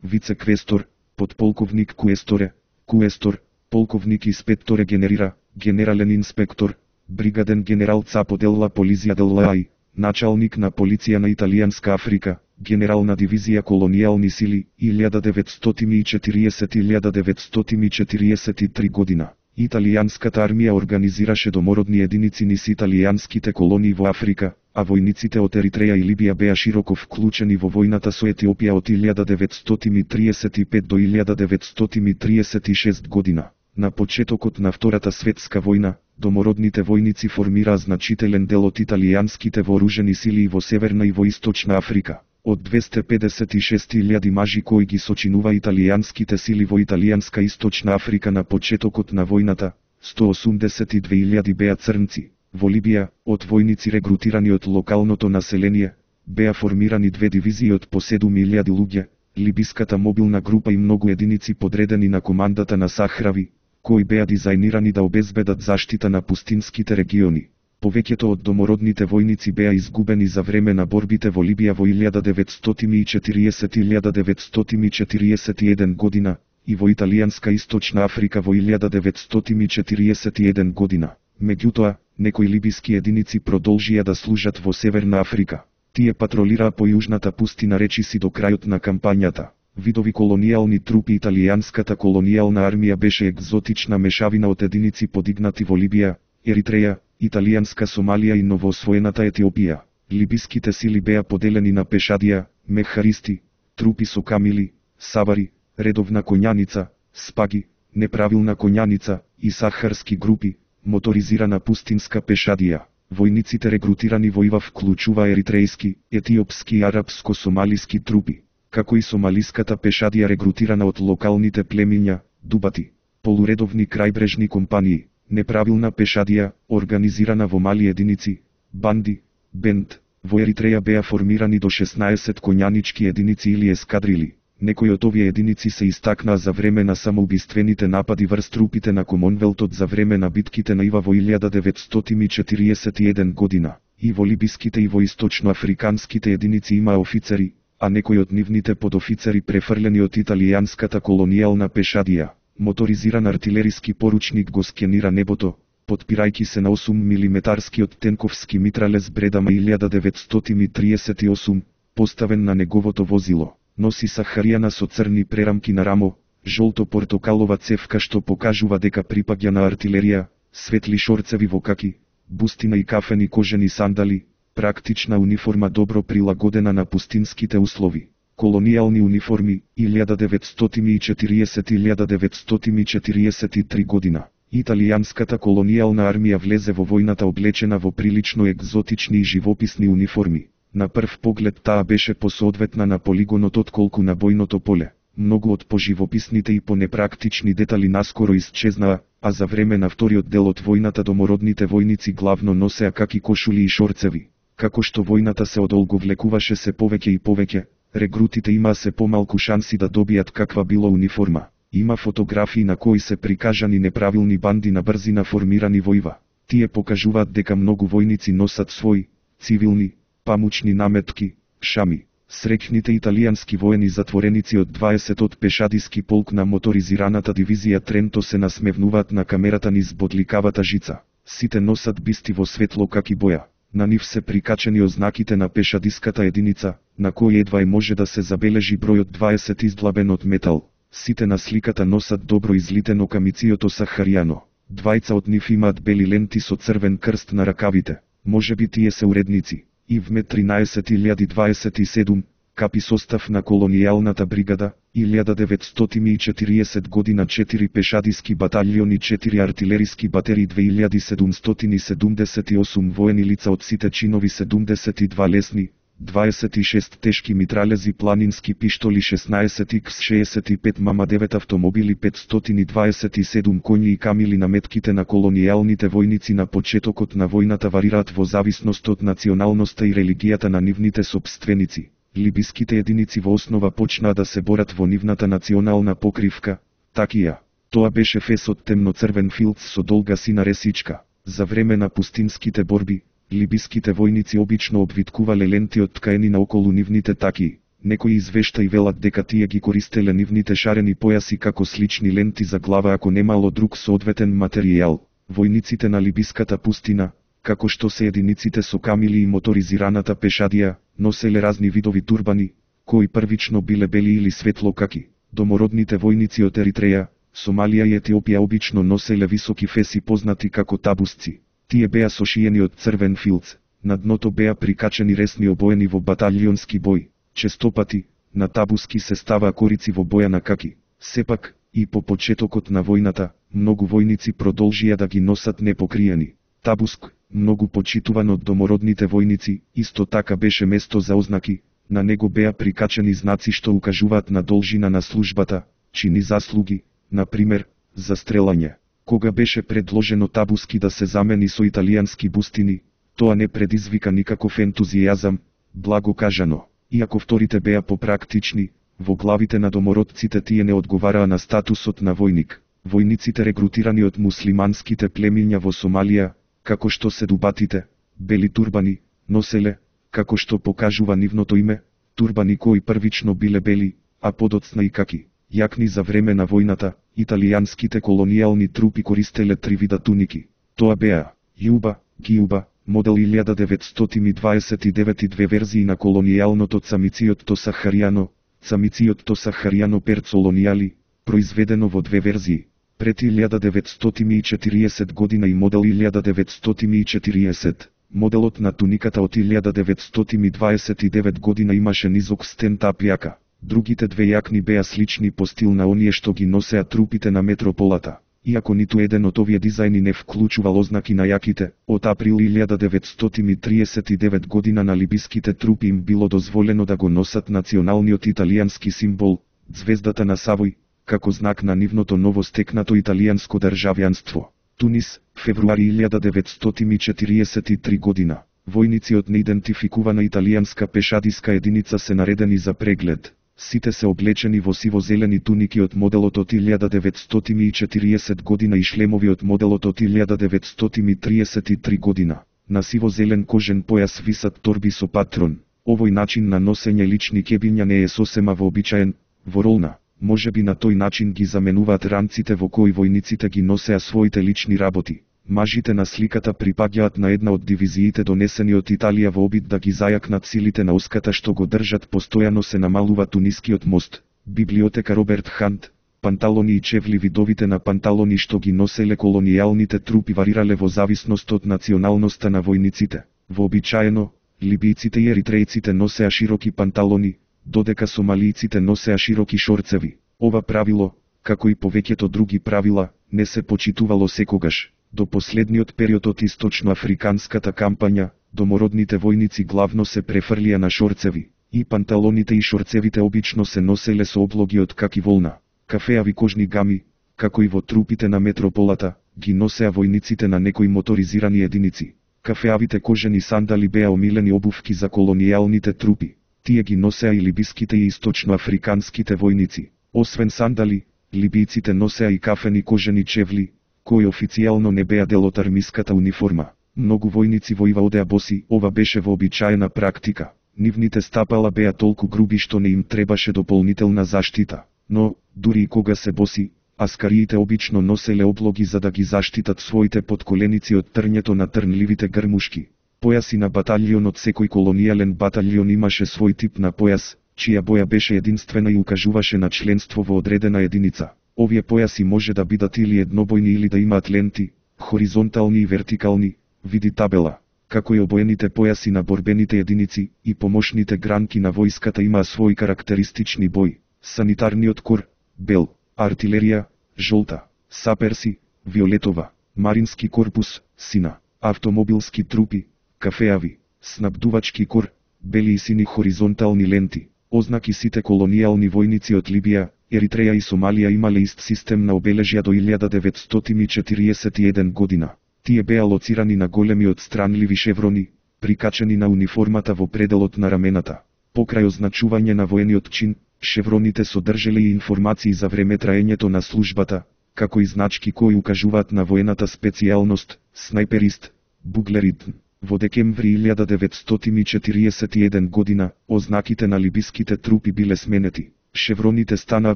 вице-квестор, подполковник куесторе, куестор, полковник инспекторе генерира, генерален инспектор, бригаден генерал Цапо делла полиција деллај, началник на полиција на Италијанска Африка, генерална дивизија колонијални сили, 1940-1943 година. Италијанската армија организираше домородни единици низ италијанските колонии во Африка, а војниците од Еритреја и Либија беа широко вклучени во војната со Етиопија од 1935 до 1936 година. На почетокот на Втората светска војна, домородните војници формираа значителен дел од италијанските вооружени сили и во Северна и во Источна Африка. Од 256.000 мажи кои ги сочинува италијанските сили во Италијанска Источна Африка на почетокот на војната, 182.000 беа црнци. Во Либија, од војници регрутирани од локалното население, беа формирани две дивизии од по 7.000 луѓе, либиската мобилна група и многу единици подредени на командата на Сахрави, кои беа дизајнирани да обезбедат заштита на пустинските региони. Повеќето од домородните војници беа изгубени за време на борбите во Либија во 1940-1941 година и во Италијанска Источна Африка во 1941 година. Меѓутоа, некои либиски единици продолжија да служат во Северна Африка. Тие патролираа по јужната пустина речиси до крајот на кампањата. Видови колонијални трупи. Италијанската колонијална армија беше екзотична мешавина од единици подигнати во Либија, Еритреја, Италијанска Сомалија и новоосвоената Етиопија. Либиските сили беа поделени на пешадија, мехаристи, трупи со камили, савари, редовна коњаница, спаги, неправилна коњаница и сахарски групи, моторизирана пустинска пешадија. Војниците регрутирани во ИВА вклучува еритрејски, етиопски и арапско-сомалиски трупи, како и сомалиската пешадија регрутирана од локалните племиња, дубати, полуредовни крајбрежни компании, неправилна пешадија, организирана во мали единици, банди, бенд. Во Еритреја беа формирани до 16 коњанички единици или ескадрили. Некои од овие единици се истакнаа за време на самоубиствените напади врз трупите на Комонвелтот за време на битките на ИВА во 1941 година. И во либиските и во источноафриканските единици имаа офицери, а некои од нивните подофицери префрлени од италијанската колонијална пешадија. Моторизиран артилериски поручник го скенира небото, подпирајќи се на 8 милиметарскиот тенковски митралез Бредама 1938, поставен на неговото возило. Носи сахаријана со црни прерамки на рамо, жолто-портокалова цевка што покажува дека припаѓа на артилерија, светли шорцеви во каки, бустина и кафени кожени сандали, практична униформа добро прилагодена на пустинските услови. Колонијални униформи, 1940-1943 година. Италијанската колонијална армија влезе во војната облечена во прилично екзотични и живописни униформи. На прв поглед таа беше посоодветна на полигонот отколку на бојното поле. Многу од поживописните и понепрактични детали наскоро исчезнаа, а за време на вториот дел од војната домородните војници главно носеа каки кошули и шорцеви. Како што војната се одолговлекуваше се повеќе и повеќе, регрутите имаа се помалку шанси да добијат каква било униформа. Има фотографии на кои се прикажани неправилни банди на брзина формирани во ИВА. Тие покажуваат дека многу војници носат своји, цивилни, памучни наметки, шами. Среќните италијански воени затвореници од 20-тот пешадиски полк на моторизираната дивизија Тренто се насмевнуваат на камерата низ бодликавата жица. Сите носат бисти во светло каки боја. На нив се прикачени ознаките на пешадиската единица, на кој едва може да се забележи бројот 20 издлабен од метал. Сите на сликата носат добро излитено камициото сахаријано. Двајца од нив имаат бели ленти со црвен крст на ракавите. Можеби тие се уредници. ИВМЕ 13027, капи состав на колонијалната бригада, 1940 година 4 пешадиски баталјони, 4 артилериски батерии, 2778 воени лица од сите чинови, 72 лесни, 26 тешки митралези, планински пиштоли, 16 X65 мама, 9 автомобили, 527 коњи и камили. Наметките на колонијалните војници на почетокот на војната варираат во зависност од националноста и религијата на нивните сопственици. Либиските единици во основа почнаа да се борат во нивната национална покривка, такија. Тоа беше фес од темноцрвен филц со долга сина ресичка. За време на пустинските борби, либиските војници обично обвиткувале ленти од ткаени наоколу нивните такии. Некои извештаи велат дека тие ги користеле нивните шарени појаси како слични ленти за глава ако немало друг соодветен материјал. Војниците на либиската пустина, како што се единиците со камили и моторизираната пешадија, носеле разни видови турбани, кои првично биле бели или светлокаки. Домородните војници од Еритреја, Сомалија и Етиопија обично носеле високи феси познати како табусци. Тие беа сошиени од црвен филц, на дното беа прикачени ресни обоени во баталионски бој. Честопати, на табуски се ставаа корици во боја на каки. Сепак, и по почетокот на војната, многу војници продолжија да ги носат непокриени. Табуск, многу почитуван од домородните војници, исто така беше место за ознаки, на него беа прикачени знаци што укажуваат на должина на службата, чини заслуги, например, за стрелање. Кога беше предложено табуски да се замени со италијански бустини, тоа не предизвика никаков ентузијазам, благо кажано. Иако вторите беа попрактични, во главите на домородците тие не одговараа на статусот на војник. Војниците регрутирани од муслиманските племиња во Сомалија, како што седубатите, бели турбани, носеле, како што покажува нивното име, турбани кои првично биле бели, а подоцна и каки. Јакни за време на војната, италијанските колонијални трупи користеле три вида туники. Тоа беа јуба, гиуба, модел 1929 и две верзии на колонијалното цамициото сахаријано, цамициото сахаријано перцолонијали, произведено во две верзии. Пред 1940 година и модел 1940. Моделот на туниката од 1929 година имаше низок стен тап јака. Другите две јакни беа слични по стил на оние што ги носеа трупите на метрополата. Иако ниту еден од овие дизајни не вклучувал ознаки на јаките, од април 1939 година на либиските трупи им било дозволено да го носат националниот италијански символ, звездата на Савој, како знак на нивното ново стекнато италијанско државјанство. Тунис, февруари 1943 година. Војници од неидентификувана италијанска пешадиска единица се наредени за преглед. Сите се облечени во сиво-зелени туники од моделот од 1940 година и шлемови од моделот од 1933 година. На сиво-зелен кожен појас висат торби со патрон. Овој начин на носење лични кебиња не е сосема вообичаен, во ролна. Можеби на тој начин ги заменуваат ранците во кои војниците ги носеа своите лични работи. Мажите на сликата припаѓаат на една од дивизиите донесени од Италија во обид да ги зајакнат силите на оската што го држат. Постојано се намалува тунискиот мост. Библиотека Роберт Хант. Панталони и чевли. Видовите на панталони што ги носеле колонијалните трупи варирале во зависност од националноста на војниците. Вообичаено, либијците и еритрејците носеа широки панталони, додека сомалијците носеа широки шорцеви. Ова правило, како и повеќето други правила, не се почитувало секогаш. До последниот период од источноафриканската кампања, домородните војници главно се префрлија на шорцеви, и панталоните и шорцевите обично се носеле со облоги од каки волна. Кафеави кожни гами, како и во трупите на метрополата, ги носеа војниците на некои моторизирани единици. Кафеавите кожени сандали беа омилени обувки за колонијалните трупи. Тие ги носеа и либиските и источноафриканските војници. Освен сандали, либијците носеа и кафени кожени чевли, кои официјално не беа дел од армиската униформа. Многу војници во одеа боси. Ова беше вообичаена практика. Нивните стапала беа толку груби што не им требаше дополнителна заштита. Но, дури и кога се боси, аскариите обично носеле облоги за да ги заштитат своите подколеници од трњето на трнливите грмушки. Појаси на баталионот. Секој колонијален баталион имаше свој тип на појас, чија боја беше единствена и укажуваше на членство во одредена единица. Овие појаси може да бидат или еднобојни или да имаат ленти, хоризонтални и вертикални, види табела. Како и обоените појаси на борбените единици и помошните гранки на војската имаа свој карактеристични бој. Санитарниот кор, бел, артилерија, жолта, саперси, виолетова, марински корпус, сина, автомобилски трупи, кафеави, снабдувачки кор, бели и сини хоризонтални ленти. Ознаки. Сите колонијални војници од Либија, Еритреја и Сомалија имале ист систем на обележја до 1941 година. Тие беа лоцирани на големи отстранливи шеврони, прикачени на униформата во пределот на рамената. Покрај означување на воениот чин, шевроните содржеле и информации за време траењето на службата, како и значки кои укажуваат на воената специјалност, снайперист, буглерит. Во декември 1941 година, ознаките на либиските трупи биле сменети. Шевроните станаа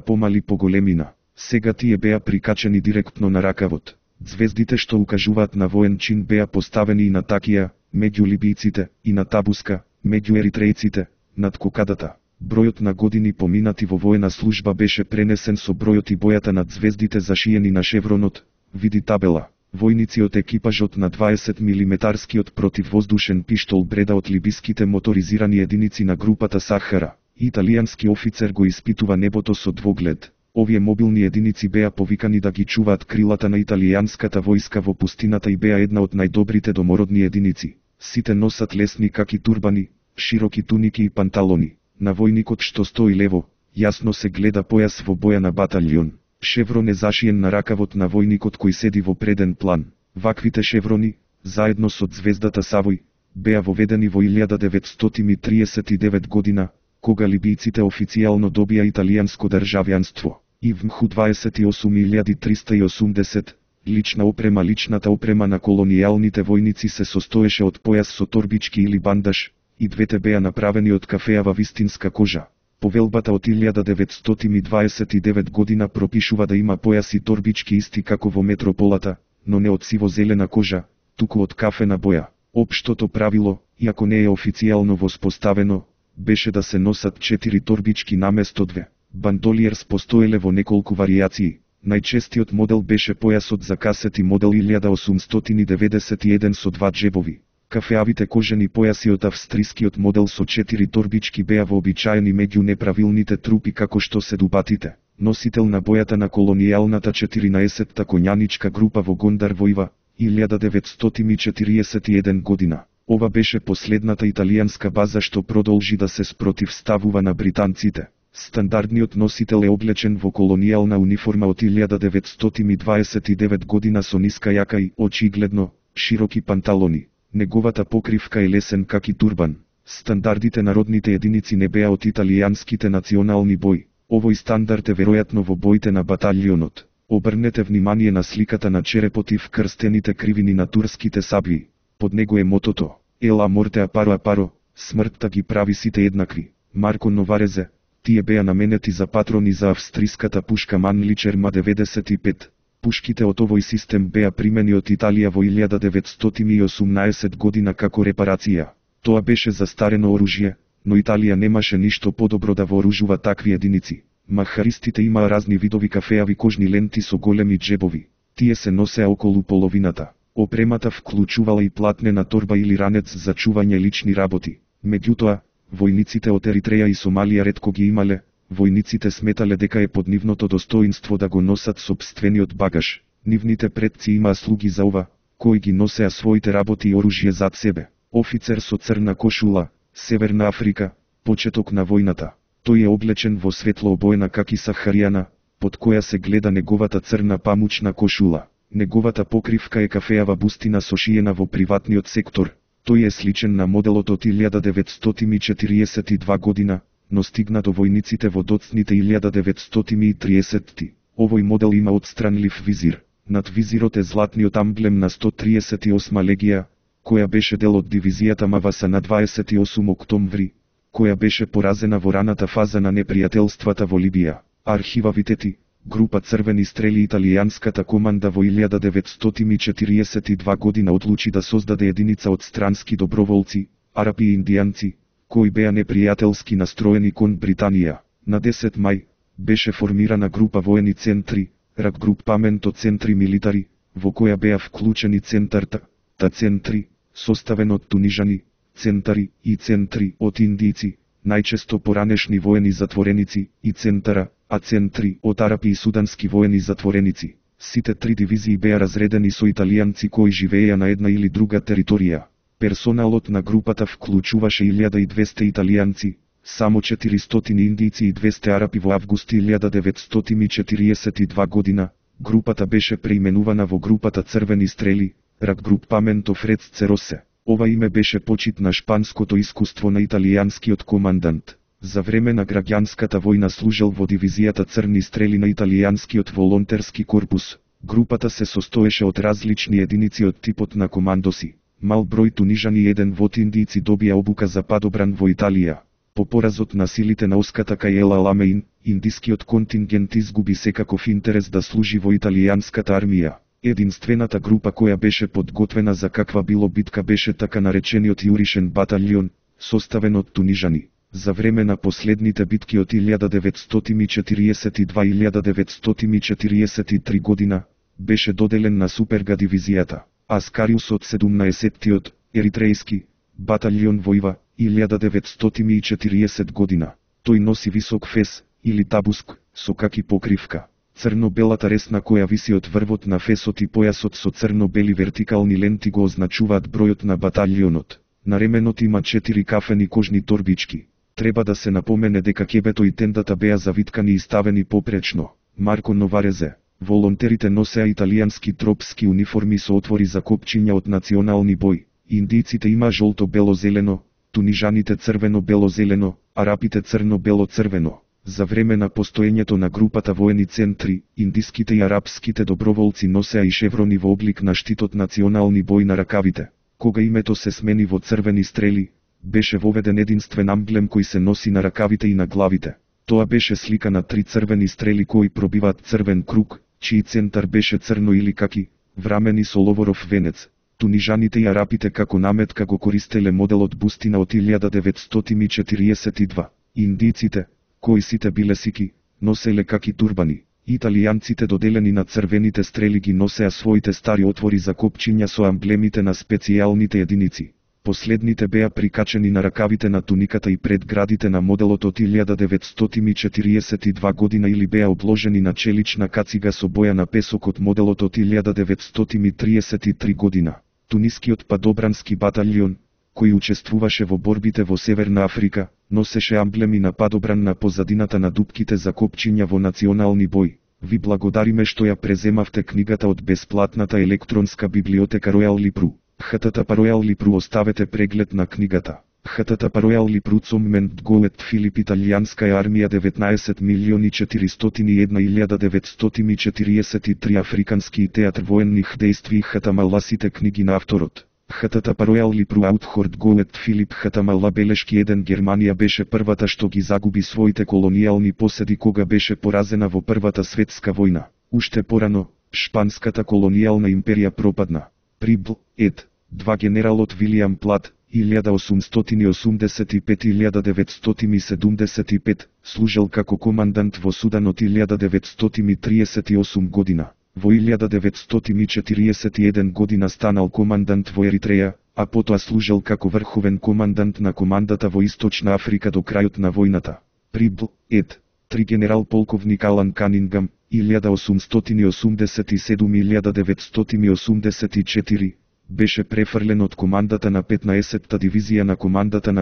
помали по големина. Сега тие беа прикачени директно на ракавот. Звездите што укажуваат на воен чин беа поставени и на такија, меѓу либијците, и на табуска, меѓу еритрејците, над кокадата. Бројот на години поминати во воена служба беше пренесен со бројот и бојата над звездите зашиени на шевронот. Види табела. Војници од екипажот на 20 милиметарскиот противвоздушен пиштол бреда од либиските моторизирани единици на групата Сахара. Италијански офицер го испитува небото со двоглед. Овие мобилни единици беа повикани да ги чуваат крилата на италијанската војска во пустината и беа една од најдобрите домородни единици. Сите носат лесни каки турбани, широки туники и панталони. На војникот што стои лево, јасно се гледа појас во боја на баталјон. Шеврон е зашиен на ракавот на војникот кој седи во преден план. Ваквите шеврони, заедно со звездата Савој, беа воведени во 1939 година, кога либијците официјално добија италијанско државјанство. И ВМХ 28380, лична опрема. Личната опрема на колонијалните војници се состоеше од појас со торбички или бандаж, и двете беа направени од кафеава вистинска кожа. Повелбата од 1929 година пропишува да има појас и торбички исти како во метрополата, но не од сиво-зелена кожа, туку од кафена боја. Општото правило, иако не е официјално воспоставено, беше да се носат 4 торбички наместо 2. Бандолиерс постоеле во неколку варијации. Најчестиот модел беше појасот за касети модел 1891 со 2 джебови. Кафеавите кожени појаси од австрискиот модел со 4 торбички беа вообичаени меѓу неправилните трупи како што се дубатите. Носител на бојата на колонијалната 14-та коњаничка група во Гондар војва, 1941 година. Ова беше последната италијанска база што продолжи да се спротивставува на британците. Стандардниот носител е облечен во колонијална униформа од 1929 година со ниска јака и, очигледно, широки панталони. Неговата покривка е лесен каки турбан. Стандардите народните единици не беа од италијанските национални бои. Овој стандард е веројатно во боите на баталјонот. Обрнете внимание на сликата на черепот и вкрстените кривини на турските сабји. Под него е мотото: Ела морте апаро апаро, смртта ги прави сите еднакви. Марко Новарезе. Тие беа наменети за патрони за австриската пушка Манличер М95. Пушките од овој систем беа примени од Италија во 1918 година како репарација. Тоа беше застарено оружје, но Италија немаше ништо подобро да вооружува такви единици. Махаристите имаа разни видови кафеави кожни ленти со големи джебови. Тие се носеа околу половината. Опремата вклучувала и платнена торба или ранец за чување лични работи. Меѓутоа, војниците од Еритреја и Сомалија ретко ги имале. Војниците сметале дека е под нивното достоинство да го носат сопствениот багаж. Нивните предци имаа слуги за ова, кои ги носеа своите работи и оружје зад себе. Офицер со црна кошула, Северна Африка, почеток на војната. Тој е облечен во светло обоена каки сахаријана, под која се гледа неговата црна памучна кошула. Неговата покривка е кафеава бустина сошиена во приватниот сектор. Тој е сличен на моделот од 1942 година, но стигна до војниците во доцните 1930-ти. Овој модел има отстранлив визир. Над визирот е златниот амблем на 138 легија, која беше дел од дивизијата Маваса на 28 октомври, која беше поразена во раната фаза на непријателствата во Либија. Архива Витети, група црвени стрели. Италијанската команда во 1942 година одлучи да создаде единица од странски доброволци, арапи и индијанци, кои беа непријателски настроени кон Британија. На 10 мај беше формирана група воени центри, Ракгрупаменто центри милитари, во која беа вклучени центарта, центри, составен од тунижани, центари и центри од индијци, најчесто поранешни воени затвореници, и центара, а центри од арапи и судански воени затвореници. Сите три дивизии беа разредени со италијанци кои живееја на една или друга територија. Персоналот на групата вклучуваше 1200 италијанци, само 400 индијци и 200 арапи. Во август 1942 година, групата беше преименувана во групата Црвени стрели, Ракгрупаменто Фрец Церосе. Ова име беше почит на шпанското искуство на италијанскиот командант. За време на граѓанската војна служел во дивизијата Црни стрели на италијанскиот волонтерски корпус. Групата се состоеше од различни единици од типот на командоси. Мал број тунижани и еден вод индијци добија обука за падобран во Италија. По поразот на силите на Оската кај Ел Аламеин, индискиот контингент изгуби секаков интерес да служи во италијанската армија. Единствената група која беше подготвена за каква било битка беше така наречениот Јуришен баталјон, составен од тунижани. За време на последните битки од 1942-1943 година, беше доделен на Суперга дивизијата. Аскариус од 17-тиот, еритрејски, баталјон војва, 1940 година. Тој носи висок фес, или табуск, со каки покривка. Црно-белата ресна која виси од врвот на фесот и појасот со црно-бели вертикални ленти го означуваат бројот на баталјонот. На ременот има 4 кафени кожни торбички. Треба да се напомене дека ќебето и тендата беа завиткани и ставени попречно. Марко Новарезе. Волонтерите носеа италијански тропски униформи со отвори за копчиња од национални бој. Индијците има жолто-бело-зелено, тунижаните црвено-бело-зелено, арапите црно-бело-црвено. За време на постоењето на групата воени центри, индиските и арапските доброволци носеа и шеврони во облик на штитот национални бој на ракавите. Кога името се смени во црвени стрели, беше воведен единствен амблем кој се носи на ракавите и на главите. Тоа беше слика на 3 црвени стрели кои пробиваат црвен круг, чиј центар беше црно или каки, врамени со ловоров венец. Тунижаните и арапите како наметка го користеле моделот бустина од 1942. Индијците, кои сите биле сики, носеле каки турбани. Италијанците доделени на црвените стрели ги носеа своите стари отвори за копчиња со амблемите на специјалните единици. Последните беа прикачени на ракавите на туниката и предградите на моделот од 1942 година или беа обложени на челична кацига со боја на песок од моделот од 1933 година. Тунискиот падобрански баталјон, кој учествуваше во борбите во Северна Африка, носеше амблеми на падобран на позадината на дупките за копчиња во национални бој. Ви благодариме што ја преземавте книгата од бесплатната електронска библиотека Ројал Липру. ХТТ Ројал Липру, оставете преглед на книгата. ХТТ Ројал Липру цоммент гоет Филип италијанска армија 19.401.943 африкански театр военних дејстви ХТМЛ сите книги на авторот. ХТТ Ројал Липру аутхорд гоет Филип ХТМЛ белешки 1 Германија беше првата што ги загуби своите колонијални поседи кога беше поразена во Првата светска војна. Уште порано, шпанската колонијална империја пропадна. Прибл, ед. 2 генералот Вилијам Плат, 1885-1975, служел како командант во Судан од 1938 година. Во 1941 година станал командант во Еритреја, а потоа служел како врховен командант на командата во Источна Африка до крајот на војната. Прибл, ед. 3 генерал полковник Алан Канингам, 1887-1984, беше префрлен од командата на 15-та дивизија на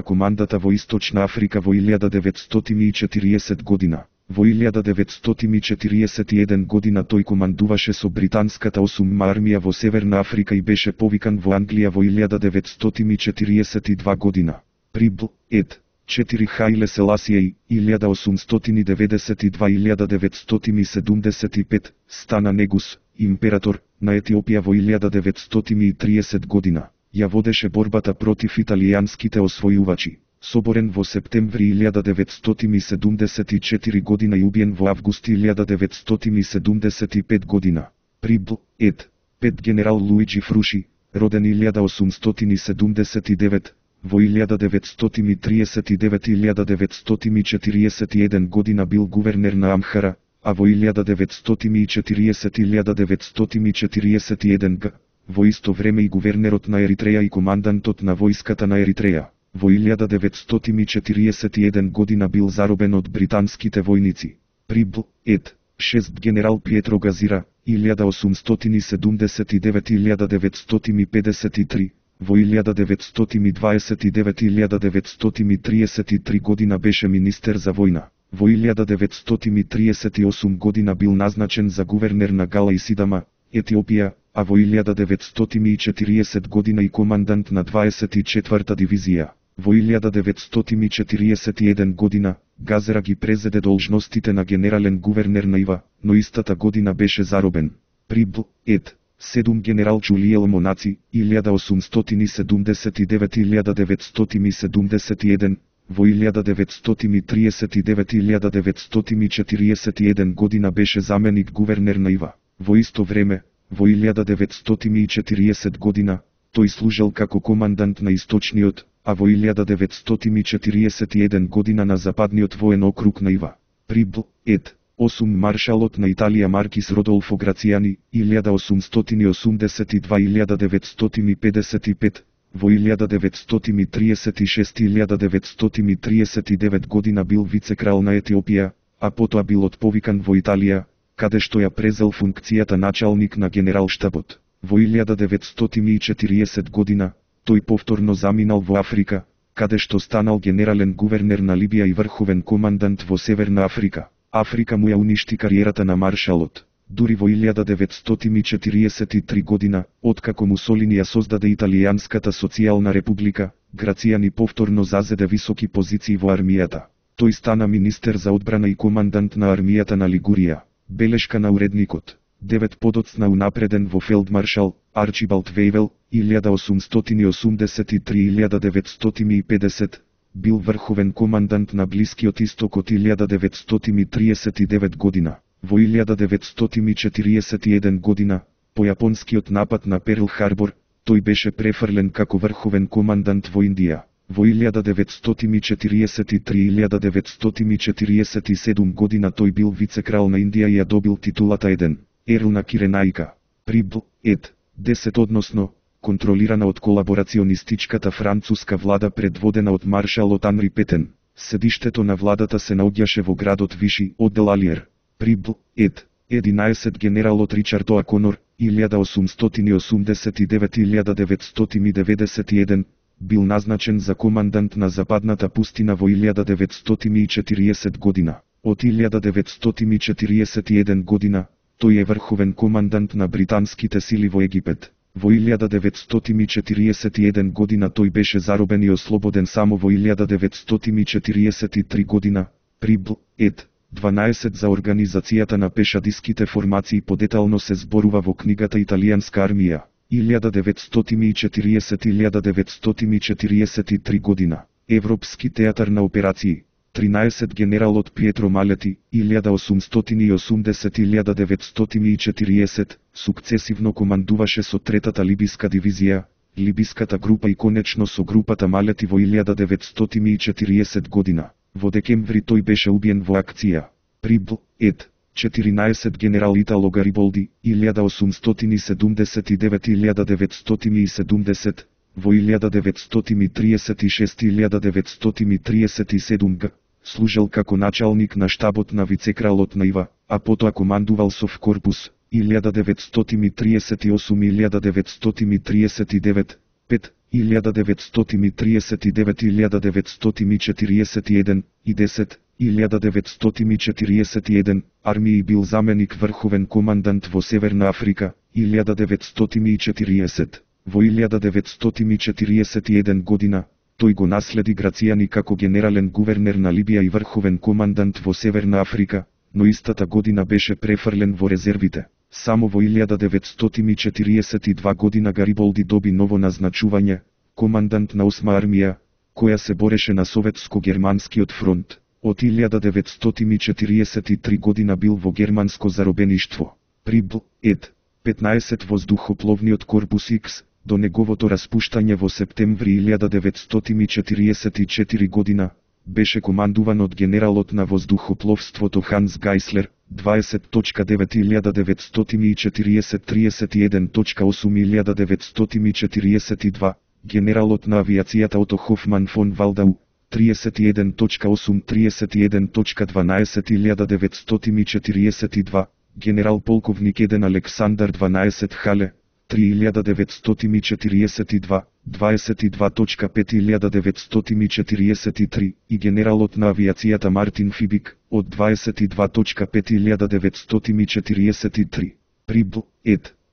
командата во Источна Африка во 1940 година. Во 1941 година тој командуваше со британската 8-ма армија во Северна Африка и беше повикан во Англија во 1942 година. Прибл, ед. 4 Хаиле Селасијеј, 1882-1975, стана негус, император, на Етиопија во 1930 година. Ја водеше борбата против италијанските освојувачи. Соборен во септември 1974 година и убиен во август 1975 година. Прибл, ед. 5 генерал Луиджи Фруши, роден 1879, во 1939-1941 година бил гувернер на Амхара, а во 1940-1941 г. Во исто време и гувернерот на Еритреја и командантот на војската на Еритреја. Во 1941 година бил заробен од британските војници. Прибл, ед. 6 генерал Пиетро Газира, 1879-1953, во 1929-1933 година беше министер за војна. Во 1938 година бил назначен за гувернер на Гала и Сидама, Етиопија, а во 1940 година и командант на 24-та дивизија. Во 1941 година, Газера ги презеде должностите на генерален гувернер на Ива, но истата година беше заробен. Прибл, ед. 7 генерал Джулиел Монаци, 1879-1971, во 1939-1941 година беше заменик гувернер на Ива. Во исто време, во 1940 година, тој служел како командант на Источниот, а во 1941 година на Западниот воен округ на Ива. Прибл. 8 маршалот на Италија Маркис Родолфо Грацијани, 1882-1955, во 1936-1939 година бил вицекрал на Етиопија, а потоа бил отповикан во Италија, каде што ја презел функцијата началник на генералштабот. Во 1940 година, тој повторно заминал во Африка, каде што станал генерален гувернер на Либија и врховен командант во Северна Африка. Африка му ја уништи кариерата на маршалот. Дури во 1943 година, откако Мусолини ја создаде Италијанската социјална република, Грацијани повторно зазеде високи позиции во армијата. Тој стана министер за одбрана и командант на армијата на Лигурија. Белешка на уредникот. 9 подоцна унапреден во фелдмаршал Арчибалд Вејвел, 1883-1950, бил врховен командант на Блискиот исток од 1939 година. Во 1941 година, по јапонскиот напад на Перл Харбор, тој беше префрлен како врховен командант во Индија. Во 1943-1947 година тој бил вицекрал на Индија и ја добил титулата Еден, Ерл на Киренаика. Прибл. 10 односно, контролирана од колаборационистичката француска влада предводена од маршалот Анри Петен. Седиштето на владата се наоѓаше во градот Виши, оддел Алиер. Прибл. 11 генералот Ричард О'Конор, 1889-1991, бил назначен за командант на Западната пустина во 1940 година. Од 1941 година, тој е врховен командант на британските сили во Египет. Во 1941 година тој беше заробен и ослободен само во 1943 година. Прибл. 12 за организацијата на пешадиските формации подетално се зборува во книгата Италијанска армија, 1940-1943 година. Европски театар на операции. 13 генералот Пиетро Малети, 1880-1940, сукцесивно командуваше со третата либиска дивизија, либиската група и конечно со групата Малети во 1940 година. Во декември тој беше убиен во акција. Прибл. 14 генерал Итало Гариболди, 1879-1970, во 1936-1937 г. служел како началник на штабот на вицекралот на Ива, а потоа командувал со корпус, 1938-1939, 5, 1939-1941 и 10, 1941, армии бил заменик врховен командант во Северна Африка, 1940. Во 1941 година, тој го наследи Грацијани како генерален гувернер на Либија и врховен командант во Северна Африка, но истата година беше префрлен во резервите. Само во 1942 година Гариболди доби ново назначување, командант на 8 армија, која се бореше на советско-германскиот фронт. Од 1943 година бил во германско заробеништво. Прибл. 15 воздухопловниот корпус X, до неговото распуштање во септември 1944 година, беше командуван од генералот на воздухопловството Ханс Гайслер, 20.940-31.8.1942, генералот на авиацијата Ото Хофман фон Валдау, 31.8.31.12.1942, генерал полковник Еден Александар 12 Хале, 3.942, 22.5.1943 и генералот на авиацијата Мартин Фибик, од 22.5.1943. Прибл.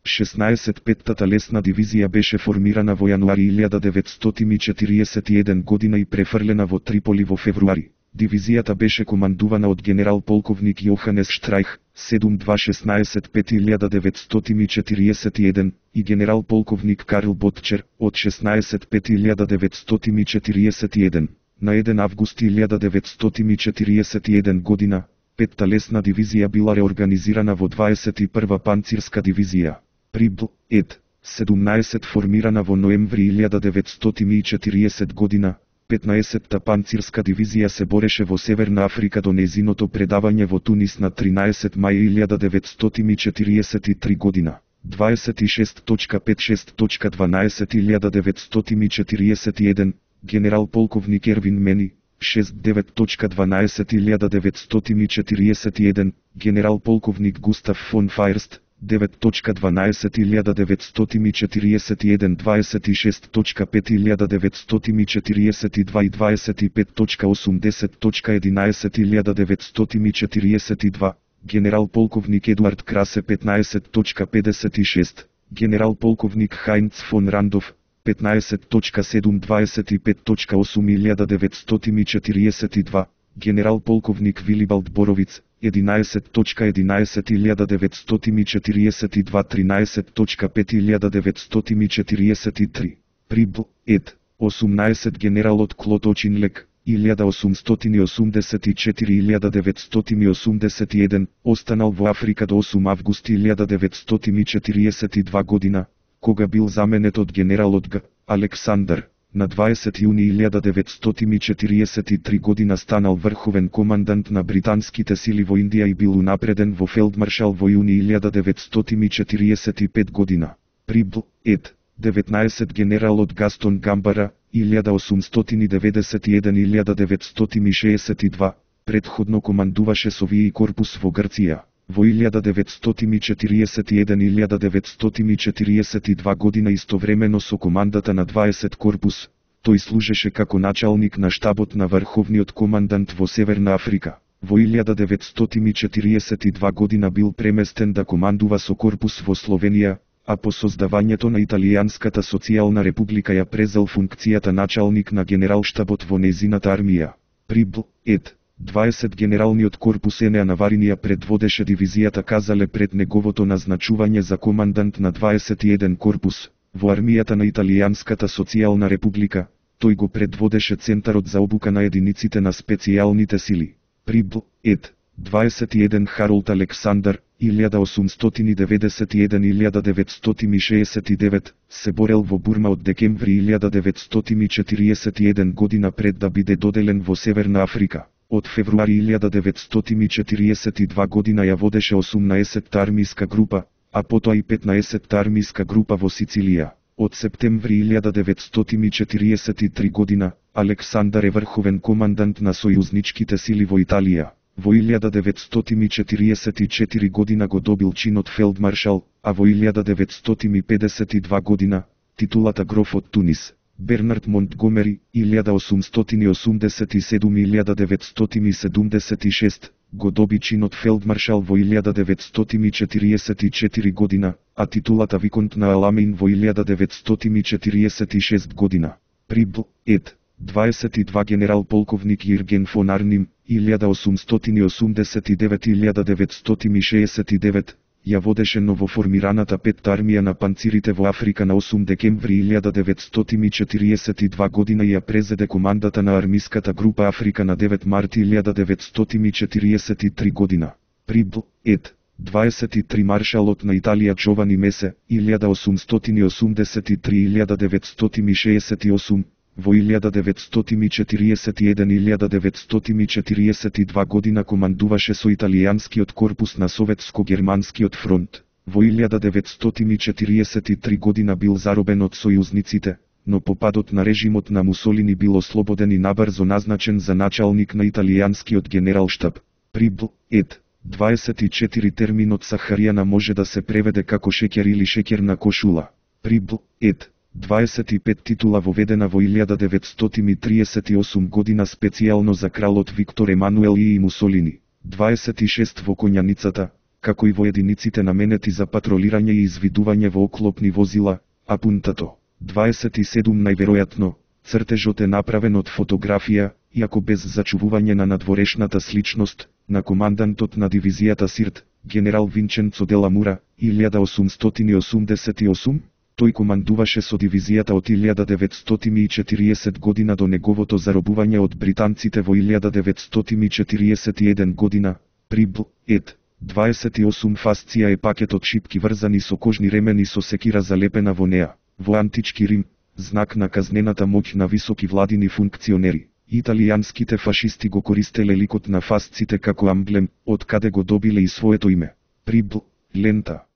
16 петтата лесна дивизија беше формирана во јануари 1941 година и префрлена во Триполи во февруари. Дивизијата беше командувана од генерал полковник Јоханес Штрайх, 7216 5941 и генерал полковник Карл Ботчер, од 16 5941. На 1 август 1941 година, 5-та лесна дивизија била реорганизирана во 21 панцирска дивизија. Прибл, ет. 17 формирана во ноември 1940 година, 15-та панцирска дивизија се бореше во Северна Африка до нејзиното предавање во Тунис на 13 мај 1943 година. 26.56.12 1941, генерал полковник Ервин Мени, 69.12 1941, генерал полковник Густав фон Фаерст, 9.12 1941, 26.5 1942 и 25.80.11 1942, генерал полковник Едуард Красе 15.56, генерал полковник Хайнц фон Рандов, 15.7 25.8 генерал полковник Вилибалд Боровиц, 11.11 1942 13.5 1943, Прибл, ет. 18 генералот Клод Очинлек, 1884-1981, останал во Африка до 8 август 1942 година, кога бил заменет од генералот Г. Александар. На 20 јуни 1943 година станал врховен командант на британските сили во Индија и бил унапреден во фелдмаршал во јуни 1945 година. Прибл, ет. 19 генералот Гастон Гамбара, 1891-1962, предходно командуваше Совији корпус во Грција. Во 1941-1942 година истовремено со командата на 20 корпус, тој служеше како началник на штабот на врховниот командант во Северна Африка. Во 1942 година бил преместен да командува со корпус во Словенија, а по создавањето на Италијанската социјална република ја презел функцијата началник на генералштабот во нејзината армија. Прибл, ет. 20 генералниот корпус Енеа Наваринија предводеше дивизијата Казале пред неговото назначување за командант на 21 корпус. Во армијата на Италијанската социјална република, тој го предводеше Центарот за обука на единиците на специјалните сили. Прибл, ет. 21 Харолд Александар, 1891-1969, се борел во Бурма од декември 1941 година пред да биде доделен во Северна Африка. Од февруари 1942 година ја водеше 18-та армиска група, а потоа и 15-та армиска група во Сицилија. Од септември 1943 година, Александар е врховен командант на сојузничките сили во Италија. Во 1944 година го добил чинот фелдмаршал, а во 1952 година, титулата гроф од Тунис. Бернард Монтгомери, 1887-1976, го доби чинот фелдмаршал во 1944 година, а титулата виконт на Аламейн во 1946 година. Прибл, ет. 22 генерал полковник Јирген фон Арним, 1889-1969, ја водеше новоформираната петта армија на панцирите во Африка на 8 декември 1942 година и ја презеде командата на армиската група Африка на 9 март 1943 година. Прибл, ет. 23 маршалот на Италија Джовани Месе, 1883-1968, во 1941-1942 година командуваше со италијанскиот корпус на Советско-германскиот фронт. Во 1943 година бил заробен од сојузниците, но по падот на режимот на Мусолини бил ослободен и набрзо назначен за началник на италијанскиот генералштаб. Прибл, ет. 24 терминот Сахаријана може да се преведе како шеќер или шеќерна кошула. Прибл, ет. 25 титула воведена во 1938 година специјално за кралот Виктор Емануел и Мусолини. 26 во коњаницата, како и во единиците наменети за патролирање и извидување во оклопни возила, а пунтато. 27 најверојатно, цртежот е направен од фотографија, иако без зачувување на надворешната сличност, на командантот на дивизијата Сирт, генерал Винченцо де Ламура, 1888, тој командуваше со дивизијата од 1940 година до неговото заробување од британците во 1941 година, при Б.Ед. 28 фасција е пакет од шипки врзани со кожни ремени со секира залепена во неа. Во антички Рим, знак на казнената моќ на високи владини функционери. Италијанските фашисти го користеле ликот на фасците како амблем, од каде го добиле и своето име. При Б. Лента.